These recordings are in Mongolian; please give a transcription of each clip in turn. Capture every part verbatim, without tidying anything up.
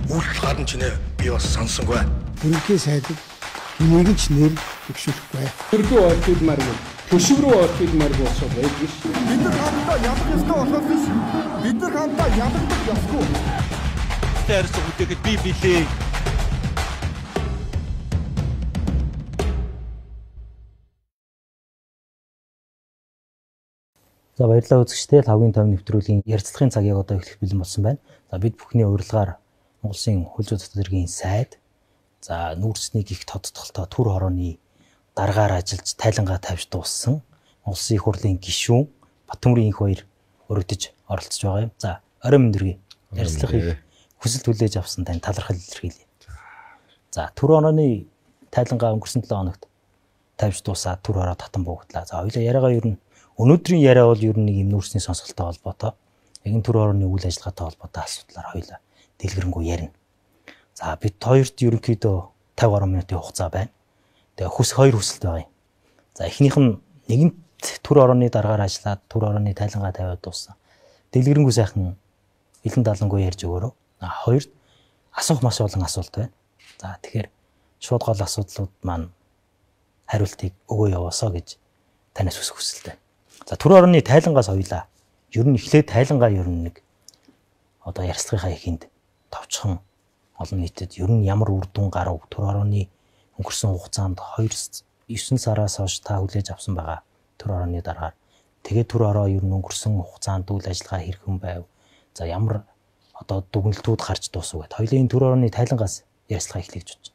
Үйлдэл гадна ч нэ би бас сонсонгүй. Бүрэнхий сайдад энийг ч нэр төвшүүлэхгүй. Төрдөө орхид маргал төшөв рүү орхид маргал болсоо байдаг ш. Бид нар хамтдаа ялах ёстой болохоос биш. Бид нар хамтдаа ялагдах ёсгүй. Тэрс үтэхэд би билээ. За баярлалаа үзэгчдээ лавгийн тав нэвтрүүлгийн ярилцлагын цаг яг одоо эхлэх бэлэн болсон байна. За бид бүхний урилгаар Монгол Улсын хөл зүйн дотоод хэргийн сайд за нүүрсний гих тодтголтой түр хорооны дараагаар ажиллаж тайлангаа тавьж дууссан Монгол Улсын их хурлын гишүүн Баттөмрийн их баяр өргөдөж оролцож байгаа юм. За орой мэндэргий ярилцлагыг хүсэлт хүлээж авсан тань талархал илэрхийлье. За түр хорооны тайлангаа өнгөрсөн долоо хоногт тавьж дуусаад түр хороо татан буугдлаа. За хоёулаа яриагаа ер нь өнөөдрийн яриа бол ер нь нэг юм нүүрсний сонсголтой холбоотой. Яг энэ түр хорооны үйл ажиллагаатай холбоотой асуудлаар хоёулаа дэлгэрэнгүй ярина. За бид хоёрт ерөнхийдөө тавь гаруй минутын хугацаа байна. Тэгээ хүс хоёр хүсэлт байгаа юм. За эхнийх нь нэгэнт түр хорооны дараагаар ажиллаад түр хорооны тайлангаа тавиад дууссан. Дэлгэрэнгүй сайхан илэн далангүй ярьж өгөөрөө. А хоёрт асуух маш олон асуулт байна. За тэгэхээр шууд гол асуудлууд маань хариултыг өгөө яваасаа гэж танаас хүсэх хүсэлтэй. За түр хорооны тайлангаас хоёлаа. Ер нь эхлээд тайлангаа ер нь нэг одоо ярилцлагынхаа ихэнд товчхон олон нийтэд ер нь ямар үр дүн гарав түр хорооны өнгөрсөн хугацаанд девсан сараас хойш та хүлээж авсан байгаа түр хорооны дараагаар тэгээд түр хороо ер нь өнгөрсөн хугацаанд үйл ажиллагаа хэрхэн байв. За ямар одоо дүгнэлтүүд гарч дуусав гэд хоёулын түр хорооны тайлангаас ярилцлага эхлэж байна.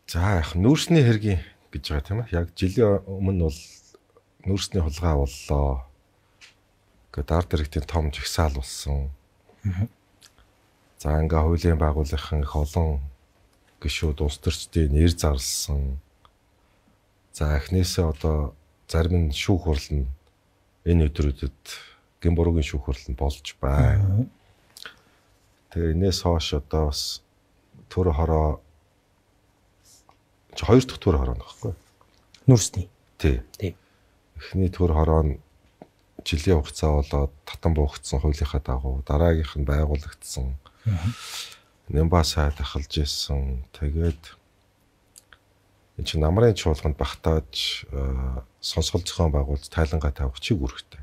За яг нүүрсний хэргийн гэж байгаа тийм ээ. Яг жилийн өмнө бол нүүрсний хулгай боллоо. Гэт ард иргэдийн том жагсаал болсон. За ингээ хуулийн байгууллагын их олон гишүүд улс төрчдийн нэр зарлсан. За эхнээсээ одоо зарим нь шүүх хурал нь энэ өдрүүдэд гин буруугийн шүүх хурал нь болж байна. Тэгээ энэс хойш одоо бас түр хороо хоёр дахь түр хороо нөхгүй. Нүүрсний. Тий. Тий. Эхний түр хороо нь жилийн хугацаа болоод татан буухцсан хуулийнхаа дагуу дараагийнх нь байгуулагдсан. Нэмба сайд ахалж исэн. Тэгээд энэ чинь намрын чуулганд багтааж сонсгол зохион байгуулж тайлангаа тавих чиг үүрэгтэй.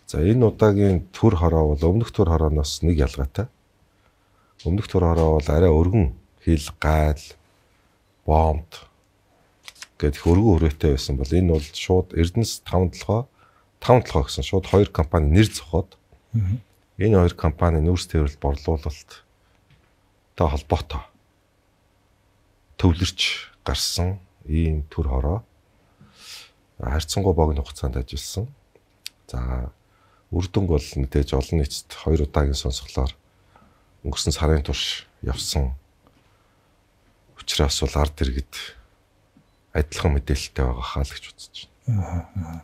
За энэ удаагийн түр хороо бол өмнөх түр хорооноос нэг ялгаатай. Өмнөх түр хороо бол арай өргөн хил гайл бомб гэдэг хөргөн хүрээтэй байсан бол энэ бол шууд Эрдэнэс таван толгой таван толгой гэсэн шууд хоёр компани нэр зохиод энэ хоёр компани нүүрс тээвэрлэлд борлуулалт та холбоотой төвлөрч гарсан ийм түр хороо харьцангуй богино хугацаанд ажилласан. За үр дүнг бол мэдээж олон нийтэд хоёр удаагийн сонсголоор өнгөрсөн сарын турш явсан. Учираас бол ард иргэд адилхан мэдээлэлтэй байгаа хаа л гэж үзэж байна.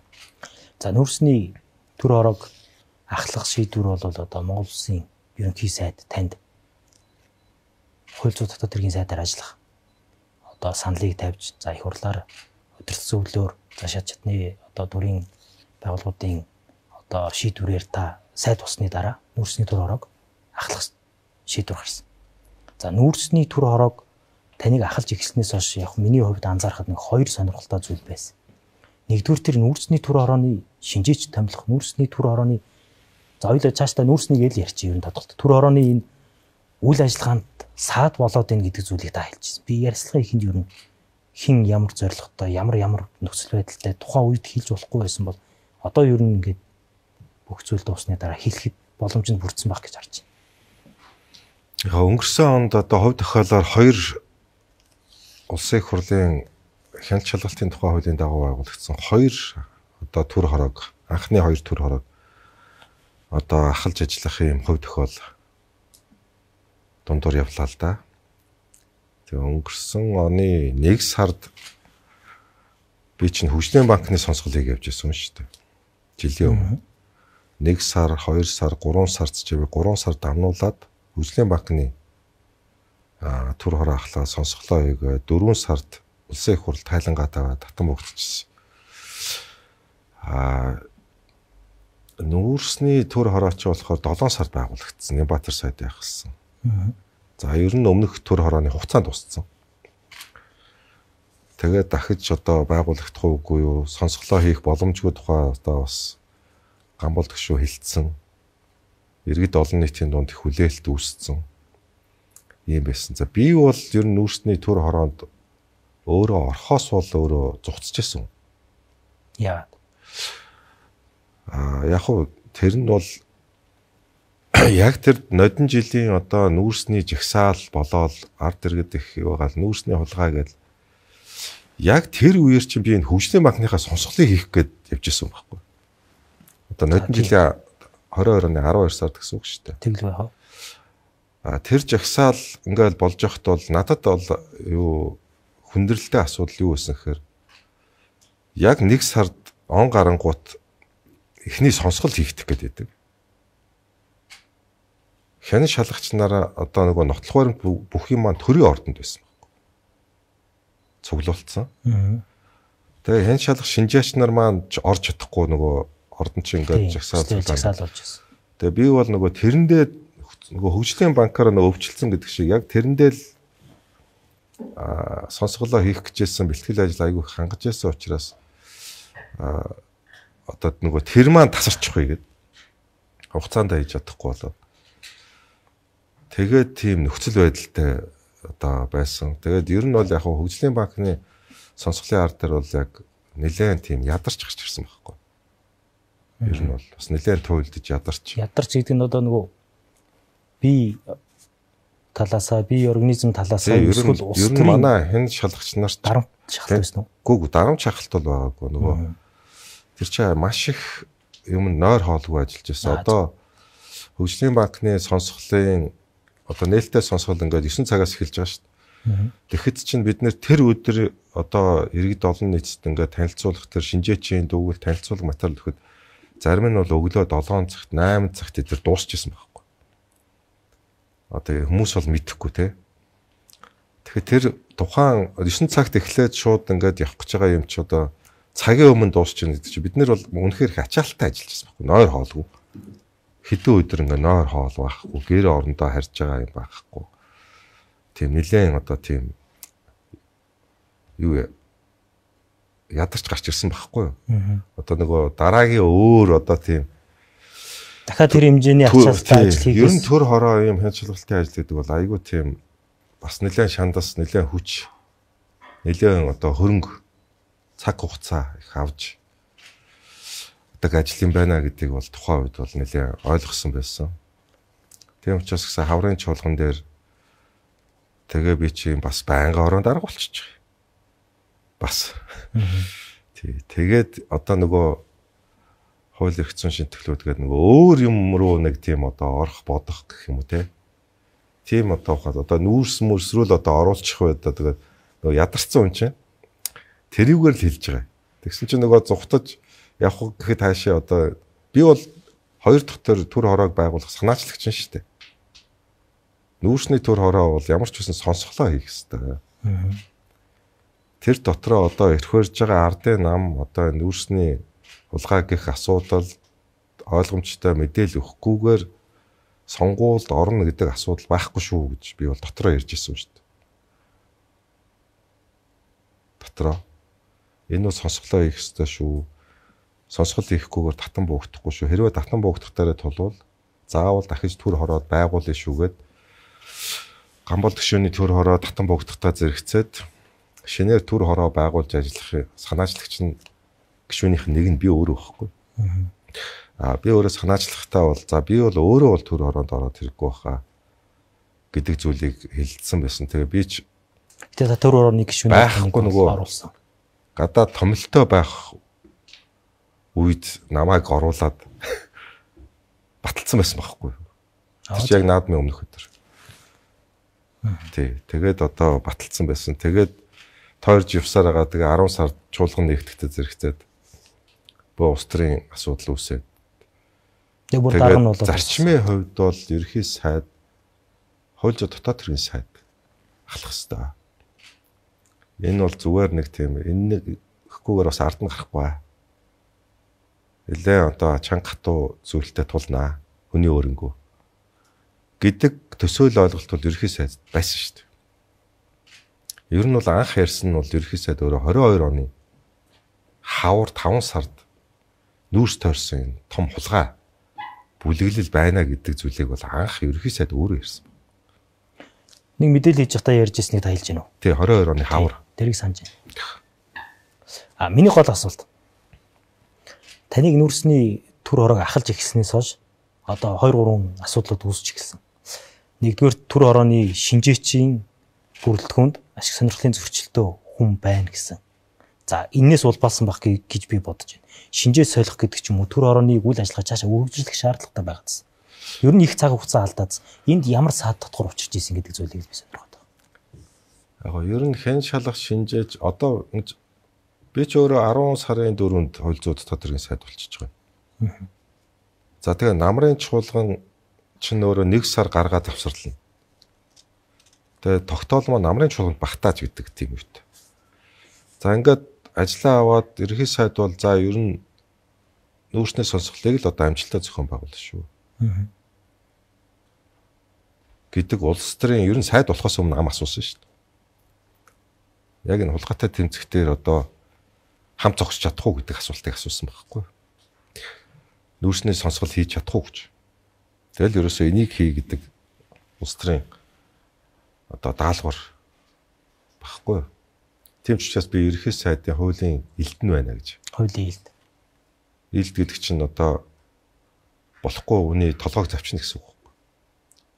За нүүрсний түр хороог ахлах шийдвэр бол одоо Монгол Улсын ерөнхий сайд танд хууль зүйн дотоод хэргийн сайдаар ажиллах одоо саналыг тавьж за их хурлаар удирдсан зөвлөөр за шат чатны одоо дүрийн байгууллагуудын одоо шийдвэрээр та сайд болсны дараа нүүрсний түр хороог ахлах шийдвэр гарсан. За нүүрсний түр хороог таныг ахалж эхэлснээс хойш яг миний хувьд анзаархад нэг хоёр сонирхолтой зүйл байсан. Нэгдүгээр тэр нүүрсний түр хорооны шинжээч томилох нүүрсний түр хорооны за хоёулаа цаашдаа нүүрснийг л ярьчих юм тодорхой. Түр хорооны энэ үйл ажиллагаанд саад болоод ийн гэдэг зүйлийг та хэлчихсэн. Би ярилцлагын ихэнд юу хин ямар зорилготой ямар ямар нөхцөл байдалтай тухайн үед хэлж болохгүй байсан бол одоо юу ингээд бүх зүйл дуусны дараа хэлэхэд боломжтой бүрдсэн баг гэж харж байна. Яг өнгөрсөн онд одоо хувь тохиолоор хоёр улсын их хурлын хяналт шалгалтын тухай хуулийн дагуу байгуулагдсан хоёр одоо түр хороог анхны хоёр түр хороог одоо ахалж ажиллах юм хувь тохиол дундуур явлаа л да. Тэгээ өнгөрсөн оны нэг сард би чинь хөгжлийн банкны сонсголыг явж ирсэн шүү дээ. Жилийн өмнө нэг сар, хоёр сар, гурван сард ч би гурван сар дамнуулаад хөгжлийн банкны а түр хороо ахлаа сонсголоо хийгээ дөрвөн сард улсын их хурл тайлангаа таваад татан богдчихсон. А нүүрсний төр хорооч болохоор долоон сард байгуулагдсан. Нямбатар сайд яхсан. За ер нь өмнөх төр хорооны хугацаанд дууссан. Тэгээд дахиж одоо байгуулагдах уугүй юу? Сонсголоо хийх боломжгүй тухай одоо бас Гамбол төгшөө хилцсэн. Иргэд олон нийтийн дунд их хүлээлт үүссэн. Ийм байсан. За би бол ер нь нүүрсний төр хороонд өөрөө орхоос бол өөрөө зугцчихсан. Яа. А яг хуу тэр нь бол яг тэр нодон жилийн одоо нүүрсний жагсаал болоод ард иргэд их байгаа л нүүрсний хулгай гэдэг яг тэр үеэр чинь би энэ хөгжлийн банкныхаа сонсголыг хийх гээд явжсэн байхгүй. Одоо нодон жилийн двадцать оны арван хоёр сард гэсэн үг шүү дээ. Тэгэл байх. А тэр жагсаал ингээл болж явахт бол надад бол юу хүндрэлтэй асуудал юу байсан гэхээр яг нэг сард он гарангуут эхний сонсгол хийгдэх гээд байдаг. Хянан шалгачнараа одоо нөгөө нотлох баримт бүх юм маань төрийн ордонд байсан байхгүй. Цуглуулсан. Тэгээ хянан шалгах шинжээч нар маань орж чадахгүй нөгөө ордон чинь ингээд жагсаал жагсаал болж байсан. Тэгээ би бол нөгөө тэрэндээ нөгөө хөгжлийн банкаараа нөгөө өвчлөлцөн гэдэг шиг яг тэрэндээ л а сонсголоо хийх гэжсэн бэлтгэл ажил айгүй хангаж байсан учраас а одоо нөгөө тэр маань тасарчихгүй гэдэг хугацаанд хийж чадахгүй болоо. Тэгээд тийм нөхцөл байдалтай одоо байсан. Тэгээд ер нь бол яг хөгжлийн банкны сонсголын ард дээр бол яг нэлээд тийм ядарч гарч ирсэн байхгүй. Ер нь бол бас нэлээд туйлдж ядарч. Ядарч гэдэг нь одоо нөгөө би талаасаа би организм талаасаа эсвэл улс төрийн манай хэн шалгагч нарт дарамт шахалт байсан уу? Гүг дарамт шахалт бол байгаагүй нөгөө тэр чинь маш их юм нойр хоолгүй ажиллаж байсан. Одоо хөгжлийн банкны сонсголын одоо нээлттэй сонсгол ингээд девять цагаас эхэлж байгаа шүү дээ. Тэгэхэд чинь бид нэр тэр өдөр одоо иргэд олон нийтэд ингээд танилцуулах тэр шинжээчийн дүүгэл танилцуулга материал өгөхөд зарим нь бол өглөө долоон цагт восемь цагт тэр дуусчихсан байхгүй. Одоо хүмүүс бол мэдэхгүй те. Тэгэхээр тэр тухайн девять цагт эхлээд шууд ингээд явах гэж байгаа юм чи одоо цагийн өмнө дуусчихна гэдэг чи бид нар бол үнэхээр их ачаалттай ажиллаж байсан байхгүй. Нойр хоолгүй. Хэдэн өдөр ингээ нойр хоол байхгүй, гэр орондоо харж байгаа юм байхгүй. Тийм нэлээд одоо тийм юу ядарч гарч ирсэн байхгүй юу? Одоо нөгөө дараагийн өөр одоо тийм дахиад тэр хэмжээний ачаалттай ажил хийх. Ер нь төр хороо юм хянчлаглалтын ажил гэдэг бол айгүй тийм бас нэлээд шандас, нэлээд хүч, нэлээд одоо хөрөнгө цаг хугацаа их авч ажил юм байна гэдгийг бол тухайн үед бол нэлээд ойлгосон байсан. Тийм учраас гэсэн хаврын чуулган дээр тэгээ би чи бас байнга орон дарга болчих. Бас. Тий. Тэгээд одоо нөгөө хууль эрх зүйн шинтгэлүүд гэдэг нөгөө өөр юм руу нэг тийм одоо орох бодох гэх юм уу те. Тийм одоо хаад одоо нүүрс мөрсрүүл одоо оруулчих байда тэгээд нөгөө ядарсан хүн чинь тэрийгээр л хэлж байгаа. Тэгсэн чинь нөгөө зүхтаж явах гэхэд хаашаа одоо би бол хоёр дахь төр төр хороог байгуулах санаачлагч нь шүү дээ. Нүүрсний төр хороо бол ямар ч үсэн сонсголоо хийх хэрэгтэй. Тэр дотроо одоо эрхвэрж байгаа ардын нам одоо нүүрсний хулгай гэх асуудал ойлгомжтой мэдээлэл өгөхгүйгээр сонгуульд орно гэдэг асуудал байхгүй шүү гэж би бол дотроо ярьж ирсэн шүү дээ. Дотроо энэ бол сонсголоо хийх хэрэгтэй шүү. Сонсгол хийхгүйгээр татан буугдахгүй шүү. Хэрвээ татан буугдах дараа тулвал заавал дахиж төр хороод байгуулъя шүүгээд Гамбол төгшөөний төр хороо татан буугдахтаа зэрэгцээд шинээр төр хороо байгуулж ажиллах санаачлагч нь гишүүнийх нэг нь би өөрөө байхгүй. Аа би өөрөө санаачлахтаа бол за би бол өөрөө бол төр хороонд ороод хэрэггүй байхаа гэдэг зүйлийг хэлсэн байсан. Тэгээ би ч тэгээ төр хорооны гишүүний байхгүй нөгөө оруулсан. Гадаа томилтой байх үед намайг оруулаад баталсан байсан байхгүй. Тэр чи яг наадмын өмнөх өдөр. Тий, тэгээд одоо баталсан байсан. Тэгээд тойрж явсаар байгаа тэгээ арван сард чуулган нэгтгэхдээ зэрэгцээд бөө улс төрийн асуудал үүсээд. Яг бүр дараа нь бол зарчмын хувьд бол ерхий сайд хууль зүйн дотоод төрийн сайд ахлах хэвээр. Энэ бол зүгээр нэг тийм энэ гэхгүйгээр бас ард нь гарахгүй. нэлээ одоо чанга хатуу зүйлтэй тулнаа. Хүний өөрөнгөө гэдэг төсөөл ойлголт бол ерхий сайд байсан шүү дээ. Ер нь бол анх ярьсан нь бол ерхий сайд өөрөө хорин хоёр оны хавар таван сард нүүрс тойрсон том хулгай бүлэглэл байна гэдэг зүйлийг бол анх ерхий сайд өөрөө ярьсан. Нэг мэдээлэл хийж байхдаа ярьж ирснийг та хэлж гинөө. Тий, хорин хоёр оны хавар. Тэрийг санаж байна. А миний гол асуулт. Таныг нүүрсний түр хорог ахалж эхэлснээс хойш одоо хоёр гурван асуудлууд үүсч эхэлсэн. Нэгдүгээр түр хорооны шинжээчийн бүрэлдэхүүнд ашиг сонирхлын зөрчилтөө хүн байна гэсэн. За энээс улбаалсан байх гэж би бодож байна. Шинжээ солих гэдэг ч юм уу түр хорооныг үйл ажиллагаа цаашаа үргэлжлэх шаардлагатай байгаадсан. Ер нь их цаг хугацаа алдаад энд ямар саад татвар учирч ийсэн гэдэг зүйлийг би сонирхоод байна. Яг гоо ер нь хэн шалгах шинжээж одоо би ч өөрөө арван сарын дөрөвд хууль зүйн тодорхой сайд болчихж байгаа. За тэгээ намрын чуулган чинь өөрөө нэг сар гаргаад авсарлана. Тэгээ тогтоол маань намрын чуулганд багтааж гэдэг тийм үгтэй. За ингээд ажлаа аваад ерхий сайд бол за ер нь нүүрсний сонсголыг л одоо амжилттай зохион байгуулна шүү. Гэдэг улс төрийн ер нь сайд болохоос өмнө ам асуусан шүү дээ. Яг энэ хулгайтай тэмцэхтэр одоо хам зогсож чадах уу гэдэг асуултыг асуусан байхгүй. Нүүрсний сонсгол хийж чадах уу гэж. Тэгэл ерөөсөө энийг хий гэдэг улс төрийн одоо даалгавар багхгүй. Тийм ч учраас би ерхий сайдын хуулийн элдэн байна гэж. Хуулийн элд. Элд гэдэг чинь одоо болохгүй үний толгойг завчна гэсэн үг байхгүй.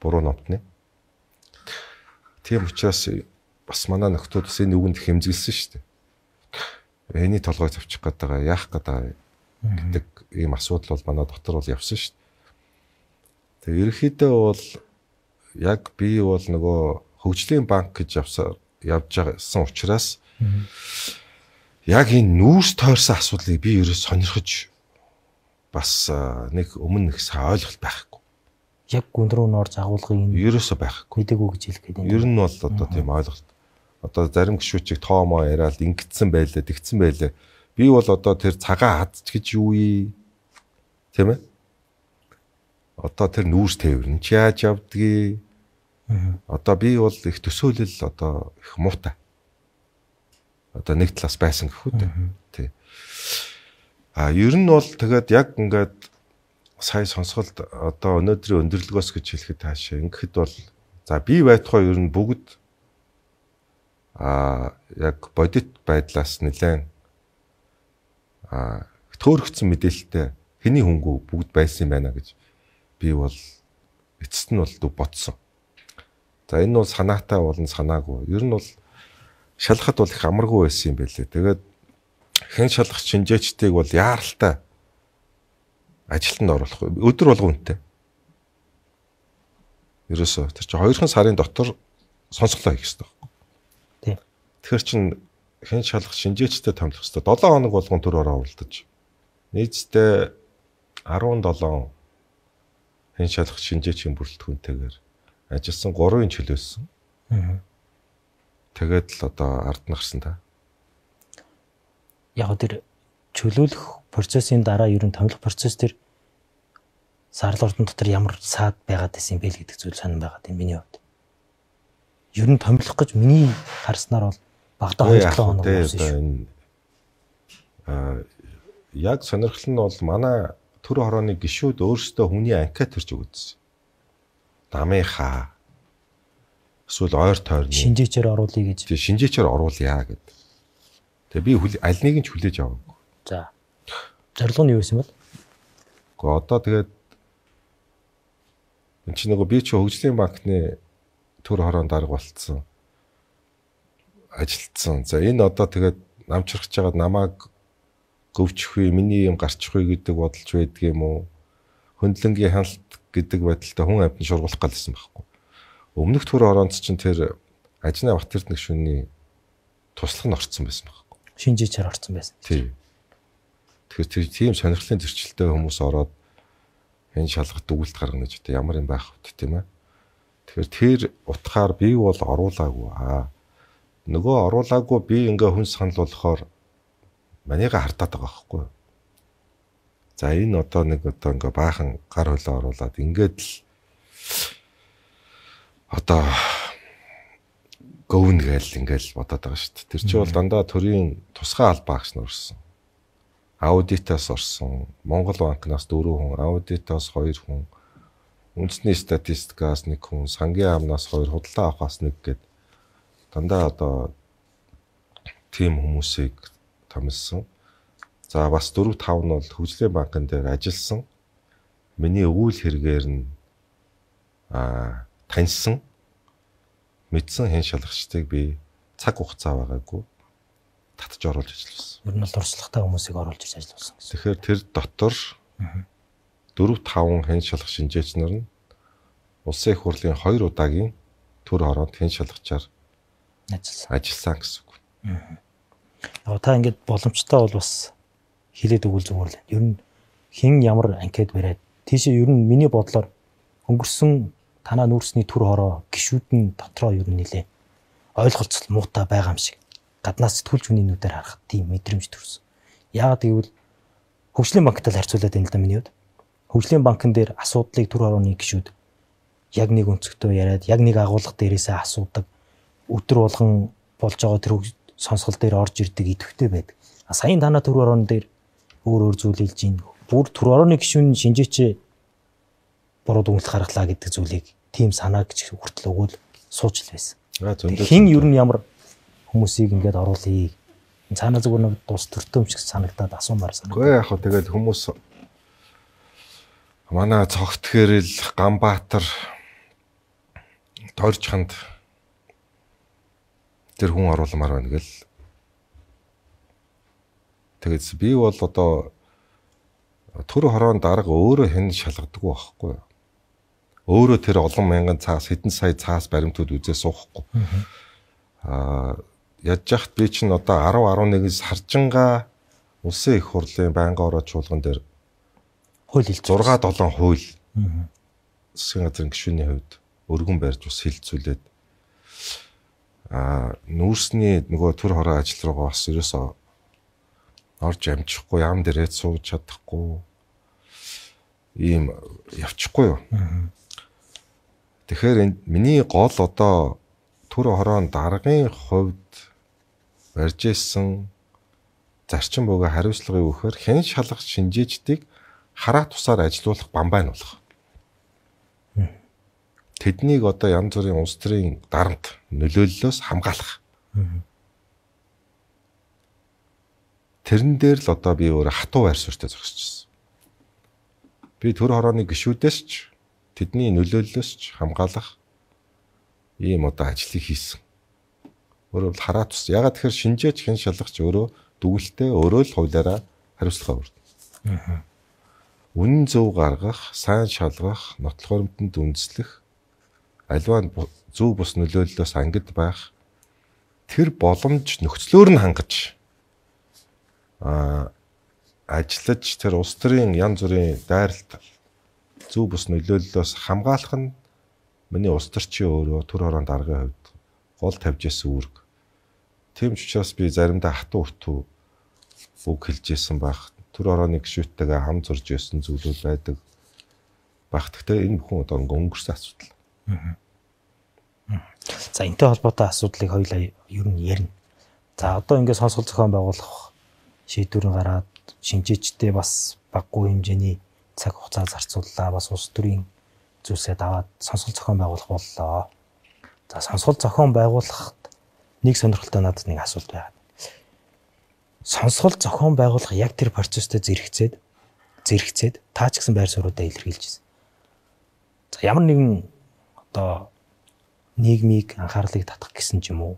Буруу номтны. Тийм учраас бас манай нөхдүүд бас энэ үгэнд хэмзгэлсэн шүү дээ. Эний толгойг завчих гээд байгаа яах гээд байгаа гэдэг ийм асуудал бол манай дотор бол явсан шүү дээ. Тэгээ ерөнхийдөө бол яг би бол нөгөө хөгжлийн банк гэж явсаар явж байгасан учраас яг энэ нүүрс тойрсон асуудлыг би ерөөс сонирхож бас нэг өмнө нэг сайн ойлголт байхгүй. Яг гүн рүү норж агуулгыг энэ ерөөсөө байхгүй. мэдээгүй гэж хэлэх гэдэг. Ер нь бол одоо тийм ойлголт. Одоо зарим гişүүчиг тоомоо яриад ингэсэн байлаа, тэгсэн байлаа. Би бол одоо тэр цагаан хадч гэж юу вэ? Тийм ээ? Одоо тэр нүүрс тээвэр нь ч яаж явдгийг. Одоо би бол их төсөөлөл одоо их муутай. Одоо нэг талаас байсан гэхүү дээ. Тий. А ер нь бол тэгээд яг ингээд сая сонсголт одоо өнөөдрийн өндөрлөгөөс гэж хэлэхэд таашаа ингээд бол за би байтугай ер нь бүгд а яг бодит байдлаас нэлээд а төөрөгцсөн мэдээлэлтэй хэний хөнгөө бүгд байсан юм байна гэж би бол эцэст нь бол бодсон. За энэ бол санаатай болон санаагүй. Ер нь бол шалгахад бол их амаргүй байсан юм байлээ. Тэгээд хэн шалгах шинжээчдийг бол яаралтай ажилтанд оруулах. Өдөр болгон үнэтэй. Ерөөсөө тэр чинь хоёрхан сарын дотор сонсголоо хийх хэрэгтэй байхгүй. Тийм. Тэгэхээр чин хэн шалгах шинжээчтэй томлох хэрэгтэй. долоон хоног болгон төр ороо уралдаж. Нийтдээ арван долоон хэн шалгах шинжээчийн бүрэлдэхүүнтэйгээр ажилласан гурван чөлөөсөн. Аа. Тэгээд л одоо ард нь гарсан та. Яг тэр чөлөөлөх процессын дараа ер нь томлох процесс төр сарал ордон дотор ямар саад байгаад байсан бэ гэдэг зүйл сонирн байгаад юм миний хувьд. Ер нь томлох гэж миний харснаар бол багада хоёр долоо хоног болсон шүү. Аа яг сонирхол нь бол манай төр хорооны гишүүд өөрсдөө хүний анкет төрж өгдсөн. Намынхаа эсвэл ойр тойрны шинжээчээр оруулъя гэж. Тэг шинжээчээр оруулъя гэдэг. Тэгээ би аль нэг нь ч хүлээж аваагүй. За. Зорилго нь юу байсан бэ? Гэхдээ одоо тэгээд энэ чинь нөгөө би чи хөгжлийн банкны төр хороонд дарга болцсон. Ажилтсан. За энэ одоо тэгээд намчрахж байгаад намайг гөвчих вэ, миний юм гарчих вэ гэдэг бодолж байдаг юм уу? Хөндлөнгийн ханалт гэдэг байдалтай хүн амьтан шургуулах галсан байхгүй. Өмнөх төр хороонд чинь тэр ажны Батэрд гишүүний туслах нь орцсон байсан байхгүй. Шинжээчээр орцсон байсан. Тийм. Тэгэхээр тийм сонирхлын зөрчилтэй хүмүүс ороод энэ шалгалт өгүүлэлт гаргана гэж одоо ямар юм байх вэ тийм ээ. Тэгэхээр тэр утгаар би бол оруулаагүй аа. Нөгөө оруулаагүй би ингээ хүн санал болохоор манийга хардаад байгаа байхгүй. За энэ одоо нэг одоо ингээ баахан гар хөлөө оруулаад ингээд л одоо гөвн гээл ингээл бодоод байгаа шүү дээ. Тэр чинь бол дандаа төрийн тусгай албаа гэж нурсан. Аудитаас орсон. Монгол банкнаас дөрвөн хүн, аудитаас хоёр хүн, үндэсний статистикаас нэг хүн, сангийн амнаас хоёр, худалдаа авахаас нэг гээд дандаа одоо тим хүмүүсийг томилсон. За бас дөрөв тав нь бол хөгжлийн банкн дээр ажилласан. Миний өвөл хэрэгээр нь аа таньсан мэдсэн хэн шалгагчдыг би цаг хугацаа байгаагүй татж оруулж ажилласан. Ер нь бол туршлагатай хүмүүсийг оруулж ирж ажилласан гэсэн. Тэгэхээр тэр дотор дөрөв таван хэн шалгах шинжээч нар нь улсын их хурлын хоёр удаагийн төр хороонд хэн шалгачаар ажилласан. Ажилласан гэсэн үг. Аа та ингээд боломжтой бол бас хилээд өгвөл зүгээр л. Ер нь хэн ямар анкет бариад тийшээ ер нь миний бодлоор өнгөрсөн танаа нүүрсний төр хороо гişүүд нь дотроо ер нь нилээ ойлголцол муутай байгаа юм шиг гаднаас сэтгүүлч хүний нүдээр харахад тийм мэдрэмж төрсөн. Яагаад гэвэл хөгжлийн банктай харьцуулаад байна л да миний хувьд. Хөгжлийн банкн дээр асуудлыг төр хорооны гişүүд яг нэг өнцгтөө яриад яг нэг агуулга дээрээсээ асуудаг өдөр болгон болж байгаа тэр сонсгол дээр орж ирдэг идэвхтэй байдаг. А саяын танаа төр хорооны дээр өөр өөр зүйл хэлж ийн. Бүр төр хорооны гişүүн шинжээч буруу дүгнэлт гаргалаа гэдэг зүйлийг тийм санаа гэж хүртэл өгөөл сууж л байсан. Хин ер нь ямар хүмүүсийг ингээд оруулъя. Цаанаа зүгээр нэг дус төртөөмч гэж санагдаад асуумаар санагдав. Гэхдээ яг хөө тэгээд хүмүүс манай цогт хэрэл Ганбаатар Торчханд тэр хүн оруулмаар байна гэл. Тэгээд би бол одоо төр хороон дарга өөрөө хэн шалгадаг байхгүй юу? Өөрөө тэр олон мянган цаас хэдэн сая цаас баримтууд үзээ суухгүй. Аа яаж яхад би чинь одоо десять eleven саржингаа улсын их хурлын байнгын ороод чуулган дээр хууль хэл six seven хууль засгийн газрын гишүүний хувьд өргөн барьж бас хилцүүлээд аа нүүрсний нөгөө төр хороо ажил руугаа бас ерөөсөө орж амжихгүй ям дээрээ сууж чадахгүй ийм явчихгүй юу. Тэгэхээр миний гол одоо төр хороон даргын хувьд барьж исэн зарчим бөгөө хариуцлагын үхээр хэн шалгах шинжээчдийг хараа тусаар ажилуулах бамбай нь болох. Тэднийг одоо янз бүрийн улс төрийн дарамт нөлөөллөөс хамгаалах. Тэрэн дээр л одоо би өөр хатуу байр суурьтай зогсчихсон. Би төр хорооны гишүүдээс ч тэдний нөлөөллөөс ч хамгаалах ийм одоо ажлыг хийсэн. Өөрөөр хэлбэл хараа тус. Ягаад тэгэхээр шинжээч хэн шалгахч өөрөө дүгэлтэй өөрөө л хуулиараа хариуцлага өрнө. Үнэн зөв гаргах, сайн шалгах, нотлох баримтанд үндэслэх, аливаа зөв бус нөлөөллөөс ангид байх тэр боломж нөхцлөөр нь хангаж а ажиллаж тэр улс төрийн янз бүрийн дайралт зөв бус нөлөөллөөс хамгаалах нь миний улс төрчийн өөрөө төр хорон даргын хувьд гол тавьж исэн үүрэг. Тийм ч учраас би заримдаа хатуу өртөө үг хэлж исэн байх. Төр хорооны гишүүдтэйгээ хам зурж исэн зүйлүүд байдаг. Баг гэхдээ энэ бүхэн одоо өнгөрсөн асуудал. За энэтэй холбоотой асуудлыг хоёулаа ер нь ярина. За одоо ингээд сонсгол зохион байгуулах шийдвэрийн гараад шинжээчтэй бас баггүй хэмжээний цаг хугацаа зарцууллаа. Бас улс төрийн зүйлсээ даваад сонсгол зохион байгуулах боллоо. За сонсгол зохион байгуулахад нэг сонирхолтой надад нэг асуулт байна. Сонсгол зохион байгуулах яг тэр процесстэй зэрэгцээд зэрэгцээд таа ч гэсэн байр суурьудаа илэрхийлж байна. За ямар нэгэн одоо нийгмийг анхаарлыг татах гэсэн ч юм уу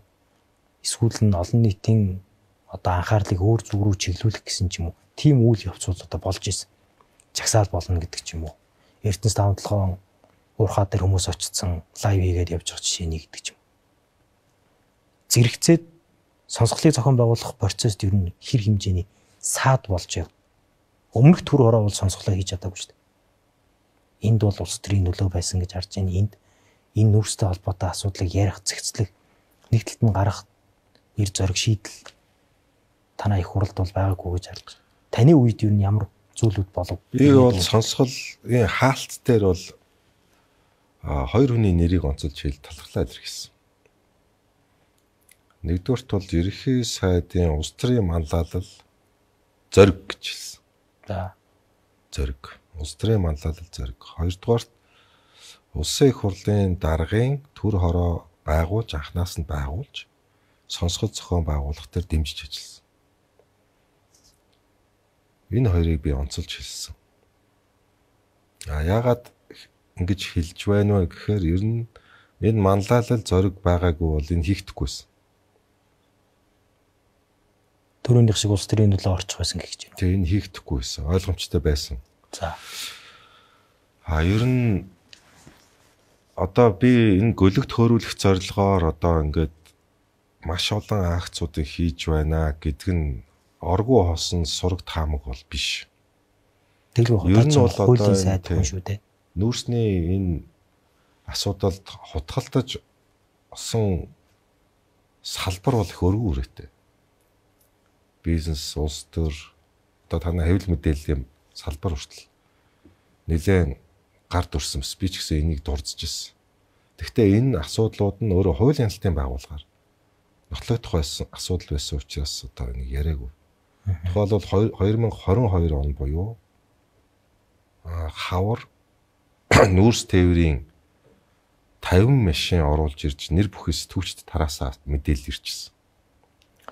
эсвэл нь олон нийтийн одоо анхаарлыг өөр зүг рүү чиглүүлэх гэсэн ч юм уу тийм үйл явцууд одоо болж исэн. Чагсаал болно гэдэг ч юм уу. Эрдэнэс таван толгоон уурхаа дээр хүмүүс очсон лайв хийгээд явж байгаа жишээ нэг гэдэг ч юм. Зэрэгцээд сонсголыг зохион байгуулах процесс ер нь хэр хэмжээний саад болж яв. Өмнөх төр хороо бол сонсголоо хийж чадаагүй шүү дээ. Энд бол улс төрийн нөлөө байсан гэж харж байна. Энд энэ нүүрстэй холбоотой асуудлыг ярих, зэгцлэх, нэг талд нь гарах эр зориг шийдэл танаа их хуралд бол байгаагүй гэж харж байна. Таны үед ер нь ямар зүйлүүд болов. Би бол сонсголын хаалт дээр бол а хоёр хүний нэрийг онцолж хэл талхлаад ирсэн. Нэгдүгээрт бол ерөнхий сайдын улс төрийн манлайлал зориг гэж хэлсэн. За. Зориг. Улс төрийн манлайлал зориг. Хоёрдугаарт улсын их хурлын даргын төр хороо байгуулж анхнаас нь байгуулж сонсгол зохион байгуулах төр дэмжиж ажилласан. Энэ хоёрыг би онцолж хэлсэн. А яагаад ингэж хэлж байна вэ гэхээр ер нь энэ манлайлал зориг байгаагүй бол энэ хийхдэггүйсэн. Төрөөнийх шиг улс төрийн төлөө орчих байсан гэж байна. Тэгээ энэ хийхдэггүйсэн. Ойлгомжтой байсан. За. А ер нь одоо би энэ гөлөгт хөөрүүлэх зорилгоор одоо ингээд маш олон акцуудыг хийж байна гэдэг нь оргуу хосон сураг таамаг бол биш. Тэгэл Ер нь бол хуулийн одоо сайд хүн шүү дээ. Нүүрсний энэ асуудалд хутгалтаж осон салбар бол их өргөн үрээтэй. Бизнес, улс төр, одоо танай хэвлэл мэдээллийн салбар хүртэл нэлээд гард урсан би ч гэсэн энийг дурдж ирсэн. Гэхдээ энэ асуудлууд нь өөрөө хуулийн хяналтын байгууллагаар нотлогдох байсан асуудал байсан учраас одоо энийг яриаггүй. Тухайлбал хоёр мянга хорин хоёр он буюу хавар нүүрс тээврийн тавин машин оруулж ирж нэр бүхий сэтгүүлчд тараасаа мэдээлэл ирчихсэн.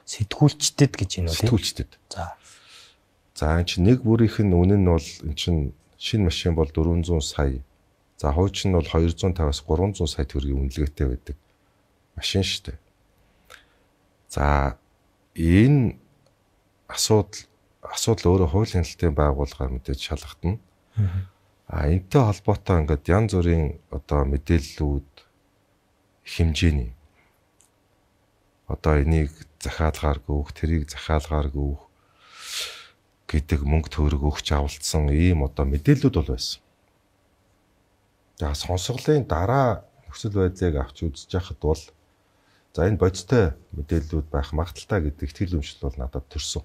Сэтгүүлчдэд гэж юм уу тийм? Сэтгүүлчдэд. За. За энэ чинь нэг бүрийнх нь үнэ нь бол энэ чинь шинэ машин бол дөрвөн зуун сая. За хуучин нь бол хоёр зуун тавиас гурван зуун сая төгрөгийн үнэлгээтэй байдаг машин шүү дээ. За энэ асуудал асуудал өөрөө хуулийн хяналтын байгууллагаар мэдээж шалгагдана. А энэтэй холбоотой ингээд янз бүрийн одоо мэдээллүүд хэмжээний одоо энийг захиалгаар гүөх, тэрийг захиалгаар гүөх гэдэг мөнгө төгрөг өгч авалцсан ийм одоо мэдээллүүд бол байсан. За сонсголын дараа нөхцөл байдлыг авч үзэж яхад бол за энэ бодистой мэдээллүүд байх магадaltaй гэдэг итгэл үнэмшил бол надад төрсөн.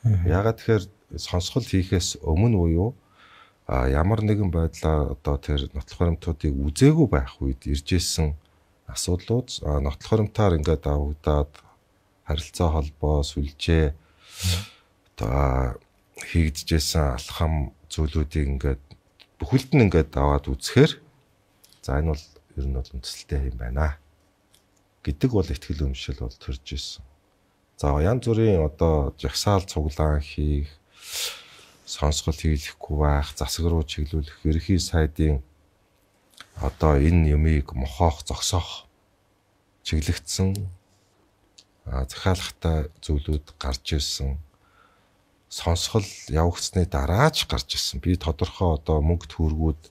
Яагаад тэгэхээр сонсгол хийхээс өмнө буюу а ямар нэгэн байдлаар одоо тэр нотлох баримтуудыг үзээгүй байх үед иржсэн асуудлууд нотлох баримтаар ингээд авагдаад харилцаа холбоо сүлжээ одоо хийгдэжсэн алхам зүйлүүдийг ингээд бүхэлд нь ингээд аваад үзэхээр за энэ бол ер нь бол үндэслэлтэй юм байна гэдэг бол итгэл үнэмшил бол төрж ирсэн. За янз бүрийн одоо жагсаал цуглаан хийх сонсгол хийлэхгүй байх, засаг руу чиглүүлэх, ерхий сайдын одоо энэ юмыг мохоох, зогсоох чиглэгдсэн захиалгатай зүйлүүд гарч ирсэн. Сонсгол явагдсны дараач гарч ирсэн. Би тодорхой одоо мөнгө төгрөгүүд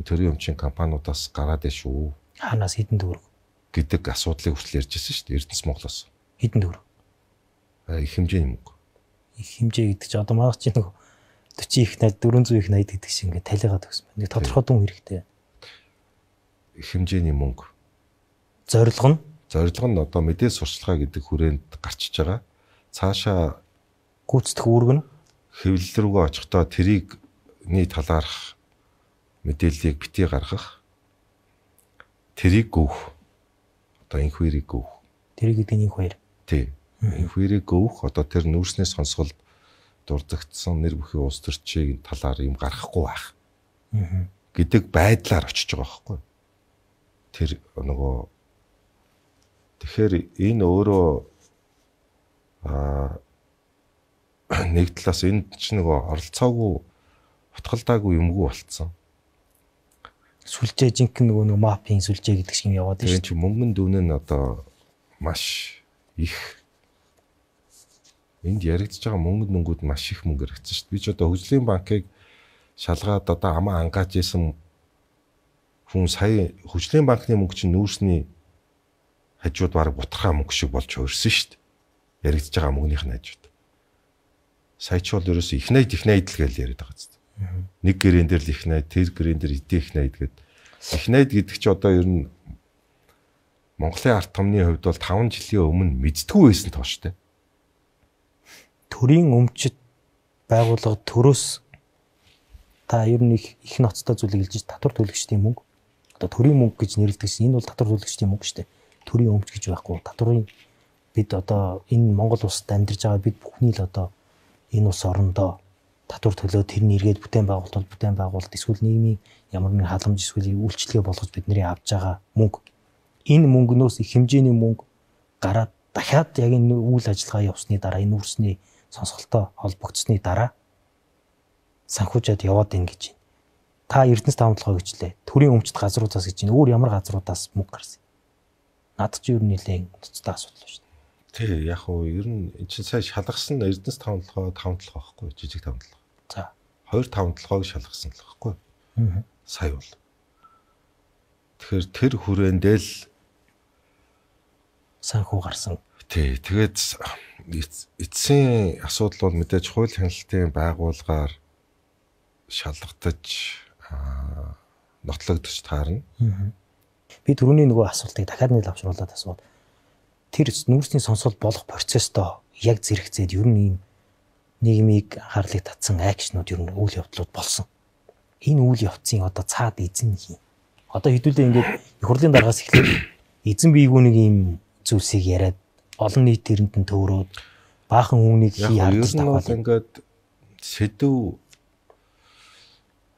төрийн өмчийн компаниудаас гараад байна шүү. Хаанаас хэдэн төгрөг гэдэг асуудлыг хүртэл ярьж ирсэн шүү дээ. Эрдэнэс Монголоос. Хэдэн төгрөг? Их хэмжээний мөнгө. Их хэмжээ гэдэг чинь одоо манайх чинь нэг forty их найд four hundred их найд гэдэг шиг ингээд талигаад өгсөн байна. Нэг тодорхой дүн хэрэгтэй. Их хэмжээний мөнгө. Зорилго нь зорилго нь одоо мэдээ сурчлагаа гэдэг хүрээнд гарчиж байгаа. Цаашаа гүйцэтгэх үүрэг нь хэвлэл рүүгээ очихдоо тэрийгний талаарх мэдээллийг битгий гаргах. Тэрийг гүөх. Одоо инх хоёрыг гүөх. тэрийг гэдэг нь инх хоёр. Тий. Инх хоёрыг гүөх одоо тэр нүүрсний сонсголд дурддагдсан нэр бүхий улс төрчийн талаар юм гаргахгүй байх. гэдэг байдлаар очиж байгаа байхгүй. Тэр нөгөө тэгэхээр энэ өөрөө аа нэг талаас энэ ч нөгөө оролцоогүй утгалдаагүй юмгүй болцсон. Сүлжээ жинхэнэ нөгөө мапын сүлжээ гэдэг шиг юм яваад байна шүү. Тэр чинь мөнгөн дүүн нь одоо маш их энд яригдж байгаа мөнгөнд нүнгүүд маш их мөнгө хэрэгцсэн шүү дээ. Би ч одоо хөгжлийн банкыг шалгаад одоо амаа ангааж исэн хүн сая хөгжлийн банкны мөнгө чинь нүүрсний хажууд баг бутархаа мөнгө шиг болж хөрсөн шүү дээ. Яригдж байгаа мөнгөнийх нь хажууд. Сая ч бол ерөөсөө их найд их найд л гэж яриад байгаа зү. Нэг гэрэн дээр л их найд, тэр гэрэн дээр эдийн их найд гэдэг. Их найд гэдэг чи одоо ер нь Монголын ард түмний хувьд бол таван жилийн өмнө мэддэггүй байсан тоо штэ. Төрийн өмчит байгууллага төрөөс та ер нь их их ноцтой зүйлийг хэлж татвар төлөгчдийн мөнгө. Одоо төрийн мөнгө гэж нэрлэдэг чинь энэ бол татвар төлөгчдийн мөнгө шүү дээ. Төрийн өмч гэж байхгүй. Татварын бид одоо энэ Монгол улсад амьдарч байгаа бид бүхний л одоо энэ улс орондоо татвар төлөө тэрний эргээд бүтээн байгуулалт бол бүтээн байгуулалт эсвэл нийгмийн ямар нэгэн халамж эсвэл үйлчлэгээ болгож бидний авж байгаа мөнгө. Энэ мөнгнөөс их хэмжээний мөнгө гараад дахиад яг энэ үйл ажиллагаа явсны дараа энэ үрсний сонсголтой холбогдсны дараа санхүүжээд яваад ийн гэж байна. Та Эрдэнэс таамаглалгаа гэжлээ. Төрийн өмчт газруудаас гэж байна. Өөр ямар газруудаас мөнгө гарсан? Наад чи ер нь нэлээд цэцтэй асуудал шүү дээ. Тий, яг уу ер нь энэ чинь сая шалгасан Эрдэнэс таамаглалгаа таван толгой байхгүй жижиг таамаглалгаа. За. Хоёр таван толгойг шалгасан л байхгүй. Аа. Сая бол. Тэгэхээр тэр хүрээндээ л санхүү гарсан. Тий, тэгээд эцсийн асуудал бол мэдээж хууль хяналтын байгууллагаар шалгатаж нотлогдож таарна. Би түрүүний нөгөө асуултыг дахиад нэг авчруулад асууад тэр нүүрсний сонсол болох процессдоо яг зэрэгцээд ер нь ийм нийгмийг анхаарлыг татсан акшнууд ер нь үйл явдлууд болсон. Энэ үйл явцын одоо цаад эзэн юм. Одоо хэдүүлээ ингээд их хурлын дараагаас эхлээд эзэн биегүү нэг ийм зүйлсийг яриад олон нийт тэрэнд нь төөрөөд баахан үүнийг хий хардаж таваад ингээд сэдв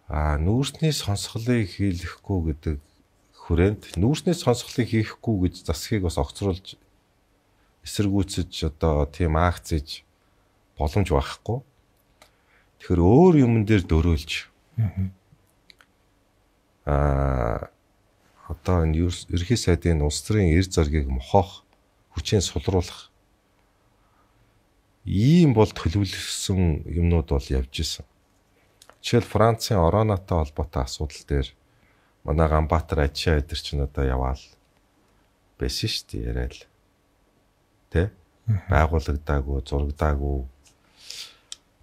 а нүүрсний сонсголыг хийлэхгүй гэдэг хүрээнд нүүрсний сонсголыг хийхгүй гэж засгийг бас огцруулж эсэргүүцэж одоо тийм акц хийж боломж байхгүй. Тэгэхээр өөр юмн дээр дөрөөлж аа одоо энэ ерхий сайдын улс төрийн эр зоргийг мохох хүчээр сулруулах ийм бол төлөвлөсөн юмнууд бол явж исэн. Жишээл Францын ороонотой холбоотой асуудал дээр манай Ганбаатар Ажаа эдэр чинь одоо яваал байсан шүү дээ яриад. Тэ? Байгуулагдаагүй, зурагдаагүй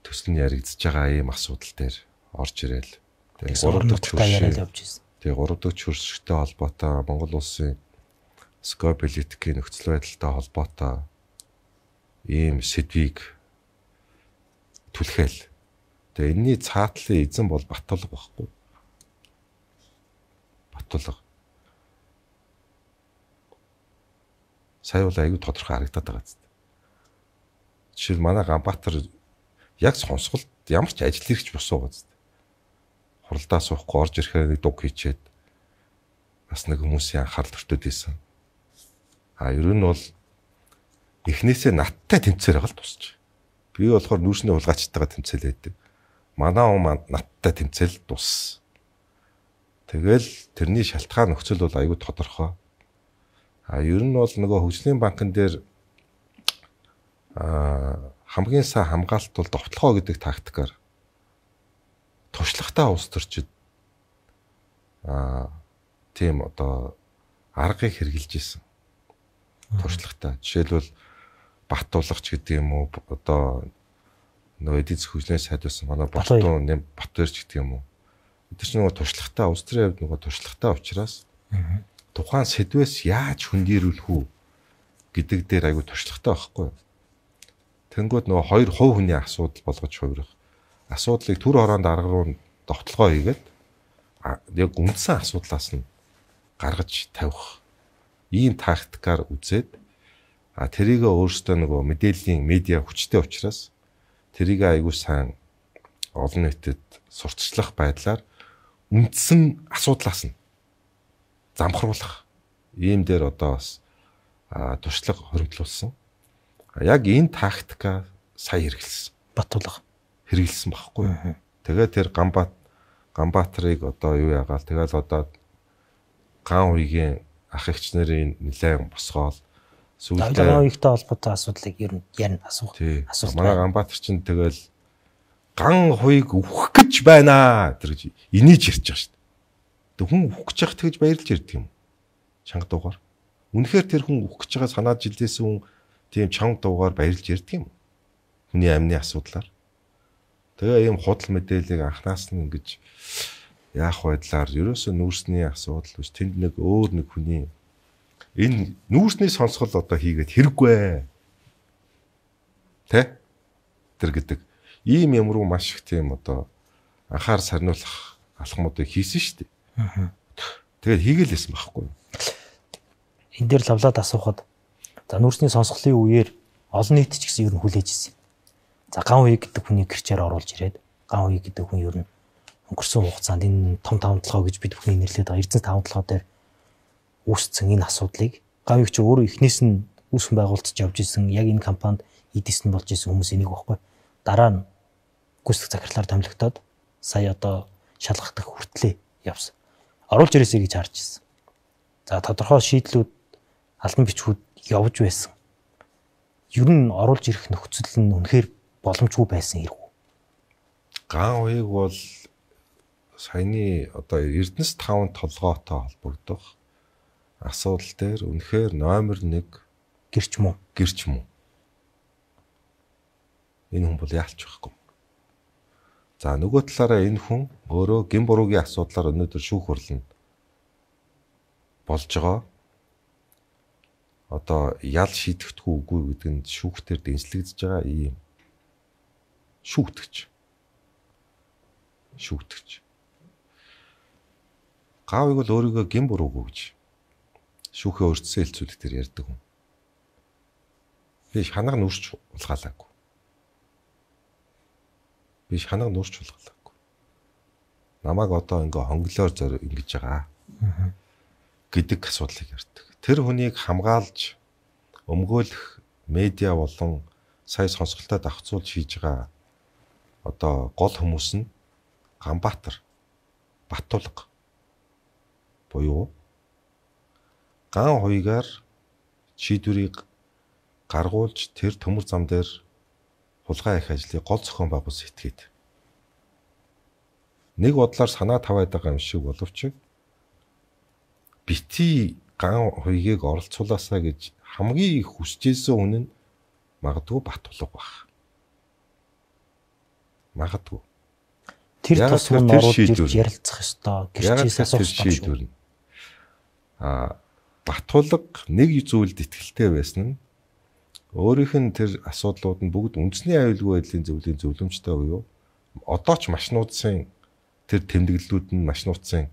төсөл нь яригдж байгаа ийм асуудал дээр орж ирээл. Тэгээ гурав дахь яриад явж ирсэн. Тэгээ гурав дахь хөрсөлттэй холбоотой Монгол улсын скополитикийн нөхцөл байдалтай холбоотой ийм сэдвийг түлхээл. Тэгээ энэний цаатлын эзэн бол Батулга байхгүй. Батулга. Сая бол аягүй тодорхой харагдаад байгаа зү. Жишээл манай Ганбаатар яг сонсголт ямар ч ажил хэрэгч босоо байгаа зү. Хуралдаа суухгүй орж ирэхээр нэг дуг хийчээд бас нэг хүмүүсийн анхаарал төртөд ийсэн. А ер нь бол эхнээсээ надтай тэмцээр байгаа л тусч. Би болохоор нүүрсний улгаачтайгаа тэмцээлээд. Манай он надтай тэмцэл тус. Тэгэл тэрний шалтгаан нөхцөл бол аюу тодорхой. А ер нь бол нөгөө хөгжлийн банкн дээр а хамгийн сайн хамгаалалт бол довтлогоо гэдэг тактикаар туршлагатай улс төрчид а тийм одоо аргыг хэрэгжилж исэн. Туршлагатай. Жишээлбэл Баттуулагч гэдэг юм уу одоо нөгөө эдийн засгийн хөгжлийн сайд байсан манай Баттуун нэм Баттуурч гэдэг юм уу. Эдгээр чинь нөгөө туршлагатай улс төрийн хувьд нөгөө туршлагатай учраас тухайн сэдвээс яаж хөндөрүүлэх үү гэдэг дээр аягүй туршлагатай байхгүй. Тэнгүүд нөгөө хоёр хувь хүний асуудал болгож хувирах. Асуудлыг төр хороонд арга руу довтлогоо хийгээд яг үндсэн асуудлаас нь гаргаж тавих ийм тактикаар үзээд а тэрийг өөрөөсөө нөгөө мэдээллийн медиа хүчтэй учраас тэрийг аягүй сайн олон нийтэд сурталчлах байдлаар үндсэн асуудлаас нь замхруулах ийм дээр одоо бас туршлага хоригдлуулсан. Яг энэ тактика сая хэрэгэлсэн. Батулга хэрэгэлсэн багхгүй. Тэгээд тэр Ганбаат Ганбаатрыг одоо юу яагаал тэгэл одоо ган уйгийн ах эгч нарын нэлээд босгоол сүүлдээ ган уйгтай холбоотой асуудлыг ер нь ярина асуух. Асуулт. Манай Ганбаатар чинь тэгэл ган хуйг өөх гэж байна тэр гэж инээж ирж байгаа шүү дээ. Тэг хүн өөх гэж яхад тэгж баярлж ирдэг юм. Чанга дуугаар. Үнэхээр тэр хүн өөх гэж байгаа санаад жилдээс хүн тийм чанга дуугаар баярлж ирдэг юм. Хүний амны асуудлаар. Тэгээ ийм худал мэдээллийг анхнаас нь ингэж яах байдлаар ерөөсөө нүүрсний асуудал биш тэнд нэг өөр нэг хүний энэ нүүрсний сонсгол одоо хийгээд хэрэггүй. Тэ? Тэр гэдэг Ийм юм руу маш их тийм одоо анхаар сарниулах алхмуудыг хийсэн шүү дээ. Тэгээд хийгээлсэн байхгүй. Энэ дээр лавлаад асуухад за нүүрсний сонсголын үеэр олон нийт ч гэсэн ер нь хүлээж ирсэн. За ган үе гэдэг хүний гэрчээр оруулж ирээд ган үе гэдэг хүн ер нь өнгөрсөн хугацаанд энэ том тавталгаа гэж бид бүхний нэрлэдэг байгаа эрдэнэс тавталгаа дээр үүссэн энэ асуудлыг ган үе чи өөрөө эхнээс нь үүсгэн байгуулж явж исэн яг энэ компанид эдис нь болж исэн хүмүүс энийг баггүй. Дараа нь гүйцэтгэх захирлаар томилогдоод сая одоо шалгах хүртлээ явсан. Оруулж ирээсэй гэж харж ирсэн. За тодорхой шийдлүүд албан бичгүүд явж байсан. Ер нь оруулж ирэх нөхцөл нь үнэхээр боломжгүй байсан хэрэг үү? Ган уяг бол саяны одоо Эрдэнэс таван толгойтой холбогдох асуудал дээр үнэхээр номер нэг гэрч мөн. Гэрч мөн. Энэ хүн бол яалч байхгүй. За нөгөө талаараа энэ хүн өөрөө гин буруугийн асуудлаар өнөөдөр шүүх хурланд болж байгаа. Одоо ял шийдэхдэггүй үгүй гэдэг нь шүүхтэр дэнслэгдэж байгаа ийм шүүгтгэж. Шүүгтгэж. Гавыг бол өөрийгөө гин буруугүй гэж шүүхээ өртсөн хэлцүүлэх төр ярьдаг хүн. Би ханаг нүрч улгаалаагүй. Би ханаг нүрч улгаалаагүй. Намайг одоо ингээ хонглоор зөр ингэж байгаа гэдэг асуудлыг ярьдаг. Тэр хүнийг хамгаалж өмгөөлөх медиа болон сая сонсголтод давхцуулж хийж байгаа одоо гол хүмүүс нь Ганбаатар, Баттулга буюу ган хуйгаар шийдвэрийг гаргуулж тэр төмөр зам дээр хулгай их ажлыг гол зохион байгуулсан этгээд нэг бодлоор санаа таваад байгаа юм шиг боловч бити ган хуйгийг оролцуулаасаа гэж хамгийн их хүсэжсэн хүн нь магадгүй Баттулга баг. Магадгүй. Тэр тусмын оруулж ирж ярилцах ёстой. Гэрчээс асуух шийдвэр. А Баттулга нэг зүйлд итгэлтэй байсан нь өөрийнх нь тэр асуудлууд нь бүгд үндэсний аюулгүй байдлын зөвлөлийн зөвлөмжтэй буюу одоо ч машинуудын тэр тэмдэглэлүүд нь машинуудын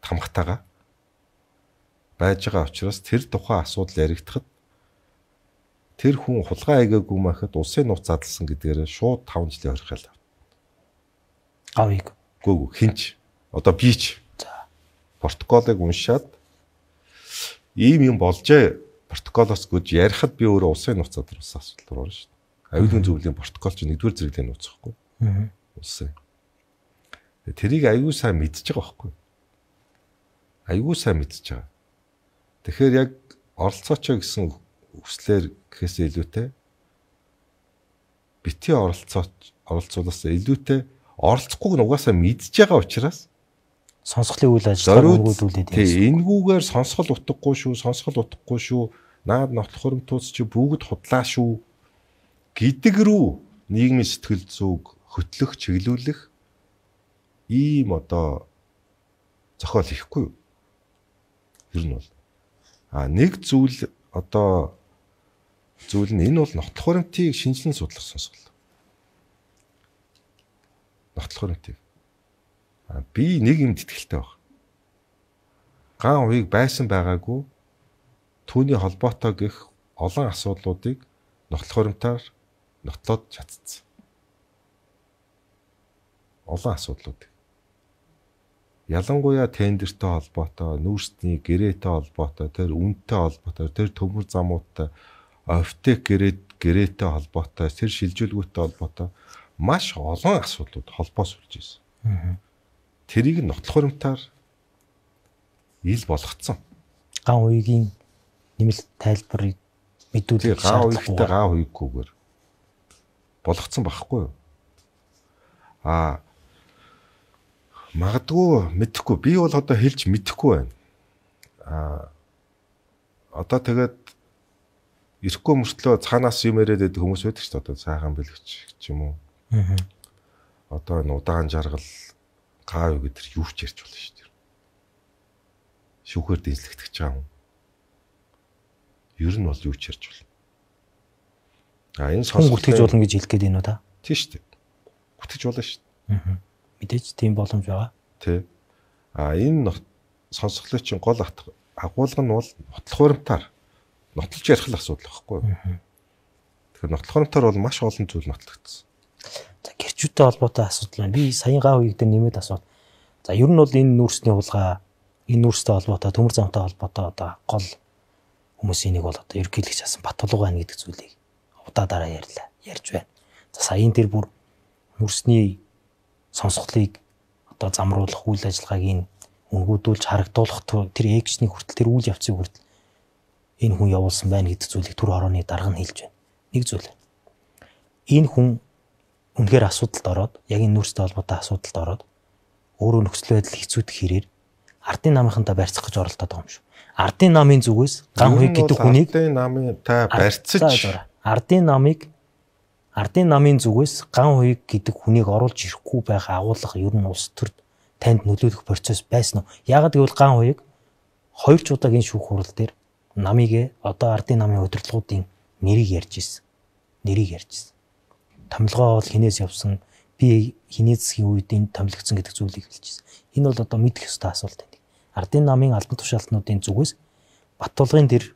тамхтайгаа байж байгаа учраас тэр тухайн асуудал яригдахад тэр хүн хулгай айгаагүй махад улсын нууц задлсан гэдгээр шууд таван жилийн хоригдол авна. Авыг. Гүг хинч одоо би ч протоколыг уншаад ийм юм болжээ протоколоос гэж ярихад би өөрөө улсын нууц задлсан асуудал орно шүү дээ. Аюулгүй зөвлөлийн протокол чинь нэгдүгээр зэрэглэлийн нууц гэхгүй. Аа. Улсын. Тэрийг аюул сайн мэдчихэж байгаа байхгүй. Аюул сайн мэдчихэж байгаа. Тэгэхээр яг оролцооч гэсэн хүслээр гэхээс илүүтэй бити оролцооч оролцуулаас илүүтэй оролцохгүйг нь угаасаа мэдж байгаа учраас сонсголын үйл ажиллагааг өргөдүүлээд тийм энэгүүгээр сонсгол утгагүй шүү, сонсгол утгагүй шүү, наад нотлох хөрөмтөөс чи бүгд худлаа шүү гэдэг рүү нийгмийн сэтгэл зүг хөтлөх, чиглүүлэх ийм одоо зохиол хийхгүй юу? Ер нь бол а нэг зүйл одоо зүйл нь энэ бол нотлох хөрөмтийг шинжилэн судлах сонсгол. Нотлох хөрөмтийг. А би нэг юмд итгэлтэй баг. Ган уяг байсан байгаагүй түүний холбоотой гэх олон асуудлуудыг нотлох хөрөмтөөр нотлоод чадсан. Олон асуудлууд. Ялангуяа тендертэй холбоотой, нүүрсний гэрээтэй холбоотой, тэр үнэтэй холбоотой, тэр төмөр замуудтай, офтек гэрээд гэрээтэй холбоотой, тэр шилжүүлгүүтэй холбоотой маш олон асуудлууд холбоос үлж ирсэн. Аа. Тэрийг нотлох хөрөмтөөр ил болгоцсон. Ган уйгийн нэмэлт тайлбарыг мэдүүлэх ган уйгтай ган уйггүйгээр болгоцсон байхгүй юу? Аа магадгүй мэдэхгүй. Би бол одоо хэлж мэдэхгүй байна. Аа одоо тэгээд ирэхгүй мөртлөө цаанаас юм яриад байдаг хүмүүс байдаг ч одоо сайхан бэлгч ч юм уу. Аа. Одоо энэ удаан жаргал гав гэдэр юу ч ярьж болно шүү дээ. Шүүхээр дэнслэгдэж байгаа юм. Ер нь бол юу ч ярьж болно. А энэ Хүн сонсголтын гүтгэж болно гэж хэлэх гээд байна уу та? Тийм шүү дээ. Гүтгэж болно шүү дээ. Аа. Мэдээж тийм боломж байгаа. Тий. А энэ сонсголын чинь гол агуулга нь бол нотлох хуримтаар нотлож ярих л асуудал байхгүй юу? Тэгэхээр нотлох хуримтаар бол маш олон зүйл нотлогдсон. За гэрчүүдтэй холбоотой асуудал байна. Би саяхан гав үеиг дээр нэмээд асуув. За ер нь бол энэ нүүрсний хулгай, энэ нүүрстэй холбоотой, төмөр замтай холбоотой одоо гол хүмүүсийн нэг бол одоо ерөнхийлөгч асан Батулга байна гэдэг зүйлийг удаа дараа ярьлаа. Ярьж байна. За саяын тэр бүр нүүрсний сонсголыг одоо замруулах үйл ажиллагааг энэ өнгөөдүүлж харагдуулах тэр экшний хүртэл тэр үйл явцыг хүртэл энэ хүн явуулсан байна гэдэг зүйлийг түр хорооны дарга нь хэлж байна. Нэг зүйл. Энэ хүн үнэхээр асуудалд ороод, яг энэ нүүрстэй холбоотой асуудалд ороод өөрөө нөхцөл байдал хэцүүдэх хэрээр ардын намынхантаа барьцах гэж оролдоод байгаа юм шүү. Ардын намын зүгээс ган хуйг гэдэг хүнийг ардын намын та барьцаж ардын намыг ардын намын зүгээс ган хуйг гэдэг хүнийг оруулж ирэхгүй байх агуулга ер нь улс төрд танд нөлөөлөх процесс байсан уу? Яагаад гэвэл ган хуйг хоёр ч удаагийн шүүх хурал дээр намыг одоо ардын намын удирдлагуудын нэрийг ярьж ирсэн. Нэрийг ярьж ирсэн. Томилгоо бол хинээс явсан, би хиний засгийн үед энэ томилогдсон гэдэг зүйлийг хэлчихсэн. Энэ бол одоо мэдэх ёстой асуулт байна. Ардын намын албан тушаалтнуудын зүгээс Батулгын тэр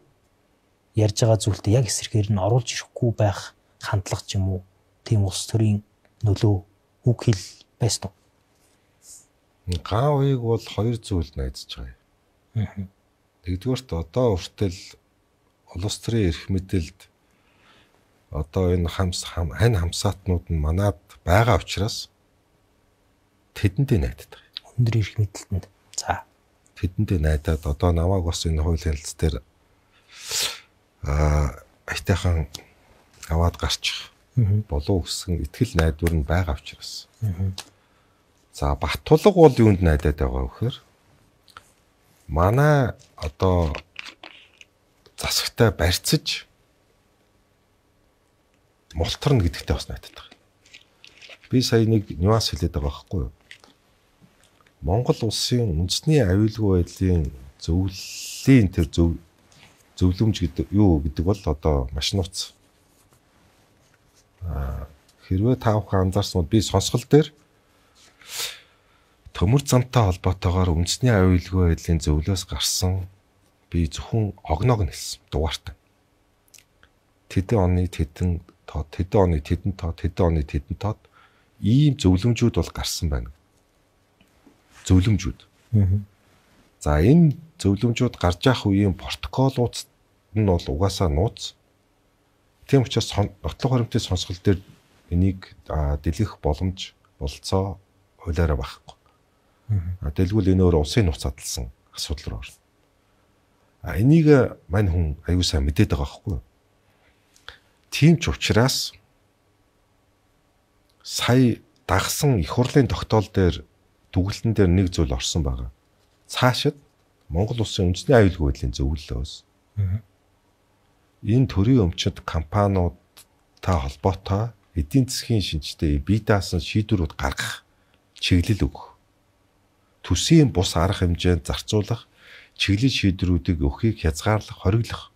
ярьж байгаа зүйлтэй яг эсрэгээр нь оруулж ирэхгүй байх хандлага ч юм уу, тийм улс төрийн нөлөө үг хэл байсан уу? Ган хуйг бол хоёр зүйл найдаж байгаа юм. Нэгдүгээрт одоо хүртэл улс төрийн эрх мэдэлд одоо энэ хамс хань хамсаатнууд нь манад байгаа учраас тэдэндээ найдаад байгаа. Өндөр эрх мэдэлтэнд. За тэдэндээ найдаад одоо намайг бас энэ хуулийн хэлц дээр аа айтайхан аваад гарчих болов гэсэн итгэл найдвар нь байгаа учраас. За Батулга бол юунд найдаад байгаа вэ гэхээр манай одоо засагтай барьцаж мултарна гэдэгтэй бас найдаад байгаа. Би сая нэг нюанс хэлээд байгаа байхгүй юу? Монгол улсын үндэсний аюулгүй байдлын зөвлөлийн тэр зөв зөвлөмж гэдэг юу гэдэг бол одоо маш нууц. Аа хэрвээ та бүхэн анзаарсан бол би сонсгол дээр төмөр замтай холбоотойгоор үндэсний аюулгүй байдлын зөвлөөс гарсан би зөвхөн огноог нь хэлсэн дугаартай. Тэдэн оны тэдэн тоо, тэдэн оны тэдэн тоо, тэдэн оны тэдэн тоод ийм зөвлөмжүүд бол гарсан байна. Зөвлөмжүүд. За энэ зөвлөмжүүд гарч явах үеийн протоколууд нь бол угаасаа нууц. Тийм учраас нотлох хуримтын сонсгол дээр энийг дэлгэх боломж болцоо хуулиараа байхгүй. А дэлгүүл энэ өөр улсын нууц задлсан асуудал руу орно. А энийг мань хүн аюу сайн мэдээд байгаа байхгүй юу? Тийм ч учраас сая дагсан их хурлын тогтоол дээр дүгэлтэн дээр нэг зүйл орсон байгаа. Цаашид Монгол улсын үндэсний аюулгүй байдлын зөвлөлөөс энэ төрийн өмчит компаниудтай холбоотой эдийн засгийн шинжтэй бие даасан шийдвэрүүд гаргах чиглэл өгөх. Төсвийн бус арга хэмжээнд зарцуулах чиглэл шийдвэрүүдийг өгөхийг хязгаарлах, хориглох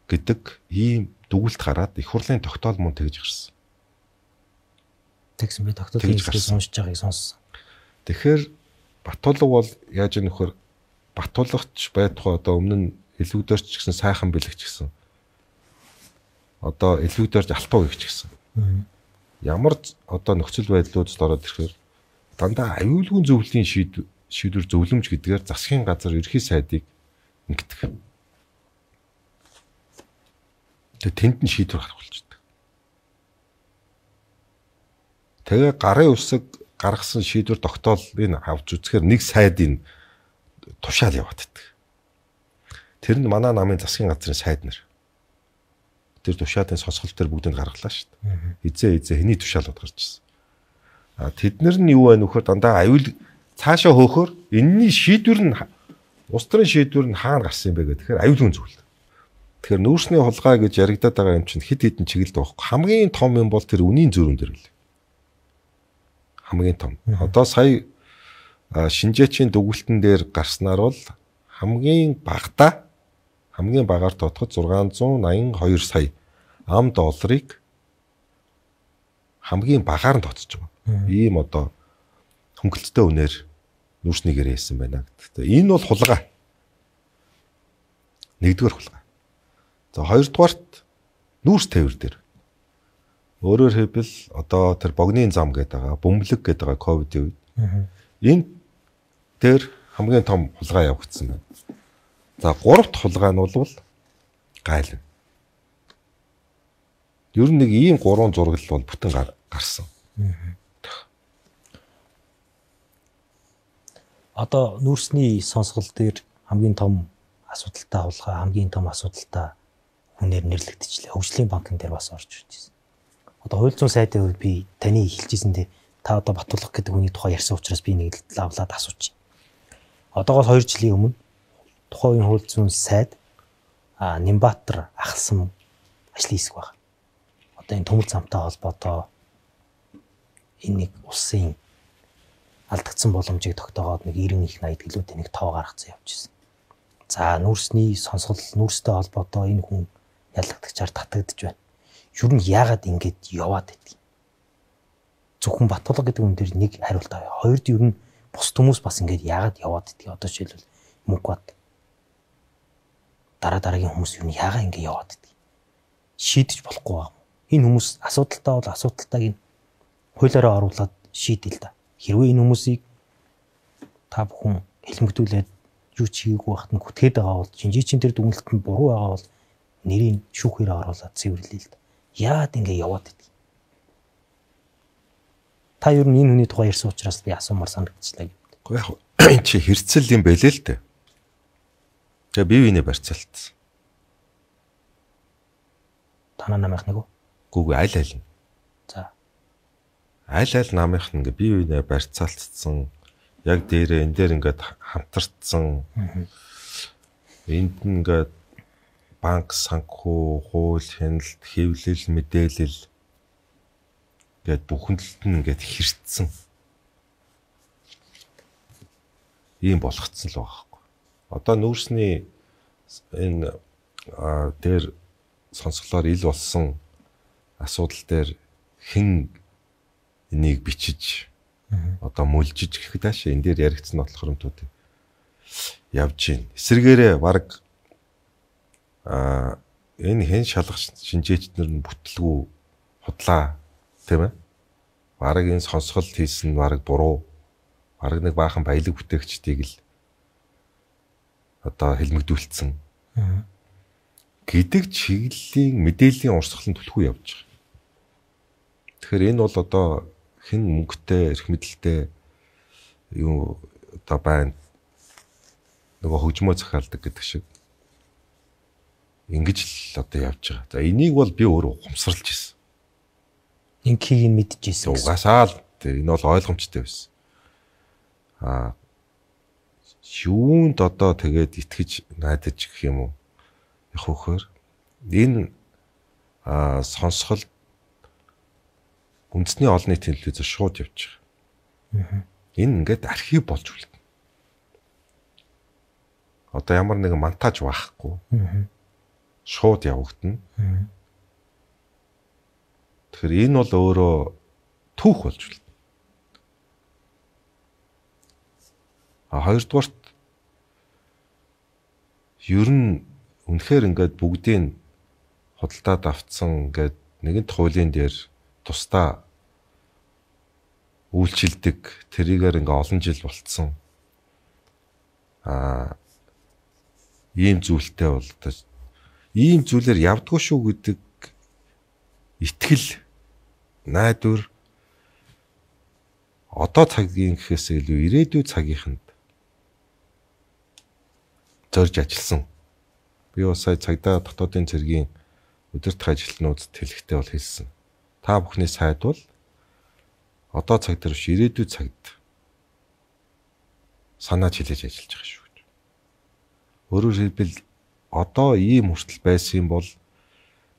гэдэг ийм дүгэлт гараад их хурлын тогтоол мөн тэгж гарсан. Тэгсэн би тогтоолын хэлбэрийг сонсож байгааг сонссон. Тэгэхээр Батулга бол яаж ийм нөхөр Батулгач байтугай одоо өмнө нь элвүүдэрч гэсэн сайхан бэлэгч гэсэн. Одоо элвүүдэрч алтуу гихч гэсэн. Ямар одоо нөхцөл байдлуудад ороод ирэхээр дандаа аюулгүй зөвлөлийн шийдвэр шийдвэр зөвлөмж гэдгээр засгийн газар ерхий сайдыг ингэдэг. Тэгээ тэнд нь шийдвэр гаргах болчихдог. Тэгээ гарын үсэг гаргасан шийдвэр тогтоолыг авч үзэхээр нэг сайдын тушаал яваад байдаг. Тэр нь манай намын засгийн газрын сайд нар. Тэр тушаалын сонсгол төр бүгдэнд гаргалаа шүү дээ. Хизээ хизээ хэний тушаалууд гарч ирсэн. А тэднэр нь юу вэ нөхөр дандаа аюул цаашаа хөөхөр энэний шийдвэр нь улс төрийн шийдвэр нь хаана гарсан юм бэ гэх тэгэхээр аюулгүй зүйл. Тэгэхээр нүүрсний хулгай гэж яригадаад байгаа юм чинь хэд хэдэн чиглэлд байхгүй. Хамгийн том юм бол тэр үнийн зөрүүн дээр л. Хамгийн том. Одоо сая шинжээчийн дүгэлтэн дээр гарснаар бол хамгийн багадаа хамгийн багаар тотоход зургаан зуун найман хоёр сая ам долларыг хамгийн багаар нь тооцож байгаа. Ийм одоо хөнгөлөлттэй үнээр нүүрснийг ирээсэн байна гэдэг. Энэ бол хулгай. Нэгдүгээр хулгай. За хоёрдугаарт нүүрс тээвэр дээр. Өөрөөр хэлбэл одоо тэр богны зам гэдэг байгаа, бөмбөлөг гэдэг байгаа ковидын үед. Энэ дээр хамгийн том хулгай явагдсан байна. За гуравт хулгай нь бол гайлна. Ер нь нэг ийм гурван зураг бол бүтэн гарсан. Одоо нүүрсний сонсгол дээр хамгийн том асуудалтай хулгай, хамгийн том асуудалтай хүнээр нэрлэгдчихлээ. Хөгжлийн банкн дээр бас орж ирж байна. Одоо хууль зүйн сайдын хувьд би таны хэлжсэндээ та одоо Батулга гэдэг хүний тухай ярьсан учраас би нэг лавлаад асуучих. Одоогоос хоёр жилийн өмнө тухайн үеийн хууль зүйн сайд а Нимбатар ахалсан ажлын хэсэг байна. Одоо энэ төмөр замтай холбоотой энэ нэг улсын алдагдсан боломжийг тогтоогоод нэг девяносто их найд гэлүүд нэг тоо гаргацсан явж ирсэн. За нүүрсний сонсгол нүүрстэй холбоотой энэ хүн ялагдагчаар татагдж байна. Юу нь яагаад ингэж яваад байдгийг. Зөвхөн Батулга гэдэг хүн дээр нэг хариулт авъя. Хоёрд юу нь бус хүмүүс бас ингэж яагаад яваад байдгийг. Одоо жишээлбэл мөнгөд дараа дараагийн хүмүүс юу нь яагаад ингэ яваад байдгийг шийдэж болохгүй байна. Энэ хүмүүс асуудалтай бол асуудалтайг нь хуулиараа оруулаад шийдэл та. Хэрвээ энэ хүмүүсийг та бүхэн хэлмэгдүүлээд юу ч хийгээгүй байхад нь гүтгээд байгаа бол шинжээчийн тэр дүгнэлтэнд буруу байгаа бол нэрийг шүүхээр оруулаад цэвэрлэе л да. Яагаад ингэ яваад байдгийг. Та юу энэ хүний тухай ярьсан учраас би асуумар санагдчихлаа гэдэг. Гэхдээ яг энэ чи хэрцэл юм байлээ л дээ. Тэгээ бие биенээ барьцаалтсан. Танаа намынх нэг үү? Гүг аль аль нь. За. Аль аль намынх нь ингээ бие биенээ барьцаалтсан. Яг дээрээ энэ дээр ингээд хамтарцсан. Энд нь ингээд банк, санхүү, хууль, хяналт, хэвлэл, мэдээлэл гээд бүхэндлэлт нь ингээд хэрцсэн. Ийм болгоцсон л байгаа байхгүй. Одоо нүүрсний энэ дээр сонсголоор ил болсон асуудал дээр хэн энийг бичиж одоо мүлжиж гэхэд аашаа энэ дээр яригдсан нотлох хөрөмтүүд явж гин. Эсвэргээрээ баг а энэ хэн шалгах шинжээчнэр нь бүтлгүй худлаа тийм ээ. Баг энэ сонсголт хийсэн нь баг буруу. Баг нэг баахан баялаг бүтээгчдийг л одоо хэлмэгдүүлсэн. Гэдэг чиглэлийн мэдээллийн урсгалын түлхүү явж байгаа. Тэгэхээр энэ бол одоо хэн мөнгөтэй, эрх мэдэлтэй юу одоо байна. Нөгөө хөгжмөө захиалдаг гэдэг шиг. Ингэж л одоо явж байгаа. За энийг бол би өөрөө ухамсарлаж ирсэн. Инхийг нь мэдчихсэн. Угаасаа л энэ бол ойлгомжтой байсан. Аа юунд одоо тэгээд итгэж найдаж гэх юм уу? Яг хөөхөр энэ аа сонсгол үндэсний олон нийтийн телевизээр шууд явж байгаа. Энэ ингээд архив болж үлдэнэ. Одоо ямар нэгэн монтаж байхгүй. Шууд явагдана. Тэгэхээр энэ бол өөрөө түүх болж үлдэнэ. А хоёрдугаарт ер нь үнэхээр ингээд бүгдийг худалдаад авцсан ингээд нэгэнт хуулийн дээр тусдаа үйлчилдэг тэрийгээр ингээ олон жил болцсон а ийм зүйлтэй бол одоо ийм зүйлээр явдггүй шүү гэдэг итгэл найдвар одоо цагийн гэхээс илүү ирээдүйн цагийнханд зорж ажилласан. Би бас сая цагдаа дотоодын цэргийн удирдах ажилтнуудад хэлэхдээ бол хэлсэн. Та бүхний сайд бол одоо цаг дээр биш ирээдүйн цагт санааж хэлж ажиллаж байгаа шүү гэж. Өөрөөр хэлбэл одоо ийм хүртэл байсан бол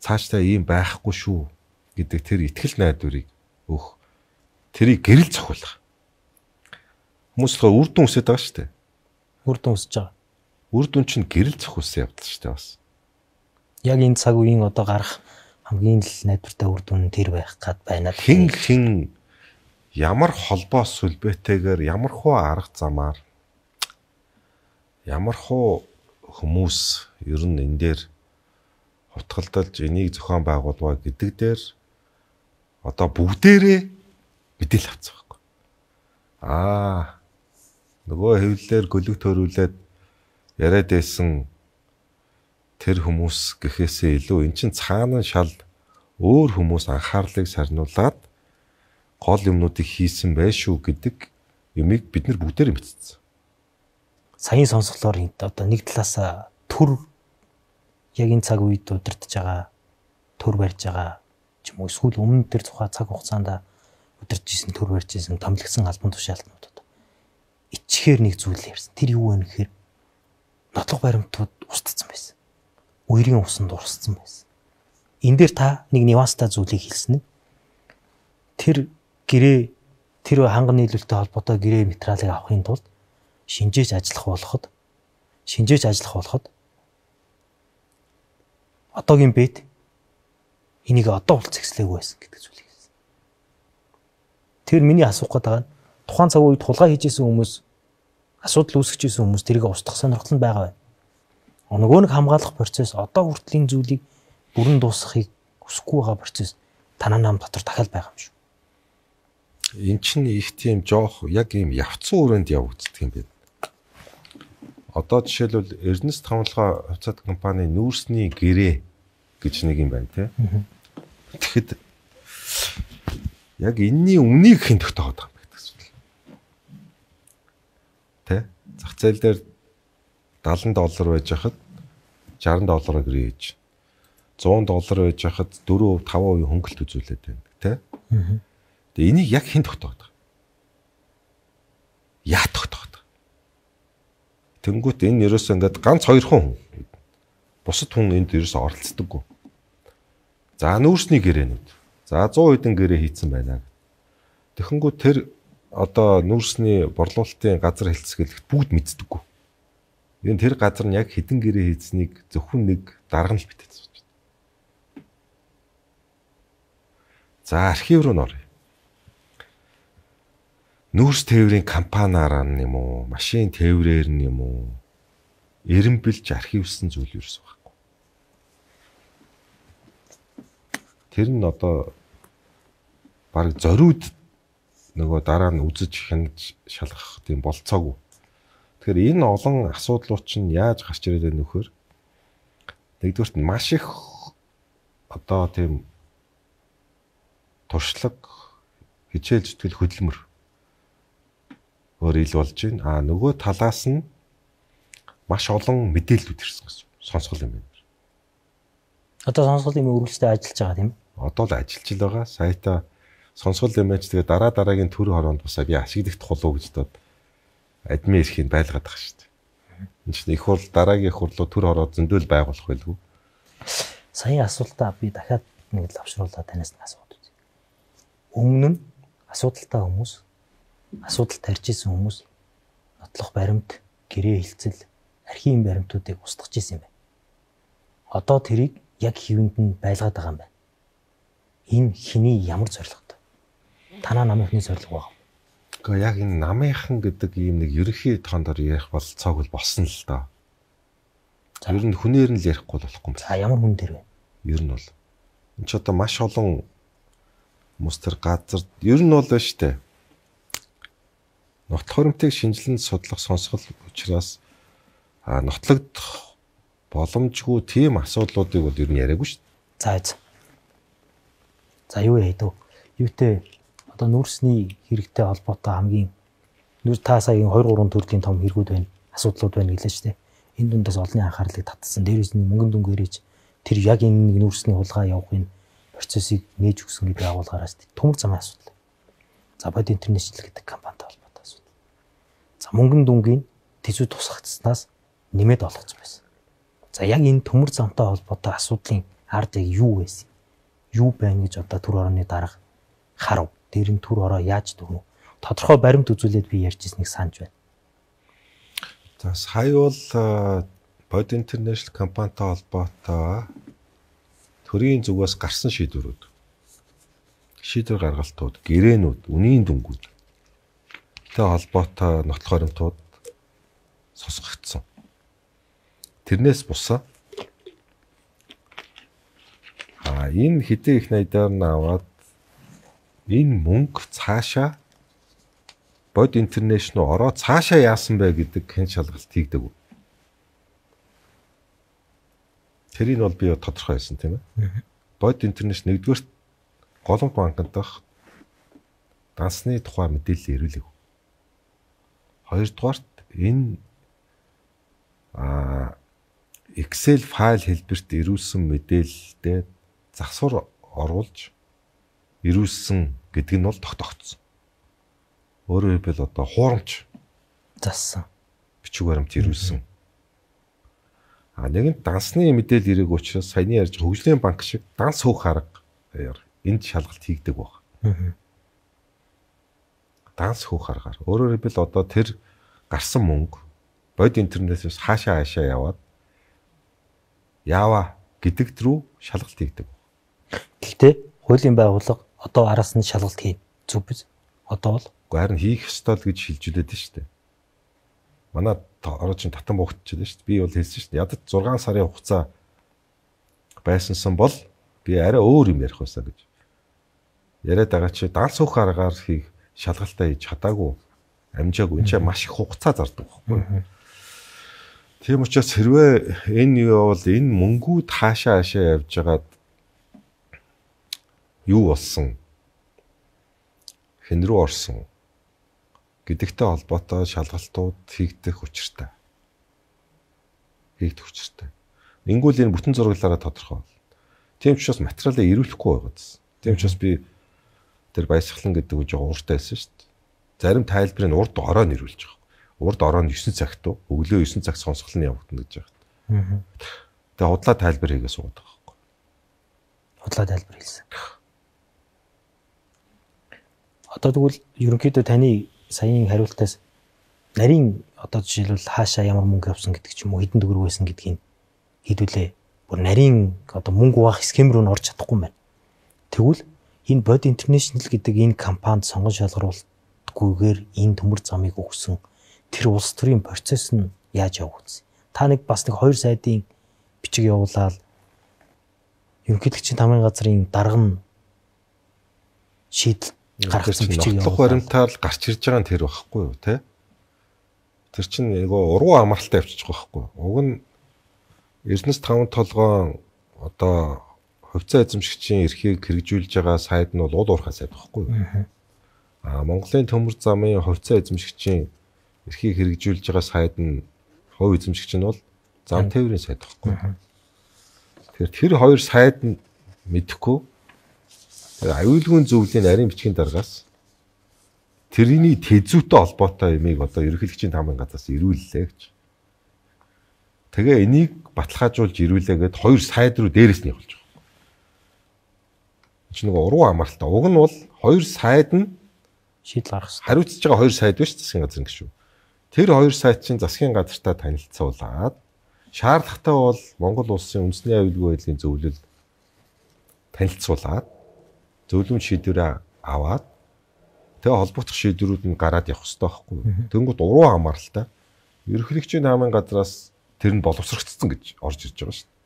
цаашдаа ийм байхгүй шүү гэдэг тэр итгэл найдварыг өөх. Тэрийг гэрэл цохиулах. Хүмүүс л үр дүн үсэж байгаа шүү дээ. Үр дүн үсэж байгаа. Үр дүн чинь гэрэл цохиулсан явдал шүү дээ бас. Яг энэ цаг үеийн одоо гарах хамгийн л найдвартай үр дүн тэр байх гад байна. Хин хин ямар холбоос сүлбэтэйгээр ямар хуу арга замаар ямар хуу хүмүүс ер нь энэ дээр хутгалдалж энийг зохион байгуулваа гэдэг дээр одоо бүгдээрээ мэдээлэл авцсан байхгүй. Аа нөгөө хэвлэлээр гөлөг төрүүлээд яриад байсан тэр хүмүүс гэхээсээ илүү эн чин цаана шал өөр хүмүүс анхаарлыг сарниулаад гол юмнуудыг хийсэн байшгүй гэдэг юмыг бид нар бүгдээр мэдсэн. Саяын сонсголоор одоо нэг талаас төр яг энэ цаг үед удирдах байгаа төр барьж байгаа ч юм уу эсвэл өмнө тэр тухай цаг хугацаанд удирдах гэсэн төр барьж байсан томилгсон албан тушаалтнууд ичхээр нэг зүйл ярьсан. Тэр юу вэ гэхээр нотлох баримтууд устдсан байсан. Үерийн усанд урсцсан байсан. Энэ дээр та нэг нюанстай зүйлийг хэлсэн нь тэр гэрээ тэр ханган нийлүүлэлттэй холбоотой гэрээ материалыг авахын тулд шинжээж ажиллах болоход шинжээж ажиллах болоход одоогийн бэд энийг одоо уулзчихлээгүй байсан гэдэг зүйлийг хэлсэн. Тэр миний асуух гээд байгаа нь тухайн цаг үед хулгай хийжсэн хүмүүс асуудал үүсгэжсэн хүмүүс тэрийг устгах сонирхол нь байгаа байна. Нөгөө нэг хамгаалах процесс одоо хүртлийн зүйлийг бүрэн дуусгахыг хүсэхгүй байгаа процесс танаа нам дотор дахиад байгаа юм шүү. Эн чинь их тийм жоох яг ийм явцсан өрөөнд явагддаг юм байна. Одоо жишээлбэл Эрнест хамгаалгаа хувьцаат компани нүүрсний гэрээ гэж нэг юм байна тий. Тэгэхэд яг энэний үнийг хэн тогтооход байгаа юм гэдэг зүйл. Тэ? Зах зээл дээр дагалан доллар байж хахад шестьдесят доллараар гэрээ хийж. сто доллар байж хахад four five percent хөнгөлт үзүүлээд байна тий. Тэгээ энийг яг хэн тогтооход байгаа? Яа тогтооход байгаа? Тэнгүүт энэ ерөөсөө ингээд ганц хоёрхан хүн. Бусад хүн энд ерөөсөө оролцдоггүй. За нүүрсний гэрээнүүд. За сто хэдэн гэрээ хийцэн байна. Тэгэхэнгүү тэр одоо нүүрсний борлуулалтын газар хэлцгэлэгт бүгд мэддэггүй. Энэ тэр газар нь яг хэдэн гэрээ хийцнийг зөвхөн нэг дарга нь л битээсэн байна. За архив руу нөрөө. Нүүрс тээврийн компаниараа юм уу, машин тээврээр нь юм уу, эренбэлж архивсан зүйл ерөөс байхгүй. Тэр нь одоо баг зориуд нөгөө дараа нь үзэж хянаж шалгах тийм болцоогүй. Тэгэхээр энэ олон асуудлууд чинь яаж гарч ирээд байна нөхөр? Нэгдүгürt нь маш их одоо тийм туршлага хичээл зүтгэл хөдөлмөр өөр ил болж байна. А нөгөө талаас нь маш олон мэдээлэлүүд ирсэн гэсэн сонсгол юм байна. Одоо сонсголын үргэлжлэлтэй ажиллаж байгаа тийм. Одоо л ажиллаж л байгаа. Саята сонсгол юмч тэгээ дараа дараагийн төр хороонд бусаа би ашиглах тухлуу гэж дод админ эрхийг байлгаад байгаа шүү дээ. Энэ чинь их хурл дараагийн их хурлуу төр хороо зөндөл байгуулах байлгүй. Саяын асуултаа би дахиад нэг л авшруулаад танаас нь асууад үзье. Өмнө нь асуудалтай хүмүүс асуудал тарьж исэн хүмүүс нотлох баримт, гэрээ хилцэл, архивын баримтуудыг устгаж исэн юм байна. Одоо тэрийг яг хэвэнд нь байлгаад байгаа юм байна. Энэ хэний ямар зорилготой? Танаа намынхны зорилго байгаа юм. Гэхдээ яг энэ намынхан гэдэг ийм нэг ерөнхий тоондор ярих бол цог бол болсон л доо. Ер нь хүнээр нь л ярихгүй болохгүй юм байна. За ямар хүн дээр вэ? Ер нь бол энэ ч одоо маш олон хүмүүс тэр газар ер нь бол байна штэ. Нотлох баримтыг шинжилэн судлах сонсгол учраас а нотлогдох боломжгүй тийм асуудлуудыг бол ер нь яриаггүй шүү дээ. За. За юу яа дөө? Юутэй одоо нүүрсний хэрэгтэй холбоотой хамгийн нүүр та сая two three төрлийн том хэрэгүүд байна. Асуудлууд байна гэлээ шүү дээ. Энэ дундаас олонний анхаарлыг татсан. Дээрээс нь мөнгөн дүн гэрэж тэр яг энэ нэг нүүрсний хулгай явахын процессыг нээж өгсөн гэдэг агуулгаараас төмөр замын асуудал. За бод интернэшнл гэдэг компанитай холбоотой асуудал. За мөнгөн дүнгийн тэзүү тусгацснаас нэмээд олгоцсон байсан. За яг энэ төмөр замтай холбоотой асуудлын ард яг юу байсан? Юу байна гэж одоо төр орооны дарга харав. Дээр нь төр ороо яаж дөгнө? Тодорхой баримт үзүүлээд би ярьж ирснийг санаж байна. За сая бол Bod International компанитай холбоотой төрийн зүгээс гарсан шийдвэрүүд, шийдвэр гаргалтууд, гэрээнүүд, үнийн дүнгууд тэ холбоотой нотлох баримтууд сосгогдсон. Тэрнээс бусаа а энэ хэдэн их найдаар нь аваад энэ мөнгө цаашаа бод интернэшнл ороо цаашаа яасан бэ гэдэг хэн шалгалт хийгдэг. Тэрийг бол би тодорхой байсан тийм ээ. Бод интернэшнл нэгдүгээр голомт банкнд дах дансны тухай мэдээлэл ирүүлэв. Хоёрдугаарт энэ а Excel файл хэлбэрт ирүүлсэн мэдээлэлдээ засвар оруулж ирүүлсэн гэдэг нь бол тогтогдсон. Өөрөөр хэлбэл одоо хуурамч зассан. Бичиг баримт ирүүлсэн. А нэгэнт дансны мэдээлэл ирээг учраас саяны ярьж хөгжлийн банк шиг данс хөөх аргаар энд шалгалт хийгдэг баг. Данс хөөх аргаар. Өөрөөр хэлбэл одоо тэр гарсан мөнгө бод интернетээс хаашаа хаашаа яваад яава гэдэгт рүү шалгалт хийгдэг. Гэхдээ хуулийн байгууллага одоо араас нь шалгалт хийн. Зүг биз? Одоо бол харин хийх ёстой л гэж шилжүүлээд шүү дээ. Манай ороо чин татан буугдчихлаа шүү дээ. Би бол хэлсэн шүү дээ. Ядаж зургаан сарын хугацаа байсансан бол би арай өөр юм ярих байсан гэж. Яриад байгаа чи данс хөөх аргаар хийх шалгалтаа хийж чадаагүй, амжаагүй. Энд чинь маш их хугацаа зардаг байхгүй. Тийм учраас хэрвээ энэ юу бол энэ мөнгүүд хаашаа хаашаа явж байгаад юу болсон? Хэн рүү орсон? Гэдэгтэй холбоотой шалгалтууд хийгдэх учиртай. Хийгдэх учиртай. Ингүүл энэ бүтэн зураглаараа тодорхой бол. Тийм учраас материалаа ирүүлэхгүй байгаадсэн. Тийм учраас би тэр баясгалан гэдэг үг жоо ууртай байсан шүү дээ. Зарим тайлбарыг урд ороо нэрүүлж байгаа. Урд ороо нь девять цагт уу, өглөө девять цаг сонсгол нь явагдана гэж байгаа. Тэгээ худлаа тайлбар хийгээ суугаад байгаа байхгүй. Худлаа тайлбар хийсэн. Одоо тэгвэл ерөнхийдөө таны саяын хариултаас нарийн одоо жишээлбэл хаашаа ямар мөнгө авсан гэдэг ч юм уу хэдэн төгрөг байсан гэдгийг хэдүүлээ. Бүр нарийн одоо мөнгөуваах схем рүү н орж чадахгүй байна. Тэгвэл энэ бод интернэшнл гэдэг энэ компанид сонгон шалгаруулалтгүйгээр энэ төмөр замыг өгсөн тэр улс төрийн процесс нь яаж явагдсан? Та нэг бас нэг хоёр сайдын бичиг явуулаад ерөнхийлөгчийн тамгын газрын дарга нь шийдэл гаргасан бичиг явуулах баримтаар л гарч ирж байгаа нь тэр байхгүй юу те? Тэр чинь нөгөө уруу амралтаа явчих байхгүй юу? Уг нь Эрдэнэс таван толгойн одоо хувьцаа эзэмшигчийн эрхийг хэрэгжүүлж байгаа сайд нь бол уул уурхай сайд байхгүй юу? Аа Монголын төмөр замын хувьцаа эзэмшигчийн эрхийг хэрэгжүүлж байгаа сайд нь хувь эзэмшигч нь бол зам тээврийн сайд байхгүй юу? Тэгэхээр тэр хоёр сайд нь мэдэхгүй аюулгүй зөвлөлийн нарийн бичгийн дараагаас тэрний тэзүүтэй холбоотой юмыг одоо ерөнхийлөгчийн тамгын газраас ирүүллээ гэж. Тэгээ энийг баталгаажуулж ирүүлээгээд хоёр сайд руу дээрээс нь явуулж байгаа. Чи нөгөө уруу амралтаа. Уг нь бол хоёр сайд нь шийдэл гаргасан. Хариуцж байгаа хоёр сайд биш засгийн газрын гишүүн. Тэр хоёр сайд чинь засгийн газартаа танилцуулаад шаардлагатай бол Монгол улсын үндэсний аюулгүй байдлын зөвлөл танилцуулаад зөвлөмж шийдвэрээ аваад тэгээ холбогдох шийдвэрүүд нь гараад явах хэрэгтэй байхгүй. Тэнгууд уруу амралтаа ерөнхийлөгчийн тамгын газраас тэр нь боловсрогдсон гэж орж ирж байгаа шүү дээ.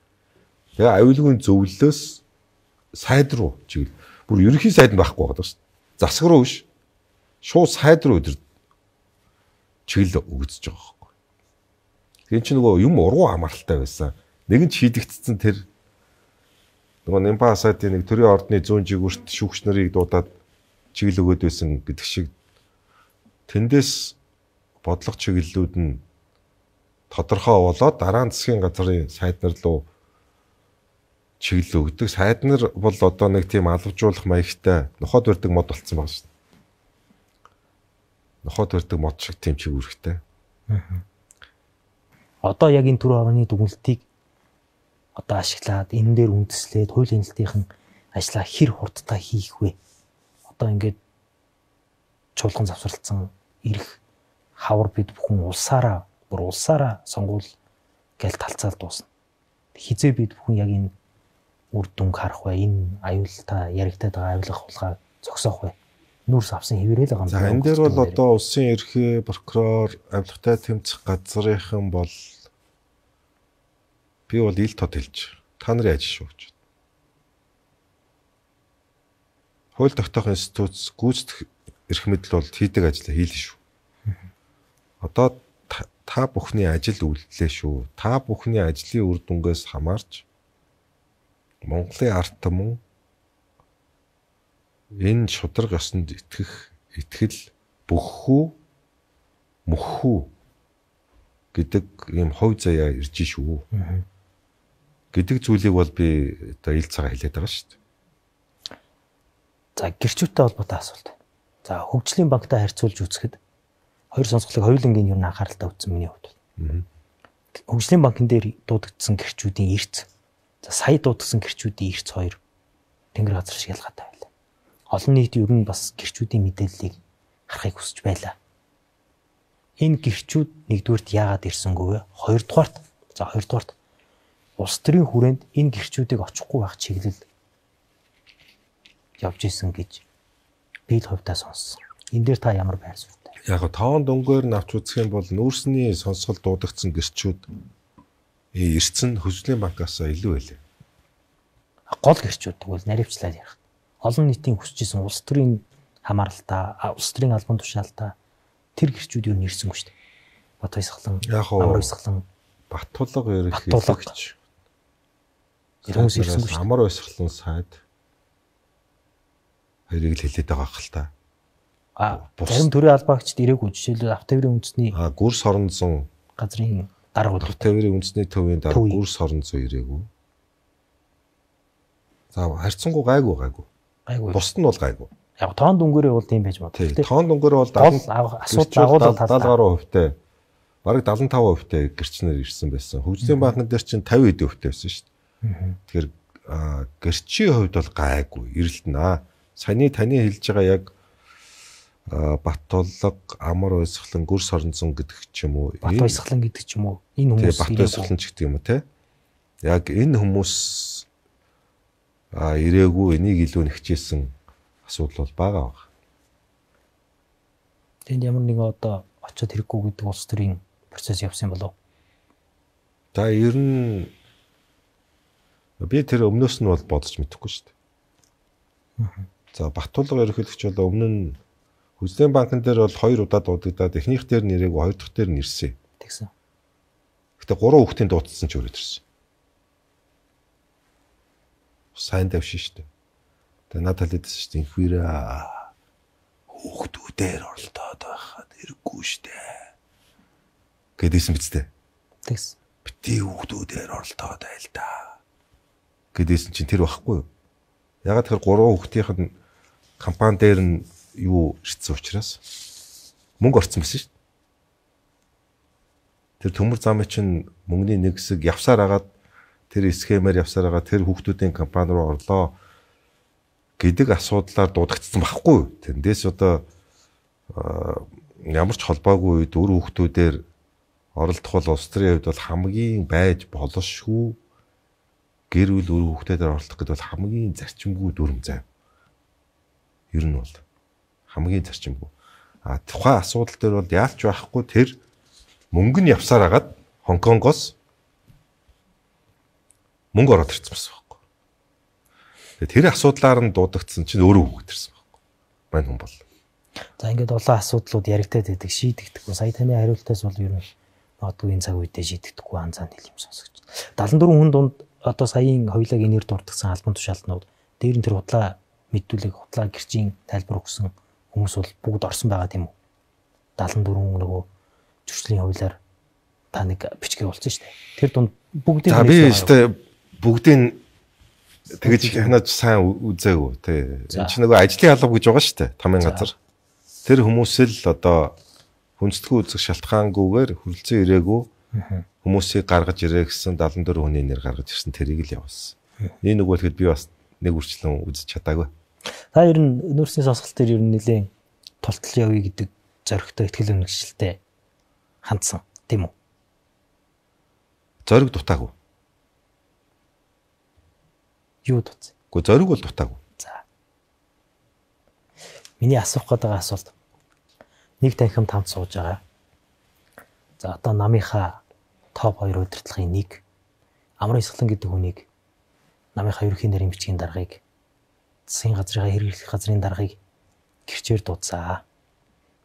Тэгээ аюулгүй зөвлөлөөс сайд руу чиглэл бүр ерөнхий сайд нь байхгүй байгаа шүү дээ. Засаг руу биш. Шууд сайд руу өдөр чиглэл өгдөж байгаа байхгүй. Тэгээ чи нөгөө юм уруу амралтай байсан. Нэгэн ч шийдэгдсэн тэр нөгөө Нямпа сайдын нэг төрийн ордны зүүн жигүүрт шүүгч нарыг дуудаад чиглэл өгöd байсан гэдэг шиг тэндээс бодлого чиглэлүүд нь тодорхой болоод дараа нь засгийн газрын сайд нар руу чиглэл өгдөг. Сайд нар бол одоо нэг тийм албажуулах маягтай нохоод барьдаг мод болцсон байна шүү дээ. Нохоод барьдаг мод шиг тийм чигүүрхтэй. Одоо яг энэ түр орны дүгнэлтийг одоо ашиглаад энэ дээр үндэслээд хуулийн хэлтийн ажлаа хэр хурдтай хийх вэ? Одоо ингээд чуулган завсралцсан ирэх хавар бид бүхэн улсаараа бүр улсаараа сонгуул гэж талцаал дуусна. Хизээ бид бүхэн яг энэ үр дүнг харах вэ? Энэ аюултай яригдаад байгаа авилга хулгай зогсоох вэ? Нүүрс авсан хэвээрэл байгаа юм. За энэ дээр бол одоо улсын ерхий прокурор авилгатай тэмцэх газрынхан бол би бол ил тод хэлж та нарын ажил шүү гэж. Хууль тогтоох институт гүйцэтгэх эрх мэдэл бол хийдэг ажлаа хийлээ шүү. Одоо та бүхний ажил үйлдэлээ шүү. Та бүхний ажлын үр дүнгээс хамаарч Монголын ард түмэн энэ шударга ёсонд итгэх итгэл бөххүү мөххүү гэдэг ийм хувь заяа ирж шүү. гэдэг зүйлийг бол би одоо ил цагаа хэлээд байгаа шүү дээ. За гэрчүүтэй холбоотой асуулт. За хөгжлийн банктай харьцуулж үзэхэд хоёр сонсголыг хоёулангийн юу н анхааралтай үзсэн миний хувьд. Хөгжлийн банкн дээр дуудагдсан гэрчүүдийн эрц. За сая дуудагдсан гэрчүүдийн эрц хоёр тэнгэр газар шиг ялгаатай байлаа. Олон нийт ер нь бас гэрчүүдийн мэдээллийг харахыг хүсэж байлаа. Энэ гэрчүүд нэгдүгürt яагаад ирсэнгүй вэ? Хоёрдугаарт за хоёрдугаарт улс төрийн хүрээнд энэ гэрчүүдийг очихгүй байх чиглэл явж исэн гэж би л хувьдаа сонссон. Энэ дээр та ямар байр суурьтай? Яг тоон дөнгөөр нь авч үзэх юм бол нүүрсний сонсгол дуудагдсан гэрчүүд эрцэн хөгжлийн банкаас илүү байлээ. Гол гэрчүүд тэгвэл наривчлаад ярих. Олон нийтийн хүсэж исэн улс төрийн хамааралтай, улс төрийн албан тушаалтай тэр гэрчүүд юу нэрсэнгүй шүү дээ. Бат Баясгалан, Амар Баясгалан, Бат Тулга ерөнхий хэлэгч. Хүмүүс ирсэнгүй шүү дээ. Амар Баясгалан сайд хоёрыг л хэлээд байгаа хэл та. А зарим төрийн албаагчид ирээгүй жишээлбэл автоврын үндэсний а гүрс хоронзон газрын дарга бол автоврын үндэсний төвийн дарга гүрс хоронзон ирээгүй. За харьцангуй гайгүй гайгүй. Гайгүй. Бусд нь бол гайгүй. Яг тоон дүнгээрээ бол тийм байж магадгүй. Тийм тоон дүнгээрээ бол асуудал агуулгад седем гаруй хувьтай. Бараг седемдээ таван хувьтай гэрчнэр ирсэн байсан. Хөгжлийн банкн дээр чинь пятьдесят хувьтай байсан шүү дээ. Тэгэхээр гэрчийн хувьд бол гайгүй. Ирэлтэн. Саяны таны хэлж байгаа яг Бат Тулга, Амар Баясгалан, Гүрс хоронзон гэдэг ч юм уу. Бат Баясгалан гэдэг ч юм уу. Энэ хүмүүс Бат Баясгалан ч гэдэг юм уу те. Яг энэ хүмүүс а ирээгүй энийг илүү нэгчээсэн асуудал бол байгаа баг. Тэнд ямар нэгэн одоо очиод хэрэггүй гэдэг улс төрийн процесс явсан болов. За ер нь би тэр өмнөөс нь бол бодож мэдэхгүй шүү дээ. За Бат Тулга ерөнхийлөгч бол өмнө нь Хөгжлийн банкн дээр бол хоёр удаа дуудагдаад эхнийх дээр нэрээгүй, хоёр дахь дээр нэрсэн. Тэгсэн. Гэтэ гурван хүүхдийн дуудсан ч өрөөд ирсэн. Сайн давшин шүү дээ. Тэгээ надад хэлээдсэн шүү дээ. Инхвэрэ хүүхдүүдээр оролдоод байхад хэрэггүй шүү дээ. Гэдээсэн биз дээ. Тэгсэн. Бити хүүхдүүдээр оролдоод байл та. Гэдээсэн чинь тэр байхгүй юу? Ягаад тэр гурван хүүхдийнх нь компани дээр нь юу ирсэн учраас мөнгө орцсон байсан шүү дээ. Тэр төмөр замын чинь мөнгөний нэг хэсэг явсаар агаад тэр схемээр явсаар агаад тэр хүүхдүүдийн компани руу орлоо гэдэг асуудлаар дуудагдсан байхгүй юу? Тэндээс одоо ямар ч холбоогүй үед өр хүүхдүүдээр оролдох бол улс төрийн хувьд бол хамгийн байж болшгүй гэр бүл өр хүүхдүүдээр оролдох гэдэг бол хамгийн зарчимгүй дүрм зав. Ер нь бол хамгийн зарчимгүй. А тухайн асуудал дээр бол яалч байхгүй тэр мөнгө нь явсаар агаад Хонконгоос мөнгө ороод ирсэн байсан байхгүй. Тэгээд тэр асуудлаар нь дуудагдсан чинь өөрөө хүүхэд ирсэн байхгүй. Мань хүн бол. За ингээд олон асуудлууд яригдаад байдаг, шийдэгдэхгүй. Сая таны хариултаас бол ер нь магадгүй энэ цаг үедээ шийдэгдэхгүй анзаан хэл юм сонсогч. седемдээ хүн дунд одоо саяын хоёулаа энер дурдгсан албан тушаалтнууд дээр нь тэр худлаа мэдүүлэг худлаа гэрчийн тайлбар өгсөн хүмүүс бол бүгд орсон байгаа тийм үү? седемдээ нөгөө зөрчлийн хуулиар та нэг бичгээ болсон шүү дээ. Тэр дунд бүгдийг за би өстэй бүгдийг тэгэж хянаж сайн үзээгүй тий. Энэ чинь нөгөө ажлын алба гэж байгаа шүү дээ. Тамийн газар. Тэр хүмүүс л одоо хүндэтгэн үзэх шалтгаангүйгээр хүрэлцэн ирээгүй хүмүүсийг гаргаж ирээ гэсэн седемдээ хүний нэр гаргаж ирсэн тэрийг л явуулсан. Энэ нөгөө тэгэхэд би бас нэг үрчлэн үзэж чадаагүй. Та ер нь нүүрсний сонсголт дээр ер нь нэлээд тултал явъя гэдэг зоригтой ихтгэл үнэмшилтэй хандсан тийм үү? Зориг дутаагүй. Юу дутсан? Гэхдээ зориг бол дутаагүй. За. Миний асуух гэдэг асуулт. Нэг танхим тамд сууж байгаа. За одоо намынхаа топ хоёр удирдлагын нэг Амар Исгэлэн гэдэг хүнийг намынхаа ерөнхий нарийн бичгийн даргыг засгийн газрын хэрэглэх газрын даргыг гэрчээр дуудсаа.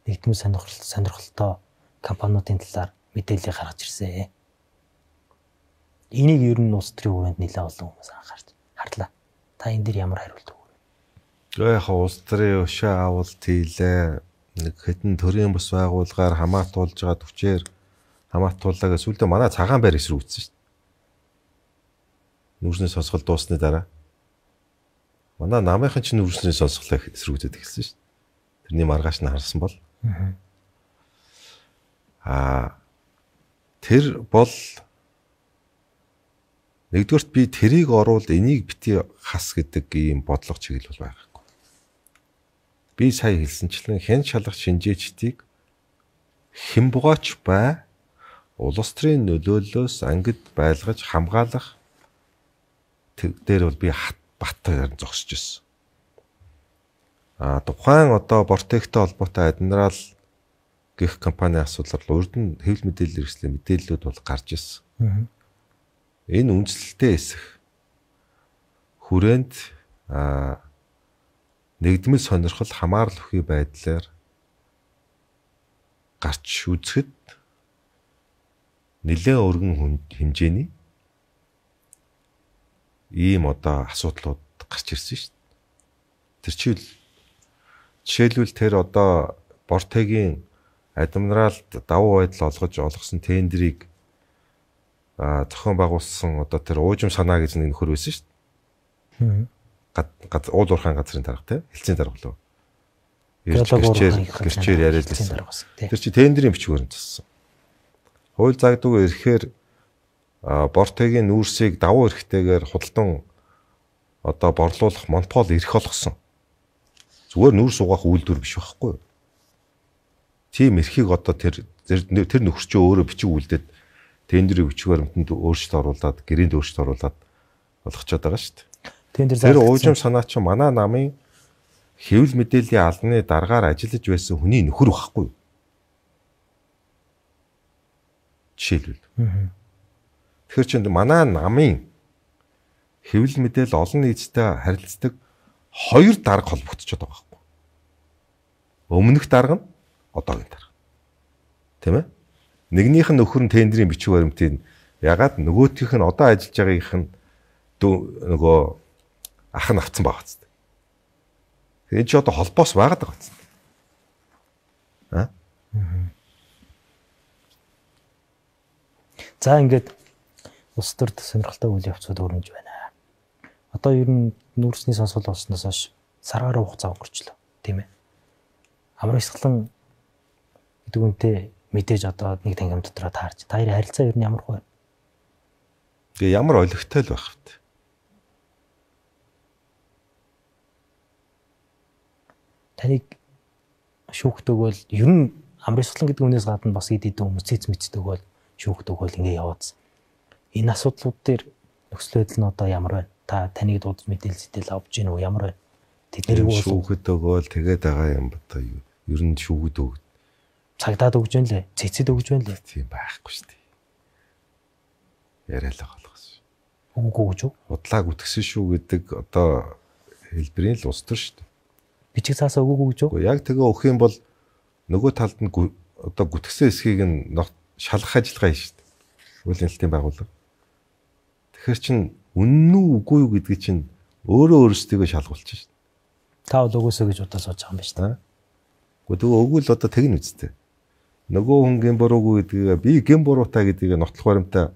Нэгдмэл сонирхол сонирхолтой компаниудын талаар мэдээлэл гаргаж ирсэн. Энийг ер нь улс төрийн хүрээнд нэлээд олон хүмүүс анхаарч харлаа. Та энэ дэр ямар хариулт өгөх вэ? Тэгээ яг улс төрийн өшөө авалт хийлээ. Нэг хэдэн төрийн бус байгууллагаар хамаатуулж байгаа төвчээр хамаатууллаа гэж сүлдээ манай цагаан байр эсрүүцсэн шүү дээ. Нүүрсний сонсгол дуусны дараа манай намынхан ч нүүрсний сонсголоо эсрүүцээд эхэлсэн шүү дээ. Тэрний маргааш нь харсан бол аа тэр бол нэгдүгээрт би тэрийг оруулд энийг бити хас гэдэг ийм бодлого чиглэл бол байгаагүй. Би сая хэлсэнчлэн хэн шалгах шинжээчдийг хэн бугаач бай улс төрийн нөлөөллөөс ангид байлгаж хамгаалах дээр бол би бат зогсож ирсэн. А тухайн одоо Бортектэй холбоотой адмирал гэх компани асуудлаар урд нь хэвлэл мэдээлэл хэрэгслийн мэдээллүүд бол гарч ирсэн. Энэ үндэслэлтэй эсэх хүрээнд а нэгдмэл сонирхол хамаарал өхий байдлаар гарч үзэхэд нэлээд өргөн хэмжээний ийм одоо асуудлууд гарч ирсэн шүү дээ. Тэр чийл жишээлбэл тэр одоо Бортегийн адмиралд давуу байдал олгож олгосон тендерийг а зохион байгуулсан одоо тэр уужим санаа гэж нэг нөхөр байсан шүү дээ. Гад уул уурхайн газрын дарга те хэлцийн дарга болов. Гэрчээр гэрчээр яриад байсан. Тэр чи тендерийн бичгээр нь зассан. Хууль заагдаг ирэхээр Бортегийн нүүрсийг давуу эрхтэйгээр худалдан одоо борлуулах монопол эрх олгосон. Зүгээр нүүрс угаах үйлдвэр биш байхгүй юу? Тийм эрхийг одоо тэр тэр нөхөр чинь өөрөө бичиг үлдээд тендерийн бичиг баримтанд өөрчлөлт оруулаад гэрээнд өөрчлөлт оруулаад болгочод байгаа шүү дээ. Тэр уужим санаа чинь манай намын хэвлэл мэдээллийн албаны дараагаар ажиллаж байсан хүний нөхөр байхгүй юу? Жишээлбэл. Тэгэхээр чинь манай намын хэвлэл мэдээлэл олон нийтэд харилцдаг хоёр дарга холбогдчиход байгаа байхгүй. Өмнөх дарга нь одоогийн дарга. Тийм ээ? Нэгнийх нь нөхөр нь тендерийн бичиг баримтыг ягаад нөгөөх нь одоо ажиллаж байгаагийнх нь нөгөө ах нь авцсан байгаа ч. Энэ ч одоо холбоос байгаад байгаа ч. Аа? За ингээд улс төрд сонирхолтой үйл явцууд өрнөж байна. Одоо ер нь нүүрсний сонсгол болсноос хойш саргаар хугацаа өнгөрчлөө, тийм ээ. Амар Исгэлэн гэдэг үнтэй мэдээж одоо нэг тангим дотроо таарч. Та хоёрын харилцаа ер нь ямар вэ? Тэгээ ямар олигтой л байх вэ? Таныг шүүхдэг бол ер нь Амар Исгэлэн гэдэг үнээс гадна бас ид идэн хүмүүс цэц мэддэг бол шүүхдэг бол ингээ яваадсан. Энэ асуудлууд дээр нөхцөл байдал нь одоо ямар байна? Та таныг дуудаж мэдээлэл зэтэл авч гин үү ямар байна? Тэднийг шүүхэд өгөөл тэгээд байгаа юм ба та юу? Ер нь шүүхэд өг. Цагдаад өгж байна лээ. Цэцэд өгж байна лээ. Тийм байхгүй шүү дээ. Яриалаа болгосон. Үгүй гэж үү? Удлаа гүтгсэн шүү гэдэг одоо хэлбэрийн л ус төр шүү дээ. Бичиг цаасаа өгөөгүй гэж үү? Яг тэгээ өгөх юм бол нөгөө талд нь одоо гүтгсэн эсхийг нь шалгах ажиллагаа хийж шүү дээ. Үйл нэлтийн байгууллага. Тэгэхээр чин үнэн үү үгүй юу гэдгийг чинь өөрөө өөрсдөө шалгуулчих шүү дээ. Та бол өгөөсөө гэж удаа сууж байгаа юм байна шүү дээ. Гэхдээ тэгээ өгвөл одоо тэгнэ үсттэй. Нөгөө хүн гэм буруугүй гэдгийг би гэм буруутай гэдгийг нотлох баримтаа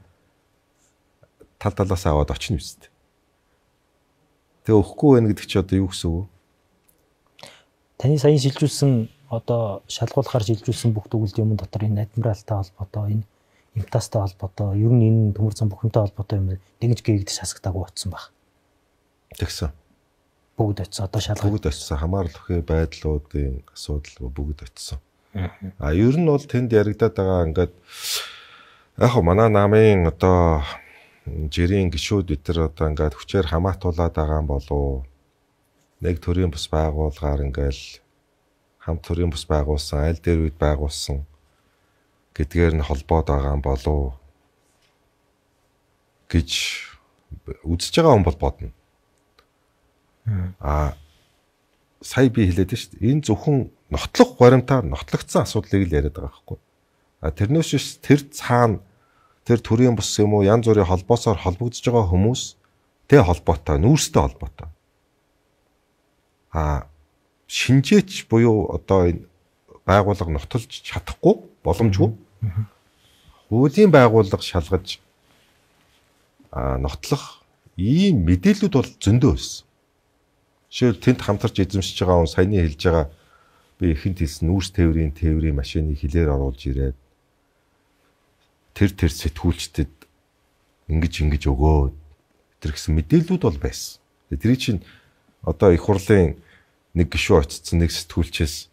тал талаас аваад очно үсттэй. Тэгээ өгөхгүй байх гэдэг чи одоо юу гэсэн үг вэ? Таны саяхан шилжүүлсэн одоо шалгуулахаар шилжүүлсэн бүх төгөлд юм дотор энэ адмиралтай холбоотой энэ имтастай холбоотой ер нь энэ төмөр зам бүхэнтэй холбоотой юм нэгж гээгдэж хасагдаагүй утсан баг. Тэгсэн. Бүгд очсон одоо шалгах. Бүгд очсон хамаарал өхөө байдлуудын асуудал бүгд очсон. А ер нь бол тэнд яригадаад байгаа ингээд яг хөө манай намын одоо жирийн гишүүд өтер одоо ингээд хүчээр хамаатуулаад байгаа юм болов нэг төрлийн бус байгуулгаар ингээл хамт төрлийн бус байгуулсан аль дээр үед байгуулсан гэдгээр нь холбоод байгаа юм болов гэж үзэж байгаа хүн бол бодно. А сая би хэлээд шүү дээ. Энэ зөвхөн нотлох баримтаар нотлогдсон асуудлыг л яриад байгаа байхгүй. А тэрнээс биш тэр цаана тэр төрийн бус юм уу янз бүрийн холбоосоор холбогдож байгаа хүмүүс тэ холбоотой, нүүрстэй холбоотой. А шинжээч буюу одоо энэ байгууллага нотолж чадахгүй боломжгүй. Хуулийн байгууллага шалгаж а нотлох ийм мэдээлүүд бол зөндөө байсан. Жишээл тэнд хамтарч эзэмшиж байгаа хүн саяны хэлж байгаа би ихэнд хэлсэн нүүрс тээврийн тээврийн машиныг хилээр оруулж ирээд тэр тэр сэтгүүлчдэд ингэж ингэж өгөө тэр гэсэн мэдээлүүд бол байсан. Тэрий чинь одоо их хурлын нэг гишүүн очсон нэг сэтгүүлчээс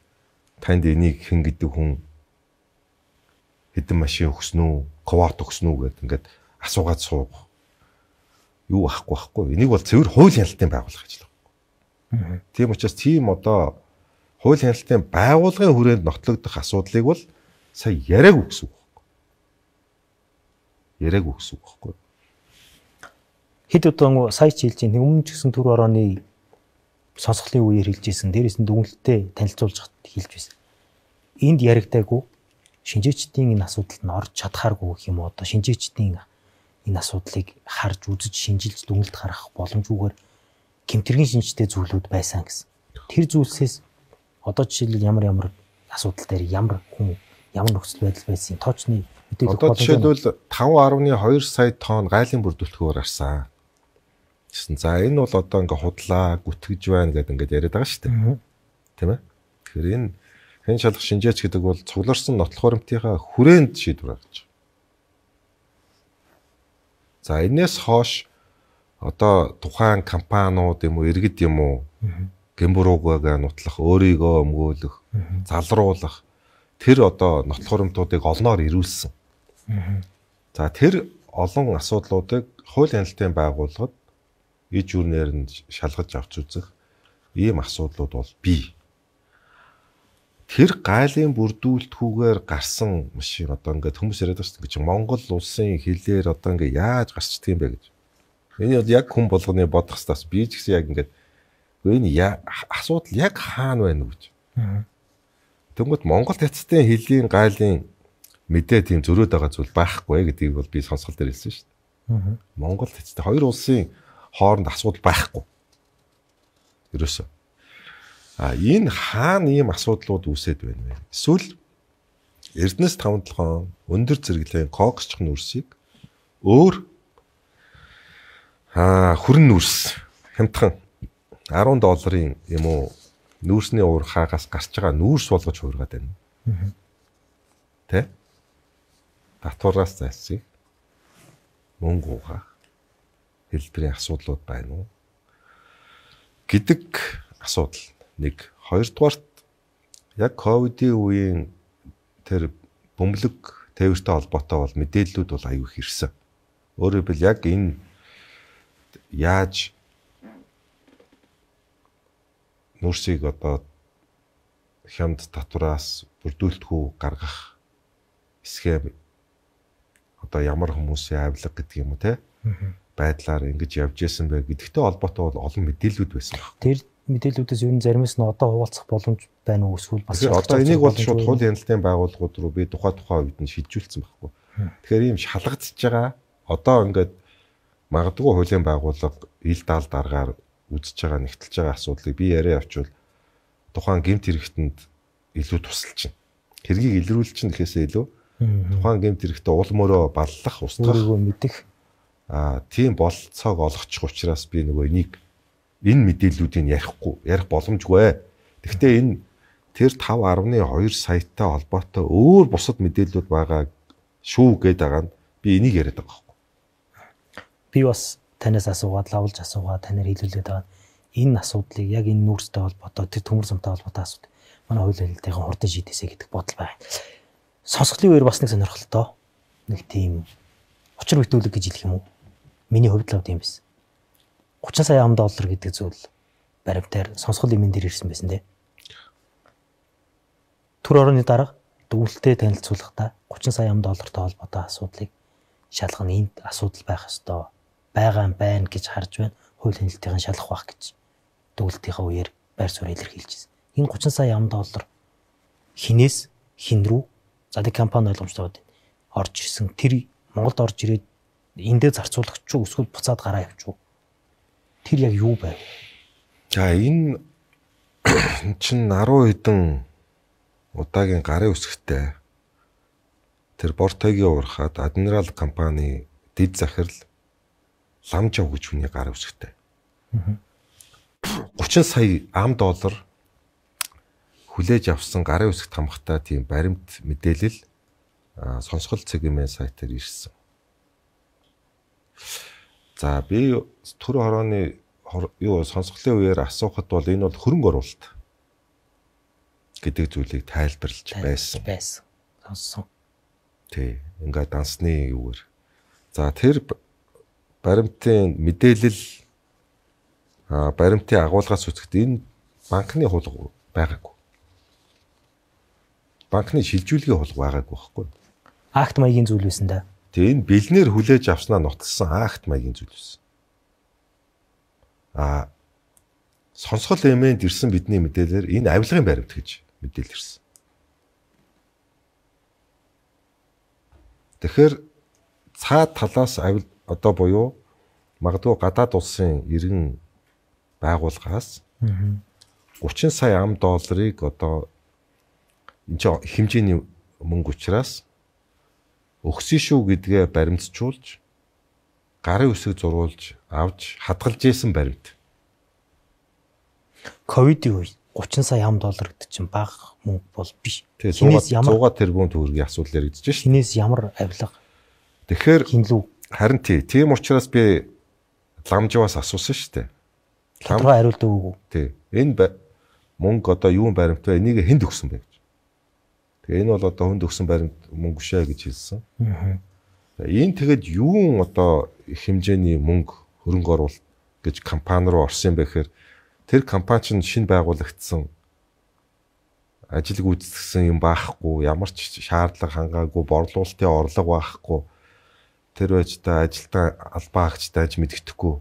танд энийг хэн гэдэг хүн хэдэн машин өгсөн үү, квот өгсөн үү гэдэг ингээд асуугаад сууг. Юу ахгүй байхгүй. Энийг бол цэвэр хууль хяналтын байгууллага гэж л байна. Тийм учраас тийм одоо хууль хяналтын байгууллагын хүрээнд нотлогдох асуудлыг бол сая яриаг үгсэн. Яриаг үгсэн байхгүй. Хэд удаа сая ч хэлж байгаа өмнө ч гэсэн түр орооны сонсголын үеэр хэлж ирсэн. Дээрээс нь дүгнэлтэд танилцуулж хэлж байсан. Энд яригдаагүй шинжээчдийн энэ асуудалд нь орж чадхааргүй гэх юм уу одоо шинжээчдийн энэ асуудлыг харж үзэж шинжилж дүгнэлт гаргах боломжгүйгээр гэмтэргийн шинжтэй зүйлүүд байсан гэсэн. Тэр зүйлсээс одоо жишээлбэл ямар ямар асуудал дээр ямар хүн ямар нөхцөл байдал байсан тоочны мэдээлэл одоо жишээлбэл таван гаруй хоёр сая тонн гайлын бүрдүүлэхөөр арсан. Гэсэн. За энэ бол одоо ингээ худлаа гүтгэж байна гэдэг ингээд яриад байгаа шүү дээ. Тийм ээ. Тэгэхээр энэ хэн шалгах шинжээч гэдэг бол цугларсан нотлох баримтынхаа хүрээнд шийдвэр гаргаж байгаа. За энэс хойш одоо тухайн компаниуд юм уу иргэд юм уу гэмбуруугаа нутлах өөрийгөө өмгөөлөх залруулах тэр одоо нотлох баримтуудыг олноор ирүүлсэн. За тэр олон асуудлуудыг хууль хяналтын байгууллагад иж үрнээр нь шалгаж авч үзэх ийм асуудлууд бол бий. Тэр гайлын бүрдүүлэлтгүйгээр гарсан машин одоо ингээд хүмүүс яриад байгаа шүү дээ. Монгол улсын хилээр одоо ингээд яаж гарчдаг юм бэ гэж. Энэ бол яг хүн болгоны бодох стас би ч гэсэн яг ингээд энэ асуудал яг хаана байна вэ гэж. Тэгмэд Монгол цэцтэй хилийн гайлын мэдээ тийм зөрөөд байгаа зүйл байхгүй гэдгийг бол би сонсгол дээр хэлсэн шүү дээ. Монгол цэцтэй хоёр улсын хооронд асуудал байхгүй. Ерөөсөө. А энэ хаана ийм асуудлууд үүсээд байна вэ? Эсвэл Эрдэнэс таван толгойн өндөр зэрэглэлийн коксч нүрсийг өөр аа хүрэн нүрс хямдхан арван долларын юм уу нүүрсний уурхаагаас гарч байгаа нүүрс болгож хуургаад байна. Тэ? Татвараас зайлсхийх мөнгө угаах хэлбэрийн асуудлууд байна уу? Гэдэг асуудал нэг. Хоёрдугаарт яг ковидын үеийн тэр бөмбөлөг тээвэртэй холбоотой бол мэдээллүүд бол аюу их ирсэн. Өөрөөр хэлбэл яг энэ яаж нүүрсийг одоо хямд татвараас бүрдүүлэлтгүй гаргах схем одоо ямар хүмүүсийн авилга гэдэг юм уу те байдлаар ингэж явж исэн бэ гэдэгтэй холбоотой бол олон мэдээллүүд байсан. Тэр мэдээллүүдээс ер нь заримс нь одоо хуваалцах боломж байна уу эсвэл бас одоо энийг бол шууд хуулийн хяналтын байгууллагууд руу би тухай тухай үед нь шилжүүлсэн байхгүй. Тэгэхээр ийм шалгагдчихж байгаа одоо ингээд магадгүй хуулийн байгууллага ил даал дараагаар үзэж байгаа нэгтэлж байгаа асуудлыг би яриа авчвал тухайн гэмт хэрэгтэнд илүү тусалж байна. Хэргийг илрүүлж чинь гэхээсээ илүү тухайн гэмт хэрэгтээ уул мөрөө баллах устгах мэдэх аа тийм болцоог олгочих учраас би нөгөө энийг энэ мэдээллүүдийг ярихгүй ярих боломжгүй. Гэхдээ энэ тэр таван гаруй хоёр саятай холбоотой өөр бусад мэдээллүүд байгаа шүү гэдэг байгаа нь би энийг яриад байгаа байхгүй. Би бас танаас асуугаад лавлж асуугаад танаар хэлүүлээд байгаа энэ асуудлыг яг энэ нүүрстэй холбоотой тэр төмөр замтай холбоотой асуудал манай хууль хэлэлтийн хурдан шийдэсэй гэдэг бодол байна. Сонсголын үеэр бас нэг сонирхолтой нэг тийм учир бүтүүлэг гэж хэлэх юм уу? Миний хувьд л тийм байсан. гучин сая ам доллар гэдэг зүйл баримтаар сонсгол эмэн дээр ирсэн байсан те. Түр орны дарга дүгнэлтэд танилцуулахдаа гучин сая ам доллартай холбоотой асуудлыг шалгах нь энд асуудал байх ёстой. Байгаа юм байна гэж харж байна. Хууль хяналтын шалгах байх гэж дүгнэлтийнхаа үеэр байр суурь илэрхийлжсэн. Энэ гучин сая ам доллар хинээс хин рүү за тэг компани ойлгомжтой байна. Орж ирсэн тэр Монголд орж ирээд эндээ зарцуулагч уу эсвэл буцаад гараа явчих уу? Тэр яг юу байв? За энэ чин арван хэдэн удаагийн гарын үсгтэй тэр Бортогийн уурхад Адмирал компани дэд захирал Ламжав гэж хүний гарын үсгтэй. гучин сая ам доллар хүлээж авсан гарын үсгт хамгатай тийм баримт мэдээлэл сонсгол цэгмэн сайтаар ирсэн. За би төр хорооны юу сонсголын үеэр асуухад бол энэ бол хөрөнгө оруулалт гэдэг зүйлийг тайлбарлаж байсан. Байсан. Сонссон. Тий, ингээд дансны юуэр. За тэр баримтын мэдээлэл а баримтын агуулгаас үзэхэд энэ банкны хулга байгаагүй. Банкны шилжүүлгийн хулга байгаагүй байхгүй. Акт маягийн зүйл байсан да. Тэгээ энэ бэлнээр хүлээж авснаа нотолсон акт маягийн зүйл байсан. А сонсгол эмээнд ирсэн бидний мэдээлэлээр энэ авилгын баримт гэж мэдээлэл ирсэн. Тэгэхээр цаад талаас авил одоо буюу магадгүй гадаад улсын иргэн байгууллагаас гучин сая ам долларыг одоо энэ хэмжээний мөнгө учраас өгсөн шүү гэдгээ баримтжуулж гарын үсэг зурулж авч хадгалж исэн баримт. Ковидын үе гучин сая ам доллар гэдэг чинь бага мөнгө бол биш. Тэгээ суугаад тэрбум төгрөгийн асуудал яригдж шээ. Хинээс ямар авилга? Тэгэхээр хинлүү. Харин тий, тийм учраас би Ламжаваас асуусан шүү дээ. Тодорхой хариулт өгөөгүй. Тий. Энэ мөнгө одоо юун баримт вэ? Энийг хэнд өгсөн бэ гэж. Тэгээ энэ бол одоо хүнд өгсөн баримт мөнгө шээ гэж хэлсэн. Аа. Энэ тэгэд юун одоо их хэмжээний мөнгө хөрөнгө оруулалт гэж компани руу орсон юм бэ гэхээр тэр компани чинь шинэ байгуулагдсан ажил гүйцэтгэсэн юм байхгүй, ямар ч шаардлага хангаагүй, борлуулалтын орлого байхгүй. Тэр байж та ажилтаа албаа агчтай аж мэддэхгүй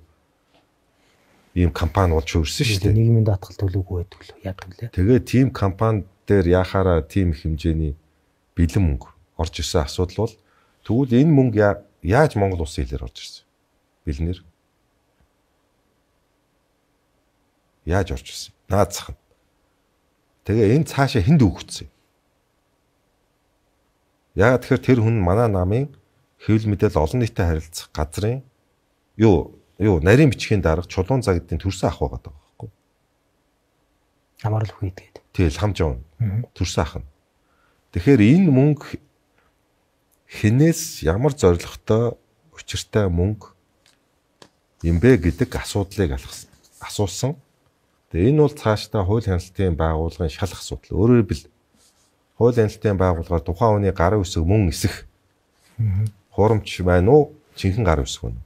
ийм компани болж өрсөн шүү дээ. Нийгмийн даатгал төлөөгүй байдаг л яадаг лээ. Тэгээ тийм компани дээр яхаараа тийм хэмжээний бэлэн мөнгө орж ирсэн асуудал бол тэгвэл энэ мөнгө яаж Монгол улсын хэлээр орж ирсэн? Бэлнэр. Яаж орж ирсэн? Наацхан. Тэгээ энэ цаашаа хэнд өгөгдсөн? Яагаад тэгэхээр тэр хүн манай намын хэвлэл мэдээлэл олон нийтэд харилцах газрын юу юу нарийн бичгийн дарга чулуун загидын төрсөн ах байгаа байхгүй. Хамаарл үхий тэгээд. Тий, Ламжав төрсөн ах нь. Тэгэхээр энэ мөнгө хинээс ямар зорилготой учиртай мөнгө юм бэ гэдэг асуудлыг асуусан. Тэгээ энэ бол цаашдаа хууль хяналтын байгууллагын шалах асуудал. Өөрөөр хэлбэл хууль хяналтын байгууллагаар тухайн хүний гарын үсэг мөн эсэх хуурамч байна уу? Жинхэнэ гарын үсэг байна.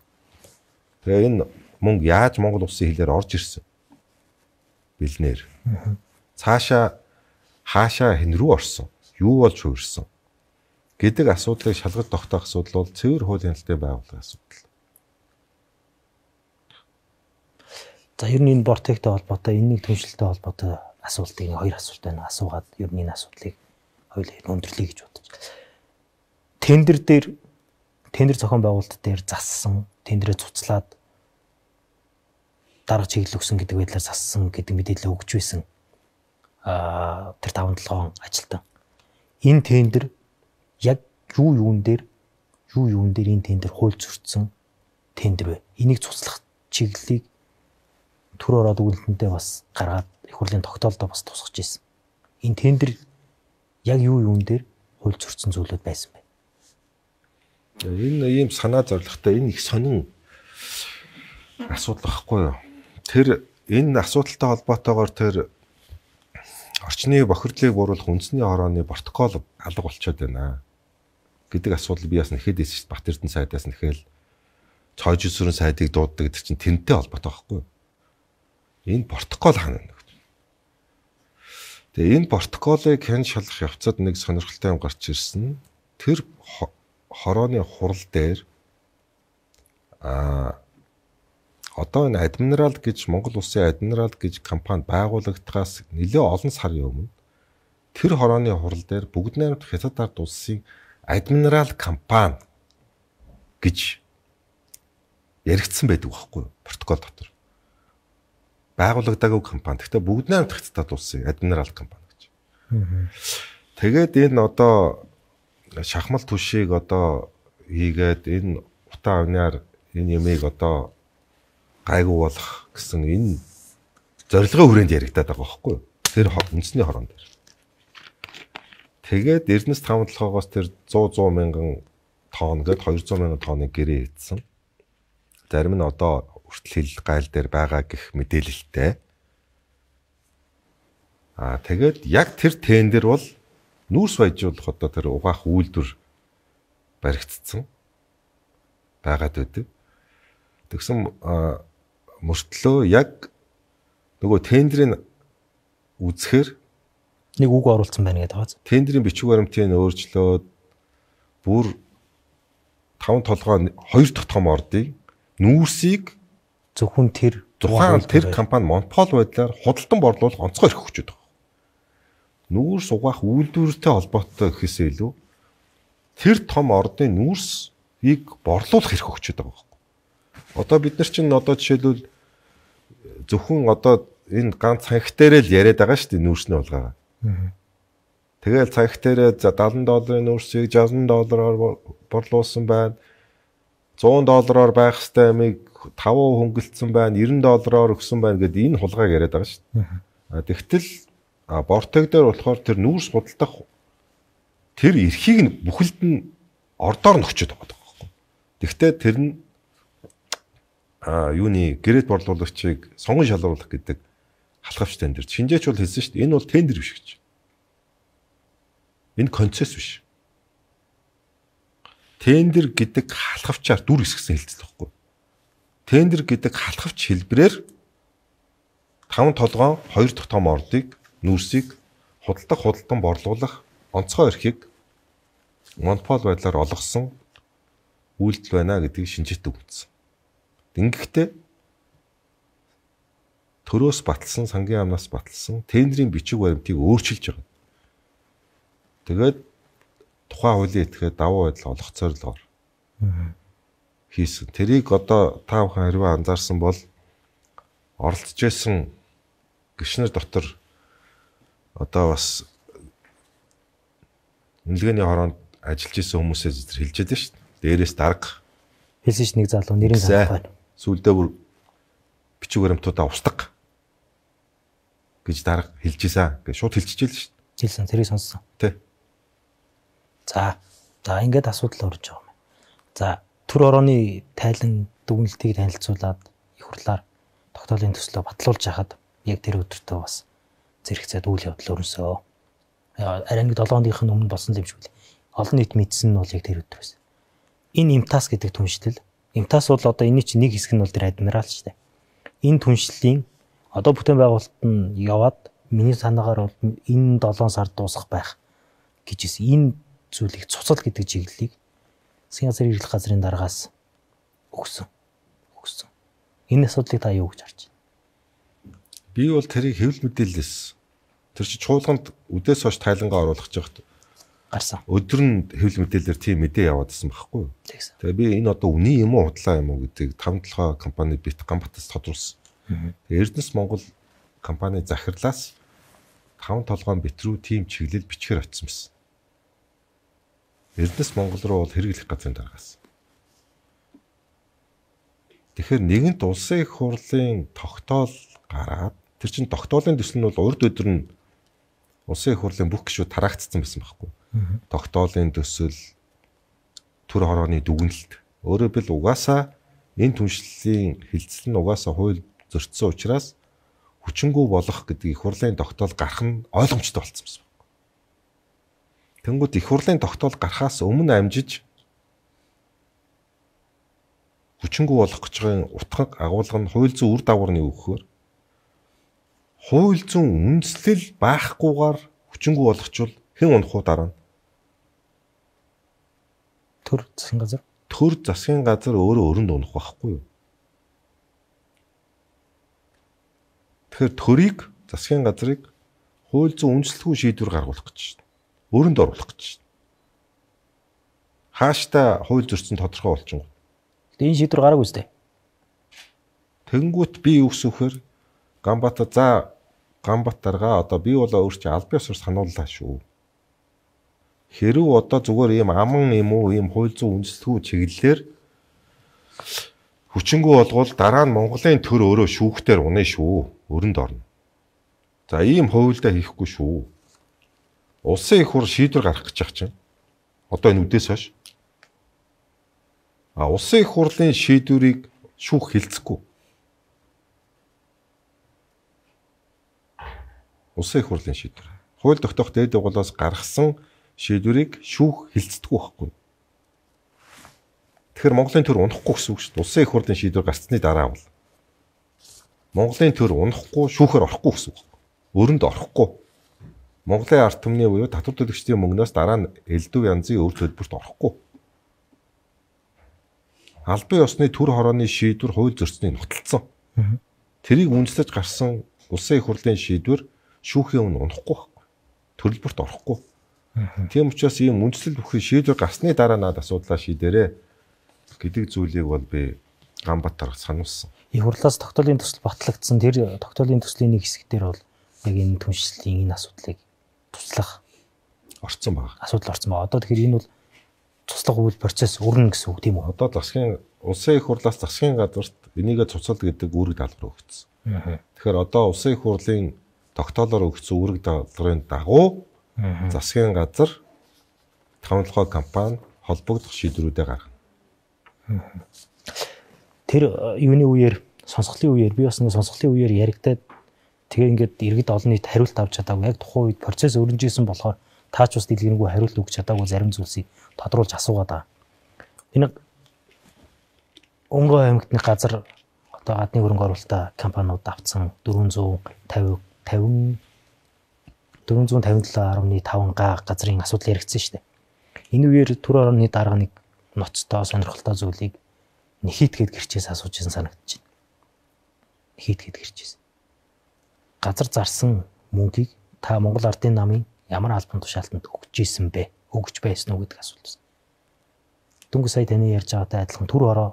Тэгээ энэ мөнгө яаж Монгол улсын хэлээр орж ирсэн? Бэлнээр. Цаашаа хаашаа хэн рүү орсон? Юу болж хувирсан? Гэдэг асуудлыг шалгаж тогтоох асуудал бол цэвэр хууль хяналтын байгууллагын асуудал. За ер нь энэ Бортектэй холбоотой, энэний түншлэлтэй холбоотой асуултыг хоёр асуулт байна. Асуугаад ер нь энэ асуудлыг хоёулаа өндөрлөе гэж бодож. Тендер дээр тендер зохион байгуулалт дээр зассан, тендерээ цуцлаад дарга чиглэл өгсөн гэдэг байдлаар зассан гэдэг мэдээлэл өгч байсан. Аа тэр таван долоон ажилтан. Энэ тендер яг юу юун дээр юу юун дээр энэ тендер хууль зөрчсөн тендер вэ? Энийг цуцлах чиглэлийг түр ороод үгэлтэндээ бас гаргаад их хурлын тогтоолдоо бас тусгаж ирсэн. Энэ тендер яг юу юун дээр хууль зөрчсөн зүйлүүд байсан бэ? Энэ ийм санаа зорилготой энэ их сонин асуудал байхгүй юу? Тэр энэ асуудалтай холбоотойгоор тэр орчны бохирдлыг бууруулах үндэсний хорооны протокол алга болчиход байна гэдэг асуудал би бас нэхэд эсэж Бат Эрдэнэ сайдаас нэхэл цоож өсвөрийн сайдыг дууддаг гэдэг чинь тэрнтэй холбоотой байхгүй юу? Энэ протокол хаана нэг. Тэгээ энэ протоколыг хэн шалгах явцад нэг сонирхолтой юм гарч ирсэн. Тэр хорооны хурал дээр а одоо энэ Адмирал гэж Монгол Улсын Адмирал гэж компани байгуулагдахаас нэлээ олон сарын өмнө тэр хорооны хурал дээр бүгд найрамдах Хятад ард улсын Адмирал компани гэж яригдсан байдаг байхгүй юу? Протокол дотор. Байгуулагдаагүй компани. Гэхдээ бүгд найрамдах Хятад улсын Адмирал компани гэж. Тэгээд энэ одоо шахмал түшийг одоо хийгээд энэ утаа авнаар энэ ямиг одоо гайгүй болох гэсэн энэ зорилгын хүрээнд яригадаад байгаа байхгүй юу? Тэр үндэсний хорон дээр. Тэгээд Эрдэнэс таван толгоогоос тэр зуун мянган тонн гээд хоёр зуун мянган тонны гэрээ хийдсэн. Зарим нь одоо хүртэл хил гайл дээр байгаа гэх мэдээлэлтэй. Аа тэгээд яг тэр тендер бол нүүрс баяжуулах одоо тэр угаах үйлдвэр баригдсан байгаад байдаг. Тэгсэн мөртлөө яг нөгөө тендерийн үзэхээр нэг үг оруулсан байна гэдэг байгаа. Тендерийн бичиг баримтыг өөрчлөөд бүр таван толгой хоёр дахь том ордыг нүүрсийг зөвхөн тэр тухайн тэр компани монопол байдлаар худалдан борлуулах онцгой эрх өгч байгаа. Нүүрс угаах үйлдвэртэй холбоотой гэхээсээ илүү тэр том ордын нүүрсийг борлуулах эрх өгч байгаа байхгүй. Одоо бид нар чинь одоо жишээлбэл зөвхөн одоо энэ ганц цанх дээрээ л яриад байгаа шүү дээ нүүрсний улгаагаа. Тэгэл цанх дээрээ за седем долларын нүүрсийг шестьдесят доллараар борлуулсан байна. сто доллараар байх хэвээр амиг five хөнгөлцсөн байна, ninety доллараар өгсөн байна гэдэг энэ хулгайг яриад байгаа шүү дээ. Тэгтэл бортог дээр болохоор тэр нүүрс худалдах тэр эрхийг нь бүхэлд нь ордоор нь өгчөд байгаа байхгүй. Тэгвэл тэр нь а юуны гэрээт борлуулагчийг сонгон шалруулах гэдэг халахвч тендер. Шинжээч бол хэлсэн шүү дээ. Энэ бол тендер биш гэж. Энэ концесс биш. Тендер гэдэг халахвчаар дүр хэсгсэн хэлцэл байхгүй. Тендер гэдэг халахвч хэлбэрээр таван толгоон хоёр дахь том ордыг нүүрсийг худалдах худалдан борлуулах онцгой эрхийг монопол байдлаар олгосон үйлдэл байна гэдгийг шинжээт өгсөн. Ингэхдээ төрөөс баталсан, сангийн амнаас баталсан тендерийн бичиг баримтыг өөрчилж байгаа. Тэгээд тухайн хуулийн этгээд давуу байдал олох зорилгоор хийсэн. Тэрийг одоо та бүхэн хэрвээ анзаарсан бол оролцож байсан гишнэр дотор одоо бас үнэлгээний хороонд ажиллаж исэн хүмүүсээ зэрэг хэлж байдаг шүү дээ. Дээрээс дарга хэлсэн ш нэг залуу нэрийн санах байна. Сүүлдээ бүр бичиг баримтуудаа устгах гэж дарга хэлж ийсэн. Гэж шууд хэлчихэж л шүү дээ. Хэлсэн, тэрийг сонссон. Тэ. За, за ингээд асуудал орж байгаа юм. За, төр орооны тайлан дүгнэлтийг танилцуулаад их хурлаар тогтоолын төслөө батлуулж хахад яг тэр өдөртөө бас зэрэгцээд үйл явдал өрнөсөө. Арай нэг долоон хоногийн өмнө болсон юм шиг л. Олон нийт мэдсэн нь бол яг тэр өдөр байсан. Энэ имтас гэдэг түншлэл. Имтас бол одоо энэ чинь нэг хэсэг нь бол тэр адмирал шүү дээ. Энэ түншлэлийн одоо бүтээн байгуулалт нь яваад миний санаагаар бол энэ долоон сар дуусах байх гэж хэлсэн. Энэ зүйлийг цуцал гэдэг чиглэлийг засгийн газрын эрхлэх газрын дараагаас өгсөн. Өгсөн. Энэ асуудлыг та юу гэж харж байна? Би бол тэрийг хэвлэл мэдээлэлээс тэр чи чуулганд үдээс хойш тайлангаа оруулах гэж байхад гарсан. Өдөр нь хэвлэл мэдээлэлээр тийм мэдээ яваад байсан байхгүй юу? Тэгээ би энэ одоо үний юм уу худлаа юм уу гэдгийг таван толгой компани бит Ганбатас тодруулсан. Тэгээ Эрдэнэс Монгол компани захирлаас таван толгойн бит рүү тийм чиглэл бичгээр очсон байсан. Эрдэнэс Монгол руу бол хэрэглэх газрын дараагаас. Тэгэхээр нэгэнт улсын их хурлын тогтоол гараад тэр чин тогтоолын төсөл нь бол урд өдөр нь улсын их хурлын бүх гишүүд тараагдсан байсан байхгүй. Тогтоолын төсөл, төр хорооны дүгнэлт. Өөрөөр хэл угаасаа энэ түншлэлийн хилцэл нь угаасаа хууль зөрчсөн учраас хүчингү болох гэдэг их хурлын тогтоол гарах нь ойлгомжтой болсон байсан. Тэнгүүд их хурлын тогтоол гарахаас өмнө амжиж хүчингү болох гэж байгаа утга агуулга нь хууль зүйн үр дагавар нь юу гэхээр хууль зүйн үндэслэл байхгүйгээр хүчингү болгочвол хэн унах уу дараа нь? Төр засгийн газар. Төр засгийн газар өөрөө өрөнд унах байхгүй юу? Тэгэхээр төрийг засгийн газрыг хууль зүйн үндэслэлгүй шийдвэр гаргуулах гэж байна. Өрөнд оруулах гэж байна. Хааштай хууль зөрчсөн тодорхой болчихно. Тэгээ энэ шийдвэр гараагүй үстэй. Тэнгүүт би юу гэсвэхээр Ганбаатар за Ганбаатаргаа одоо би бол өөрчилж албан ёсоор санууллаа шүү. Хэрв одоо зүгээр ийм аман юм уу ийм хууль зүйн үндэслэлгүй чиглэлээр хүчингү болгоод дараа нь Монголын төр өөрөө шүүхтэр унаа шүү. Өрөнд орно. За ийм хуульдаа хийхгүй шүү. Улсын их хурл шийдвэр гаргах гэж байгаа чинь. Одоо энэ үдээс хойш. А улсын их хурлын шийдвэрийг шүүх хилцэхгүй. Улсын их хурлын шийдвэр. Хууль тогтоох дээд байгууллагаас гаргасан шийдвэрийг шүүх хилцдэггүй байхгүй. Тэгэхээр Монголын төр унахгүй гэсэн үг шүү дээ. Улсын их хурлын шийдвэр гарсны дараа бол Монголын төр унахгүй шүүхээр орохгүй гэсэн үг. Өрөнд орохгүй. Монголын ард түмний буюу татвар төлөгчдийн мөнгнөөс дараа нь элдв янзын өв төлбөрт орохгүй. Албан ёсны төр хорооны шийдвэр хууль зөрчсөнийг нотолцсон. Тэрийг үндэслэж гарсан улсын их хурлын шийдвэр шүүхийн өмнө унахгүй байхгүй. Төлбөрт орохгүй. Тийм учраас ийм үндэслэл бүхий шийдвэр гарсны дараа надад асуудлаа шийдээрэй гэдэг зүйлийг бол би Ганбаатар сануулсан. Их хурлаас тогтоолын төсөл батлагдсан. Тэр тогтоолын төслийн нэг хэсэг дээр бол яг энэ түншлэлийн энэ асуудлыг туслах орцсон байна. Асуудал орцсон байна. Одоо тэгэхээр энэ бол туслах үйл процесс өрнө гэсэн үг тийм үү? Одоо засгийн улсын их хурлаас засгийн газарт энийгээ цуцал гэдэг үүрэг даалгавар өгсөн. Тэгэхээр одоо улсын их хурлын тогтоолоор өгсөн үүрэг даалгаврын дагуу засгийн газар тавталгай компани холбогдох шийдвэрүүдээ гаргана. Тэр юуны үеэр сонсголын үеэр би бас нэг сонсголын үеэр яригадад тэгээ ингээд иргэд олон нийт хариулт авч чадаагүй. Яг тухайн үед процесс өрнөжсэн болохоор таач бас дэлгэрэнгүй хариулт өгч чадаагүй зарим зүйлсийг тодруулж асуугаад байгаа. Энэ Өнгөө аймагтны газар одоо гадны хөрөнгө оруулалтаа компаниуд авцсан дөрвөн зуун тавин дөрвөн зуун тавин долоо гаруй таван га газрын асуудал яригдсан шүү дээ. Энэ үеэр төр орны дарга нэг ноцтой сонирхолтой зүйлийг нэхийтгэд гэрчээс асууж ирсэн санагдаж байна. Нэхийтгэд гэрчээс. Газар зарсан мөнгийг та Монгол Ардын намын ямар албан тушаалтанд өгч ийсэн бэ? Өгч байсан уу гэдэг асуулт байна. Дөнгөж сая таны ярьж байгаатай адилхан төр ороо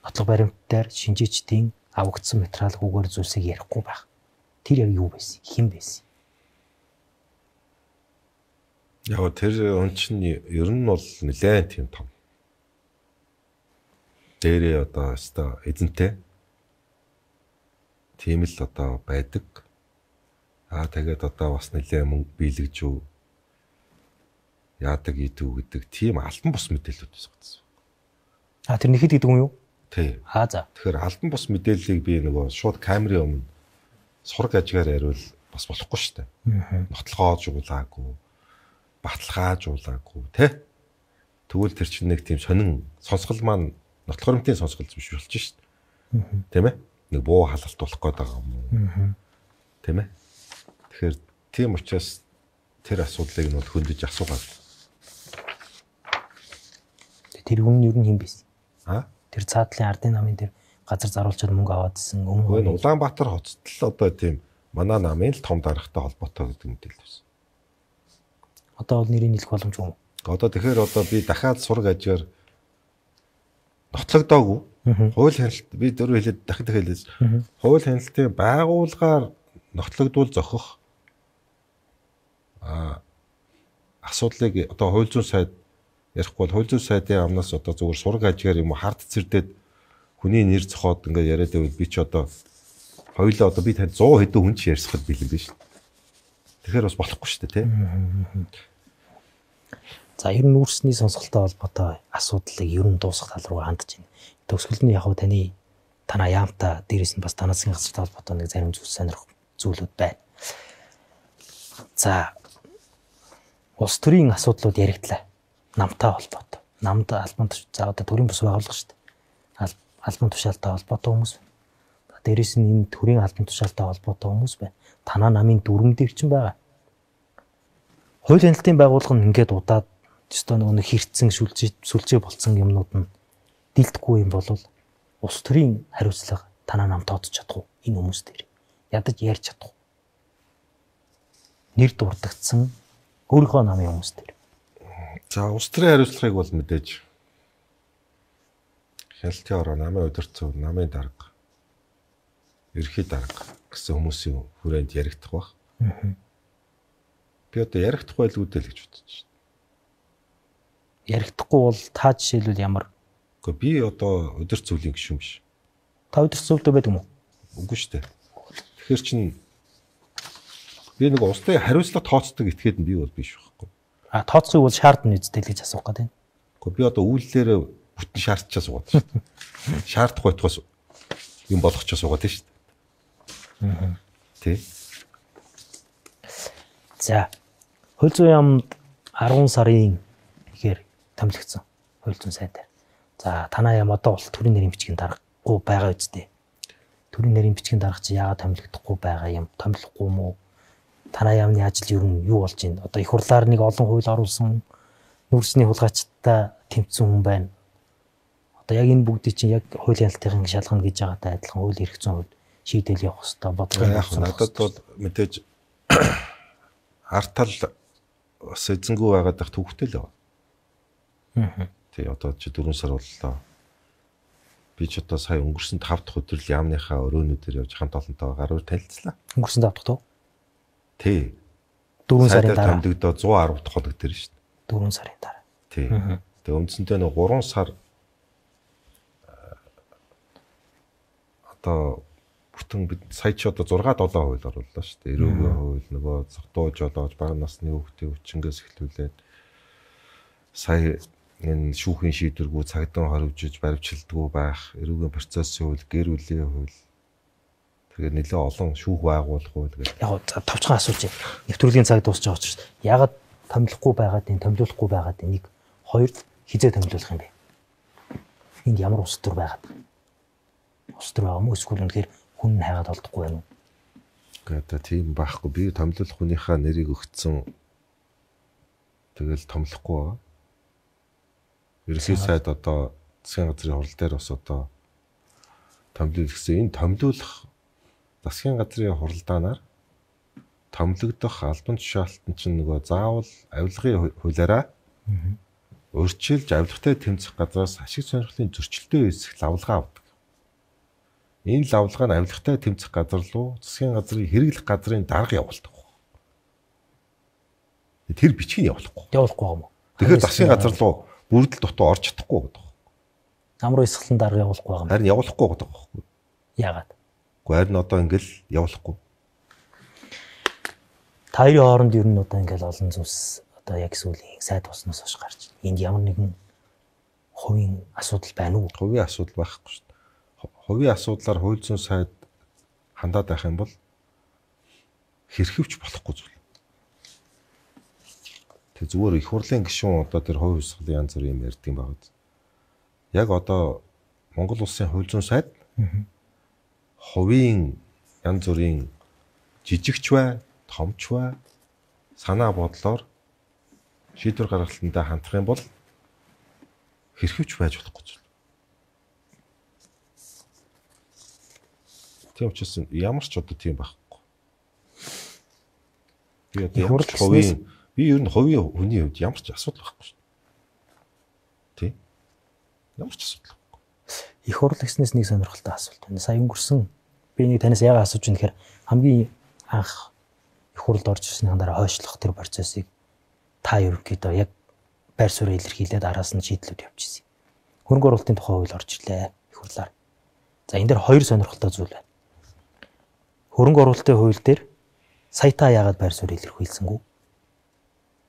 нотлох баримтаар шинжээчдийн авагдсан материал үгээр зүйлсийг ярихгүй байх. Тэр яг юу байсан? Хэн байсан? Яг тэр он чинь ер нь бол нэлээд тийм том. Дээрээ одоо өстой эзэнтэй. Тийм л одоо байдаг. Аа тэгээд одоо бас нэлээд мөнгө биелгэж юу яадаг идүү гэдэг тийм альбан бус мэдээлэлүүд байсан. А тэр нэхэд гэдэг юм юу? Тий. Аа за. Тэгэхээр альбан бус мэдээллийг би нөгөө шууд камерын өмнө сураг ажгаар яриул бас болохгүй шүү дээ. Нотлохоож уулаагүй, баталгааж уулаагүй, тий. Тэгвэл тэр чинь нэг тийм сонин сонсгол маань нотлох баримтын сонсгол биш болж шүү дээ. Тийм ээ? Нэг буу халалт болох гээд байгаа юм уу? Тийм ээ? Тэгэхээр тийм учраас тэр асуудлыг нь хөндөж асуугаад. Тэр хүн юу юм бэ? Аа? Тэр цаатлын ардын намын дээр газар заруулчаад мөнгө аваад исэн өмнө нь Улаанбаатар хотод л одоо тийм манай намын л том даргатай холбоотой гэдэг мэдээлэл байсан. Одоо бол нэрийг хэлэх боломжгүй юм. Одоо тэгэхээр одоо би дахиад сураг ажгаар нотлогдоогүй. Хууль хяналт би дөрөв хэлээд дахид дахид хэлээс. Хууль хяналтын байгууллагаар нотлогдвол зохих а асуудлыг одоо хууль зүйн сайд ярихгүй бол хууль зүйн сайдын амнаас одоо зөвхөн сураг ажгаар юм уу хард цэрдээд хүний нэр зохиод ингээд яриад байвал би ч одоо хоёулаа одоо би танд сто хэдэн хүн ч ярьсахад бэлэн биш. Тэгэхээр бас болохгүй шүү дээ тий. За ер нь нүүрсний сонсголтой холбоотой асуудлыг ер нь дуусгах тал руу хандж байна. Төгсгөл нь яг хөө таны танаа яамта дээрээс нь бас танаас засгийн холбоотой нэг зарим зүйл сонирх зүйлүүд байна. За улс төрийн асуудлууд яригдлаа. Намтай холбоотой. Намд албан за одоо төрийн бус байгууллага шүү дээ. албан тушаалтай холбоотой хүмүүс байна. Дээрээс нь энэ төрийн албан тушаалтай холбоотой хүмүүс байна. Танаа намын дүрмэн дээр ч байгаа. Хууль хяналтын байгууллага нь ингээд удаад өстой нөгөө хэрцэн сүлжээ сүлжээ болцсон юмнууд нь дилдэхгүй юм бол улс төрийн хариуцлага танаа нам тооцож чадах уу энэ хүмүүс дээр ядаж ярьж чадах уу нэр дурдгдсан өөрийнхөө намын хүмүүс дээр. За улс төрийн хариуцлагыг бол мэдээж хяналтын ороо намын удирдсан намын дарга ерхий дарга гэсэн хүмүүсийн хүрээнд яригдах баг. Би одоо яригдах байлгүй дээ л гэж бодож байна. Яригдахгүй бол та жишээлбэл ямар? Гэхдээ би одоо удирц зүйлийн гишүүн биш. Та удирц зүйлдөө байдаг юм уу? Үгүй шүү дээ. Тэгэхээр чин би нэг улсын хариуцлага тооцдог этгээд нь би бол биш байхгүй. А тооцохыг бол шаардна үстэй л гэж асуух гэдэг. Гэхдээ би одоо үйлдэлээр бүтэн шаардчаа суугаад шүү дээ. Шаардахгүй байтугаас юм болгочоо суугаад шүү дээ. Аа. Тэ. За. Хууль зүйн яамд арван сарын ихээр томилогдсон хууль зүйн сайд дээр. За танаа яам одоо бол төрийн нэрийн бичгийн даргагүй байгаа үстэй. Төрийн нэрийн бичгийн дарга чи яагаад томилогдохгүй байгаа юм? Томилохгүй юм уу? Танаа яамны ажил ер нь юу болж байна? Одоо их хурлаар нэг олон хууль оруулсан нүүрсний хулгайчтай тэмцсэн хүн байна. Одоо яг энэ бүгдийг чинь яг хууль хяналтын шалгана гэж байгаатай адилхан хууль эрх зүйн хувьд шийдэл явах хэрэгтэй бодлого. Яг надад бол мэдээж артал бас эзэнгүй байгаад байх төвхтэй л байна. Аа. Тий одоо чи дөрвөн сар боллоо. Би ч одоо сая өнгөрсөн тав дахь өдөр л яамныхаа өрөөнүүдээр явж хамт олонтойгоо гаруур танилцлаа. Өнгөрсөн тав дахь тоо? Тий. дөрвөн сарын дараа томдогдоо зуун арав дахь хоног дээр шүү дээ. дөрвөн сарын дараа. Тий. Тэгээ үндсэндээ нэг гурван сар одоо бүтэн бид сая ч одоо зурга долоо хууль орууллаа шүү дээ. Эрүүгийн хууль нөгөө зогтууж олоож бага насны хүүхдийн хүчингээс эхлүүлээд сая энэ шүүхийн шийдвэргүй цагдаа хоригжиж баримтчилдаггүй байх, эрүүгийн процессын хууль, гэр бүлийн хууль тэгээд нэлээ олон шүүх байгуулах хууль гэх. Яг товчхон асууж байна. Нэвтрүүлгийн цаг дуусч байгаа учраас ягаад томилохгүй байгаад энэ томилуулахгүй байгаад энийг хоёр хизээ томилуулах юм бэ? Энд ямар ус төр байгаад? Ус төр байгаа юм уу? Эсвэл үнэхээр хүн хайгаад олдохгүй байна уу? Гэхдээ тийм байхгүй. Би томилуулах хүнийхээ нэрийг өгцөн тэгэл томилохгүй байгаа. Ерөнхий сайд одоо засгийн газрын хурал дээр бас одоо томилуул гэсэн энэ томилуулах засгийн газрын хуралдаанаар томилогдох албан тушаалтан чинь нөгөө заавал авилгын хуулиараа урьдчилж авилгатай тэмцэх газраас ашиг сонирхлын зөрчилтэй үүсэх лавлгаа авдаг. Энэ лавлгаа нь авилгатай тэмцэх газар руу засгийн газрын хэрэглэх газрын дарга явуулдаг. Тэр бичгийг явуулахгүй. Явуулахгүй юм уу? Тэгэхээр засгийн газар руу бүрдэл дутуу орж чадахгүй гэдэг. Намруу эсгэлэн дарга явуулахгүй байгаа юм. Харин явуулахгүй гэдэг байхгүй. Яагаад? Гэхдээ харин одоо ингээл явуулахгүй. Та хоёрын хооронд ер нь одоо ингээл олон зүйлс одоо яг сүүлийн сайд болсноос хойш гарч байна. Энд ямар нэгэн хувийн асуудал байна уу? Хувийн асуудал байхгүй шүү дээ. Хувийн асуудлаар хууль зүйн сайд хандаад байх юм бол хэрхэвч болохгүй зүйл. Тэг зүгээр их хурлын гишүүн одоо тэр хувийн хвсгалын янз бүрийн юм ярьдаг юм байна. Яг одоо Монгол улсын хууль зүйн сайд хувийн янз бүрийн жижигч бай, томч бай санаа бодлоор шийдвэр гаргалтандаа хандах юм бол хэрхэвч байж болохгүй зүйл. Тийм учраас ямар ч одоо тийм байхгүй. Би одоо ямар ч хувийн би ер нь хувийн хүний хувьд ямар ч асуудал байхгүй шүү дээ. Тий? Ямар ч асуудал байхгүй. Их хурл гэснээс нэг сонирхолтой асуулт байна. Сая өнгөрсөн би нэг танаас яагаад асууж байна гэхээр хамгийн анх их хурлд орж ирсний дараа хойшлох тэр процессыг та ерөнхийдөө яг байр суурь илэрхийлээд араас нь шийдлүүд явуулчихсан. Хөрөнгө оруулалтын тухай хууль орж ирлээ их хурлаар. За энэ дээр хоёр сонирхолтой зүйл байна. Хөрөнгө оруулалтын хууль дээр сая та яагаад байр суурь илэрхийлсэнгүй?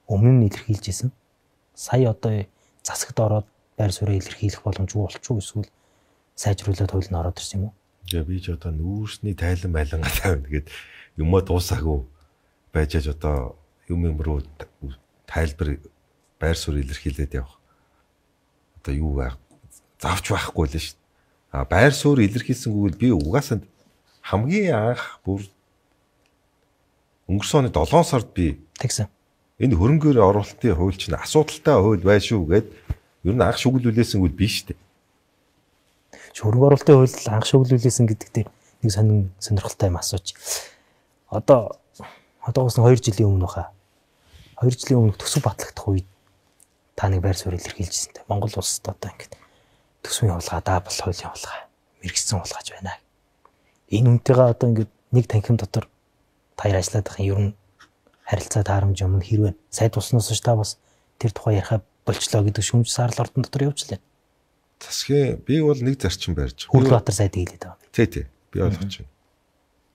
Өмнө нь илэрхийлжсэн. Сая одоо засагт ороод байр суурь илэрхийлэх боломжгүй болчихгүй эсвэл сайжруулаад хууль нь ороод ирсэн юм уу? Тэгээ би ч одоо нүүрсний тайлан байлангаа тавина гэд юмаа дуусаагүй байжээж одоо юм юм руу тайлбар байр суурь илэрхийлээд явах. Одоо юу байх? Завч байхгүй л шүү дээ. А байр суурь илэрхийлсэнгүүл би угаасаа хамгийн анх бүр өнгөрсөн оны долоон сард би тэгсэн. энэ хөрөнгөөр оруулалтын хууль чинь асуудалтай хууль бай шүү гэд ер нь анх шүглүүлээсэнгүүл биш дээ. Хөрөнгө оруулалтын хууль анх шүглүүлээсэн гэдэг дээр нэг сонин сонирхолтой юм асууж. Одоо одоогоос нь хоёр жилийн өмнө баха. хоёр жилийн өмнө төсөв батлагдах үед та нэг байр суурь илэрхийлжсэн дээ. Монгол улсад одоо ингээд төсвийн хулгай, даабл хуулийн хулгай, мэрэгсэн хулгайч байна. Энэ үнтэйгээ одоо ингээд нэг танхим дотор таяр ажиллаад байх юм ер нь харилцаа таарамж юм хэрвээ сайд усноос ш та бас тэр тухай ярихаа болчлоо гэдэг шүүмж саарл ордон дотор явуулчлаа. Засгийн би бол нэг зарчим барьж. Хүрлбаатар сайд хэлээд байгаа. Тий, тий. Би ойлгож байна.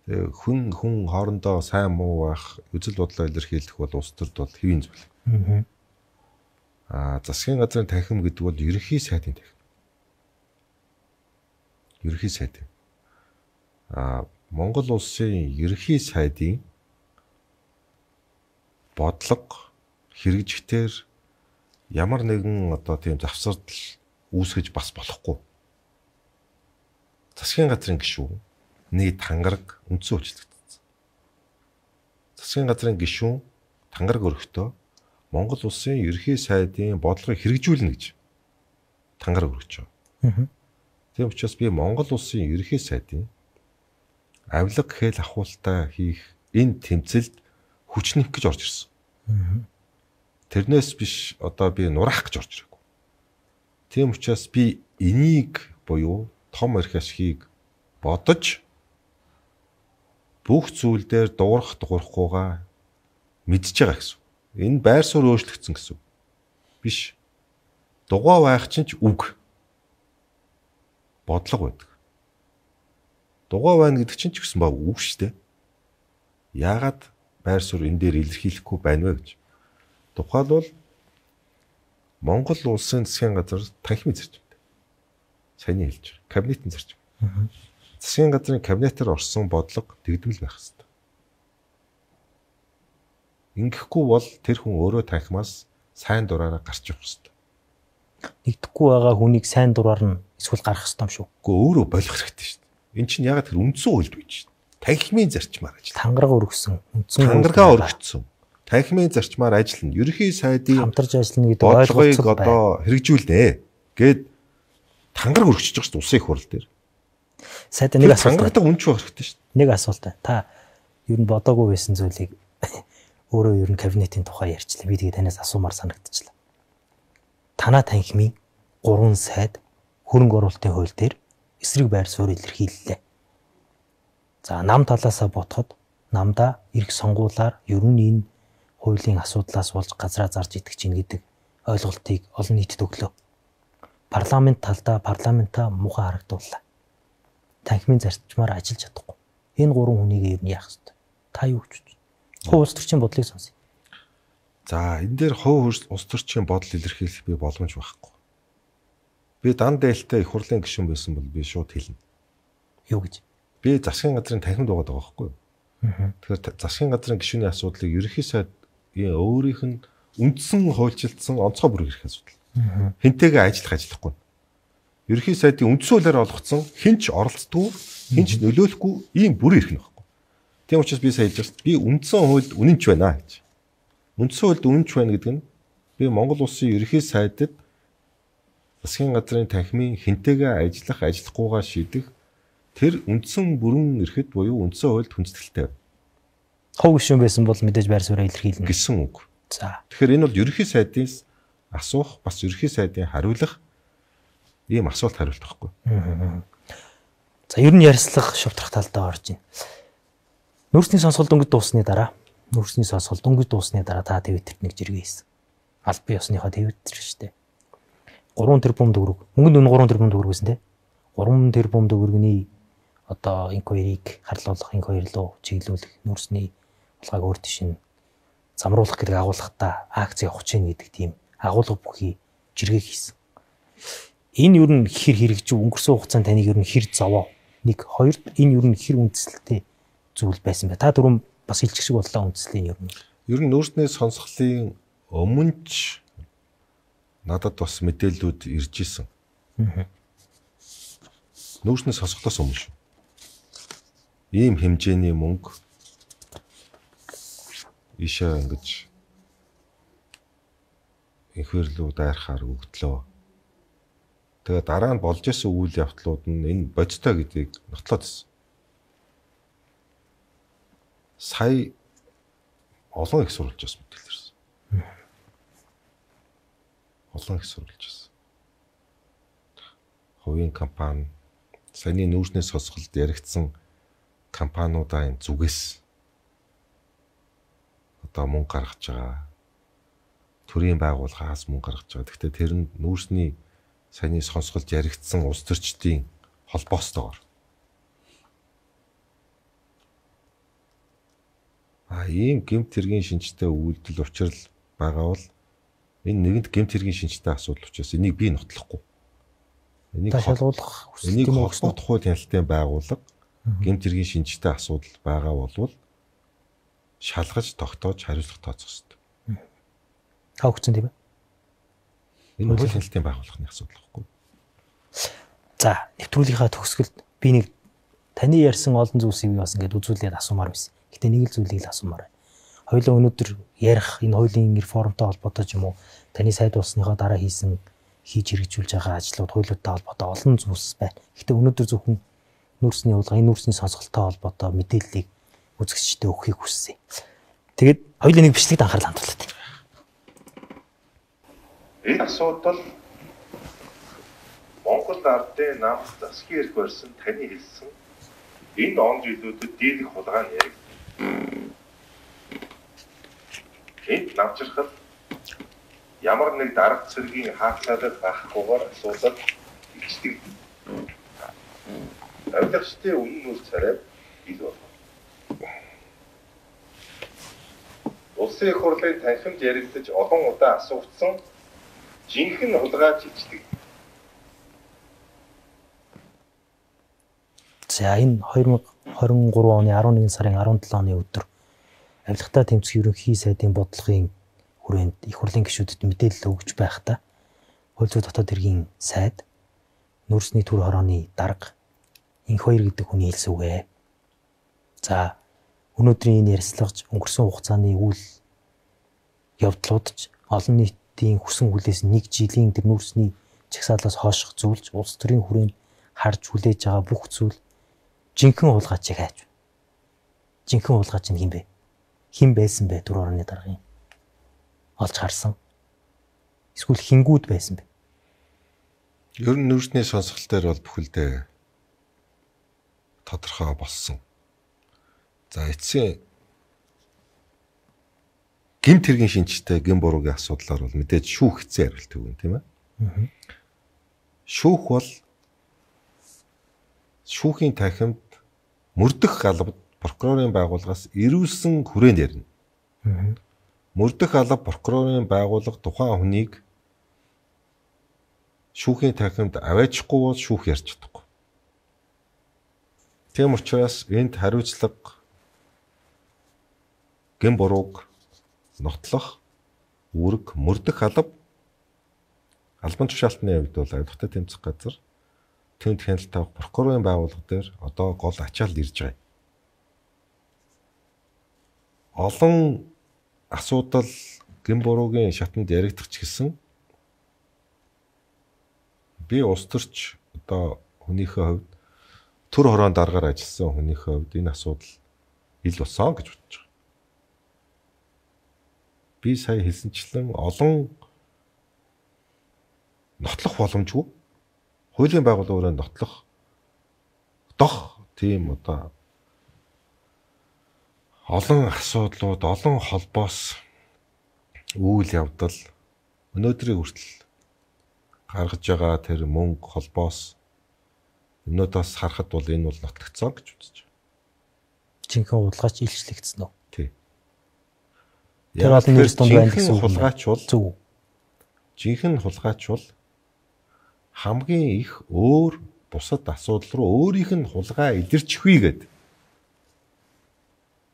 Тэгээ хүн хүн хоорондоо сайн муу байх, үзэл бодлоо илэрхийлэх бол улс төрд бол хэвийн зүйл. Аа. Аа, засгийн газрын танхим гэдэг бол ерөнхий сайдын танхим. Ерөнхий сайд. Аа, Монгол улсын ерөнхий сайдын бодлого хэрэгжихтэр ямар нэгэн одоо тийм завсардал үүсгэж бас болохгүй. Засгийн газрын гишүүн нэг тангараг үндсэн үйлчлэгдсэн. Засгийн газрын гишүүн тангараг өргөхдөө Монгол улсын ерөнхий сайдын бодлогыг хэрэгжүүлнэ гэж тангараг өргөж байгаа. Тийм учраас би Монгол улсын ерөнхий сайдын авилга гэхэл ахуултаа хийх энэ тэмцэлд хүчнэх гэж орж ирсэн. Тэрнээс биш одоо би нурах гэж орж ирээгүй. Тийм учраас би энийг буюу том эрх ашгийг бодож бүх зүйл дээр дуурах дуурахгүйгаа мэдж байгаа гэсэн. Энэ байр суурь өөрчлөгдсөн гэсэн. Биш. Дугаа байх чинь ч үг. Бодлого байдаг. Дугаа байна гэдэг чинь ч гэсэн баг үг шүү дээ. Яагаад байр суурь энэ дээр илэрхийлэхгүй байна вэ гэж. Тухайлбал Монгол улсын засгийн газар танхимын зарчим. Сайн хэлж байгаа. Кабинетийн зарчим. Засгийн газрын кабинетээр орсон бодлого дэгдвэл байх хэрэгтэй. Ингэхгүй бол тэр хүн өөрөө танхимаас сайн дураараа гарч явах хэрэгтэй. Нэгдэхгүй байгаа хүнийг сайн дураар нь эсвэл гарах хэрэгтэй юм шүү. Гэхдээ өөрөө болох хэрэгтэй шүү дээ. Энд чинь ягаад тэр үндсэн хуульд байж шүү дээ. Танхимын зарчмаар ажил. Тангараг өргөсөн. Үндсэн тангаргаа өргөцсөн. Танхимын зарчмаар ажиллана. Ерөнхий сайдын хамтарч ажиллана гэдэг ойлголцол одоо хэрэгжүүлнэ гэд тангараг өргөжж байгаа шүү дээ улсын их хурл дээр. Сайд нэг асуулт. Тангарагтай үнч байх хэрэгтэй шүү дээ. Нэг асуулт. Та ер нь бодоогүй байсан зүйлийг өөрөө ер нь кабинетийн тухай ярьчлаа. Би тэгээ танаас асуумаар санагдчихлаа. Танаа танхимын гурван сайд хөрөнгө оруулалтын хууль дээр эсрэг байр суурь илэрхийллээ. За нам талаасаа бодоход намда эрх сонгуулаар ер нь энэ хуулийн асуудлаас болж газраа зарж идэх чинь гэдэг ойлголтыг олон нийтэд өглөө. Парламент талдаа парламентаа муухай харагдууллаа. Танхимын зарчмаар ажиллаж чадахгүй. Энэ гурван хүнийг ер нь яах ёстой? Та юу гэж бодож байна? Хувь улс төрчийн бодлыг сонсъё. За энэ дээр хувь улс төрчийн бодол илэрхийлэх би боломж байхгүй. Би дан дээлтэй их хурлын гишүүн байсан бол би шууд хэлнэ. Юу гэж? Би засгийн газрын танхимд байгаа даа байхгүй юу? Тэгэхээр засгийн газрын гишүүний асуудлыг ерөнхий сайдын өөрийнх нь үндсэн хуульчилсан онцгой бүрэг эрх асуудал. Хинтэйгээ ажиллах ажиллахгүй. Ерөнхий сайдын үндсэн хуулиар олгоцсон хинч оролцдгүй, хинч нөлөөлөхгүй ийм бүр эрх нь байхгүй. Тийм учраас би сая хэлж би үндсэн хуульд үнэнч байна гэж. Үндсэн хуульд үнэнч байна гэдэг нь би Монгол улсын ерөнхий сайдад засгийн газрын танхимын хинтэйгээ ажиллах, ажиллахгүйгаа шийдэх тэр үндсэн бүрэн эрхэд буюу үндсэн хуульд хүндэтгэлтэй. Хов гишүүн байсан бол мэдээж байр сууриа илэрхийлнэ гэсэн үг. За. Тэгэхээр энэ бол ерөнхий сайдын асуух, бас ерөнхий сайдын хариулах ийм асуулт хариулт байхгүй. За ер нь ярьслах шавтрах талдаа орж байна. Нүүрсний сонсгол дөнгөж дуусны дараа, нүүрсний сонсгол дөнгөж дуусны дараа та Твиттерт нэг жиргээ хийсэн. Аль бие усныхаа Твиттер шүү дээ. гурван тэрбум төгрөг. Мөнгөнд үнэ гурван тэрбум төгрөг гэсэн тий. гурван тэрбум төгрөгийн одоо инквайрийг харлуулах, инквайр руу чиглүүлэх, нүүрсний булгааг өөр тишин замруулах гэдэг агуулгатай акц явах чинь гэдэг тийм агуулга бүхий жиргээ хийсэн. Энэ юу н хэр хэрэгжив өнгөрсөн хугацаанд таныг юу н хэр зовоо. Нэг хоёрт энэ юу н хэр үндэслэлтэй зүйл байсан бай. Та дөрөв бас хэлчих шиг боллоо үндэслэлийн юу н. Ер нь нүүрсний сонсголын өмнөч надад бас мэдээллүүд ирж исэн. нүүрсний сонсголоос өмнө шүү. Ийм хэмжээний мөнгө ишээ ингэж инхвэрлүү дайрахаар өгдлөө. Тэгээ дараа нь болж исэн үйл явдлууд нь энэ бодтой гэдгийг нотлоод ирсэн. Сая олон их сурвалж бас мэдээлсэн. Олон их сурвалж байсан. Хувийн компани, саяны нүүрсний сонсголд яригдсан компаниудаа энэ зүгээс одоо мөнгө гаргаж байгаа. Төрийн байгууллагаас мөнгө гаргаж байгаа. Гэхдээ тэр нь нүүрсний саяны сонсголд яригдсан улс төрчдийн холбоостойгоор. А ийм гэмт хэргийн шинжтэй үйлдэл учрал байгаа бол энэ нэгэнд гэмт хэргийн шинжтэй асуудал учраас энийг би нотлохгүй. Энийг шалгуулах энийг холбоот хууль хяналтын байгууллага гэмт хэргийн шинжтэй асуудал байгаа болвол шалгаж тогтоож хариуцлага тооцох хэрэгтэй. Та өгсөн тийм ээ. Энэ хууль хяналтын байгууллагын асуудал байхгүй. За, нэвтрүүлгийнхаа төгсгөлд би нэг таны ярьсан олон зүйлсийг бас ингээд үзүүлээд асуумаар байсан. Гэтэ нэг л зүйлийг л асуумаар байна. Хоёулаа өнөөдөр ярих энэ хуулийн реформтой холбоотой ч юм уу таны сайд болсныхоо дараа хийсэн хийж хэрэгжүүлж байгаа ажлууд хуулиудтай холбоотой олон зүйлс байна. Гэтэ өнөөдөр зөвхөн нүүрсний явуулга, энэ нүүрсний сонсголттой холбоотой мэдээллийг үзэгчдэд өгөхийг хүссэн. Тэгээд хоёулаа нэг бичлэгт анхаарал хандуулдаг. Энэ асуудал Монгол ардын намд засгийн эрх барьсан таны хэлсэн энэ он жилүүдэд дийлэх хулгай нь яригдсан. Энд намжирхал ямар нэг дарга цэргийн хаацaalал байхгүйгээр асуудал ихдэг. Авилгачдын үнэн үр царай ил байна. Улсын их хурлын танхимд яригдаж олон удаа асуугдсан жинхэнэ хулгай чичдэг. За энэ две тысячи двадцать три оны арван нэгэн сарын арван долоо оны өдөр авилгатай тэмцэх ерөнхий сайдын бодлогын хүрээнд их хурлын гишүүдэд мэдээлэл өгж байхдаа хууль зүйн дотоод хэргийн сайд нүүрсний төр хорооны дарга инх хоёр гэдэг хүний хэлсэн үгэ. За өнөөдрийн энэ ярилцлагч өнгөрсөн хугацааны үйл явдлуудч олон нийтийн хүсэн хүлээс нэг жилийн тэр нүүрсний чагсаалаас хооших зүйлж улс төрийн хүрээнд харж хүлээж байгаа бүх зүйл жинхэнэ хулгайчийг хайж байна. Жинхэнэ хулгайч нь хин бэ? Хин байсан бэ төр хорооны даргын? Олж харсан. Эсвэл хингүүд байсан бэ? Ер нь нүүрсний сонсголт дээр бол бүхэлдээ тодорхой болсон. За эцсийн гэмт хэргийн шинжтэй гэм буруугийн асуудлаар бол мэдээж шүүх хэцүү хариулт өгнө тийм ээ. Шүүх бол шүүхийн танхимд мөрдөх галбад прокурорын байгууллагаас ирүүлсэн хүрээнд ярина. Мөрдөх алба прокурорын байгууллага тухайн хүнийг шүүхийн танхимд аваачихгүй бол шүүх ярьж чадахгүй. Тийм учраас энд хариуцлага гэм бурууг нотлох үүрэг мөрдөх алба албан тушаалтны хувьд бол авилгатай тэмцэх газар тэнд хяналт авах прокурорын байгууллага дээр одоо гол ачаалт ирж байгаа. Олон асуудал гэм буруугийн шатанд яригдах ч гэсэн би улс төрч одоо хүнийхээ хувьд төр хороонд даргаар ажилласан хүнийхээ хувьд энэ асуудал ил болсон гэж бодож байгаа. Би сая хэлсэнчлэн олон нотлох боломжгүй хуулийн байгууллагаараа нотлох дох тийм одоо олон асуудлууд, олон холбоос үйл явдал өнөөдрийн хүртэл гаргаж байгаа тэр мөнгө холбоос өнөөдөөс харахад бол энэ бол нотлогдсон гэж үзэж байна. Жинхэнэ хулгайч илчлэгдсэн үү? Тий. Тэр олон нэрс донд байна гэсэн үг хулгайч бол зөв. Жинхэнэ хулгайч бол хамгийн их өөр бусад асуудал руу өөрийнх нь хулгай илэрчихвээ гэдэг.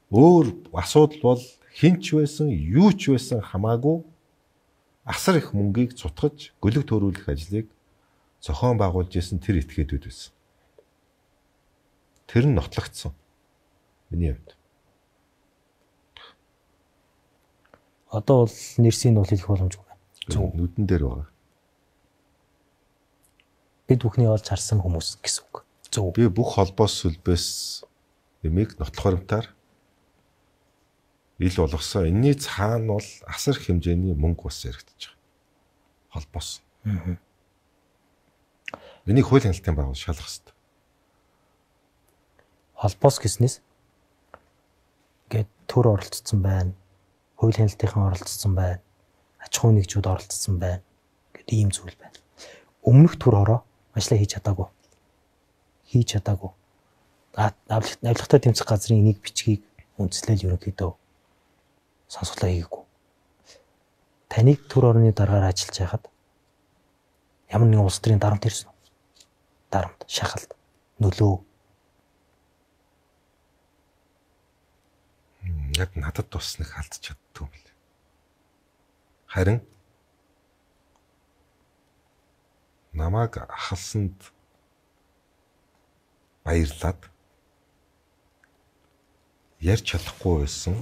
Өөр асуудал бол хинч байсан, юу ч байсан хамаагүй асар их мөнгийг цутгаж гөлөг төрүүлэх ажлыг зохион байгуулж исэн тэр этгээдүүд байсан. Тэр нь нотлогдсон. Миний хувьд. Одоо бол нэрсийг нь бол хэлэх боломжгүй байна. Зөв. Нүдэн дээр байгаа. Бид бүхний олж харсан хүмүүс гэсэн үг. Зөв. Би бүх холбоос сүлбээс эмийг нотлохоромтаар ил болгосон. Энийний цаана бол асар их хэмжээний мөнгө бас яригдчих. Холбоос. Аа. Энийг хууль хяналтын байгуул шалгах хэрэгтэй. Холбоос гэснээс ингээд төр оролцсон байна. Хууль хяналтынхан оролцсон байна. Аж ахуй нэгжүүд оролцсон байна. Ингээд ийм зүйл байна. Өмнөх төр хороо ажлаа хийж чадаагүй. Хийж чадаагүй. Авилгатай тэмцэх газрын нэг бичгийг үндэслэл ерөнхийдөө сонсголоо хийгээгүй. Таныг төр орны дараагаар ажиллаж байхад ямар нэгэн улс төрийн дарамт ирсэн үү? Дарамт, шахалт, нөлөө. Яг надад бас нэг алдчих чаддгүй юм байна. Харин намайг ахалсанд баярлаад ярьж чадахгүй байсан,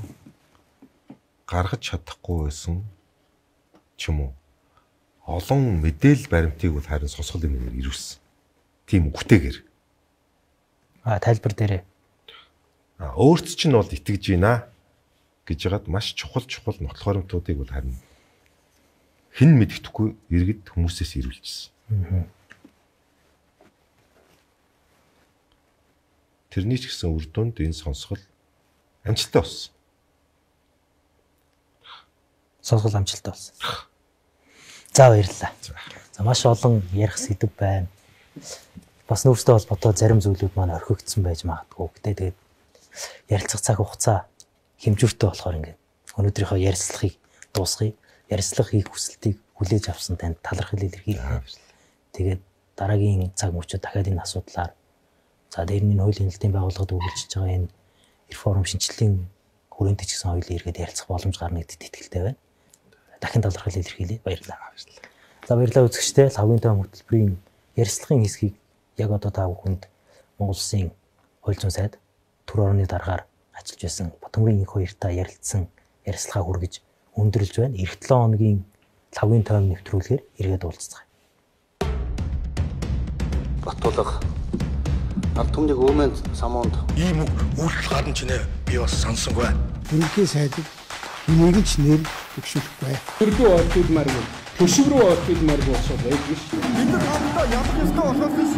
гаргаж чадахгүй байсан ч юм уу. Олон мэдээлэл баримтыг бол харин сонсголын мэнээр ирүүлсэн. Тийм үгтэйгээр. А тайлбар дээрээ. А өөрт чинь бол итгэж байна гэж ягаад маш чухал чухал нотлох баримтуудыг бол харин хэн мэддэхгүй иргэд хүмүүсээс ирүүлчихсэн. Аа. Тэрний ч гэсэн үр дүнд энэ сонсгол амжилттай болсон. Сонсгол амжилттай болсон. За баярлалаа. За маш олон ярих сэдв байна. Бас нөөцтэй холбоотой зарим зүйлүүд маань орхигдсон байж магадгүй. Гэтэ тэгээд ярилцах цаг хугацаа хэмжүүртэй болохоор ингээд өнөөдрийнхөө ярилцлагыг дуусгая. Ярилцлага хийх хүсэлтийг хүлээж авсан танд талархал илэрхийлье. Тэгээд дараагийн цаг мөчид дахиад энэ асуудлаар за дээрний хуулийн хяналтын байгууллагад үргэлжлэж байгаа энэ реформ шинжилгээний хүрээнд ч гэсэн хоёулаа эргээд ярилцах боломж гарна гэдэгт итгэлтэй байна. Дахин талархал илэрхийлье. Баярлалаа. За баярлалаа үзэгчдээ. Лавгийн тойм хөтөлбөрийн ярилцлагын хэсгийг яг одоо та бүхэнд Монгол Улсын хууль зүйн сайд төр орны дараагаар ажиллаж байсан Батөмгийн их хоёртаа ярилцсан ярилцлага хүргэж өндөрлж байна. Эх долоо хоногийн лавгийн тойм нэвтрүүлгээр эргээд уулзцгаая. Батулга ард түмний өвмөнд самуунд ийм үг үйлдэл гарна ч нэ би бас сансангүй. Ерөнхий сайдыг энийг ч нэр төвшүүлэхгүй. Төрдөө ордуудмаар юм. Төшөв рүү ордуудмаар болсон байдаг шүү. Бид нар хамтдаа ялах ёстой болохоос биш.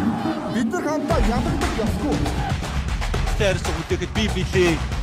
Бид нар хамтдаа ялагдах ёсгүй. Тэрс үдээхэд би билээ.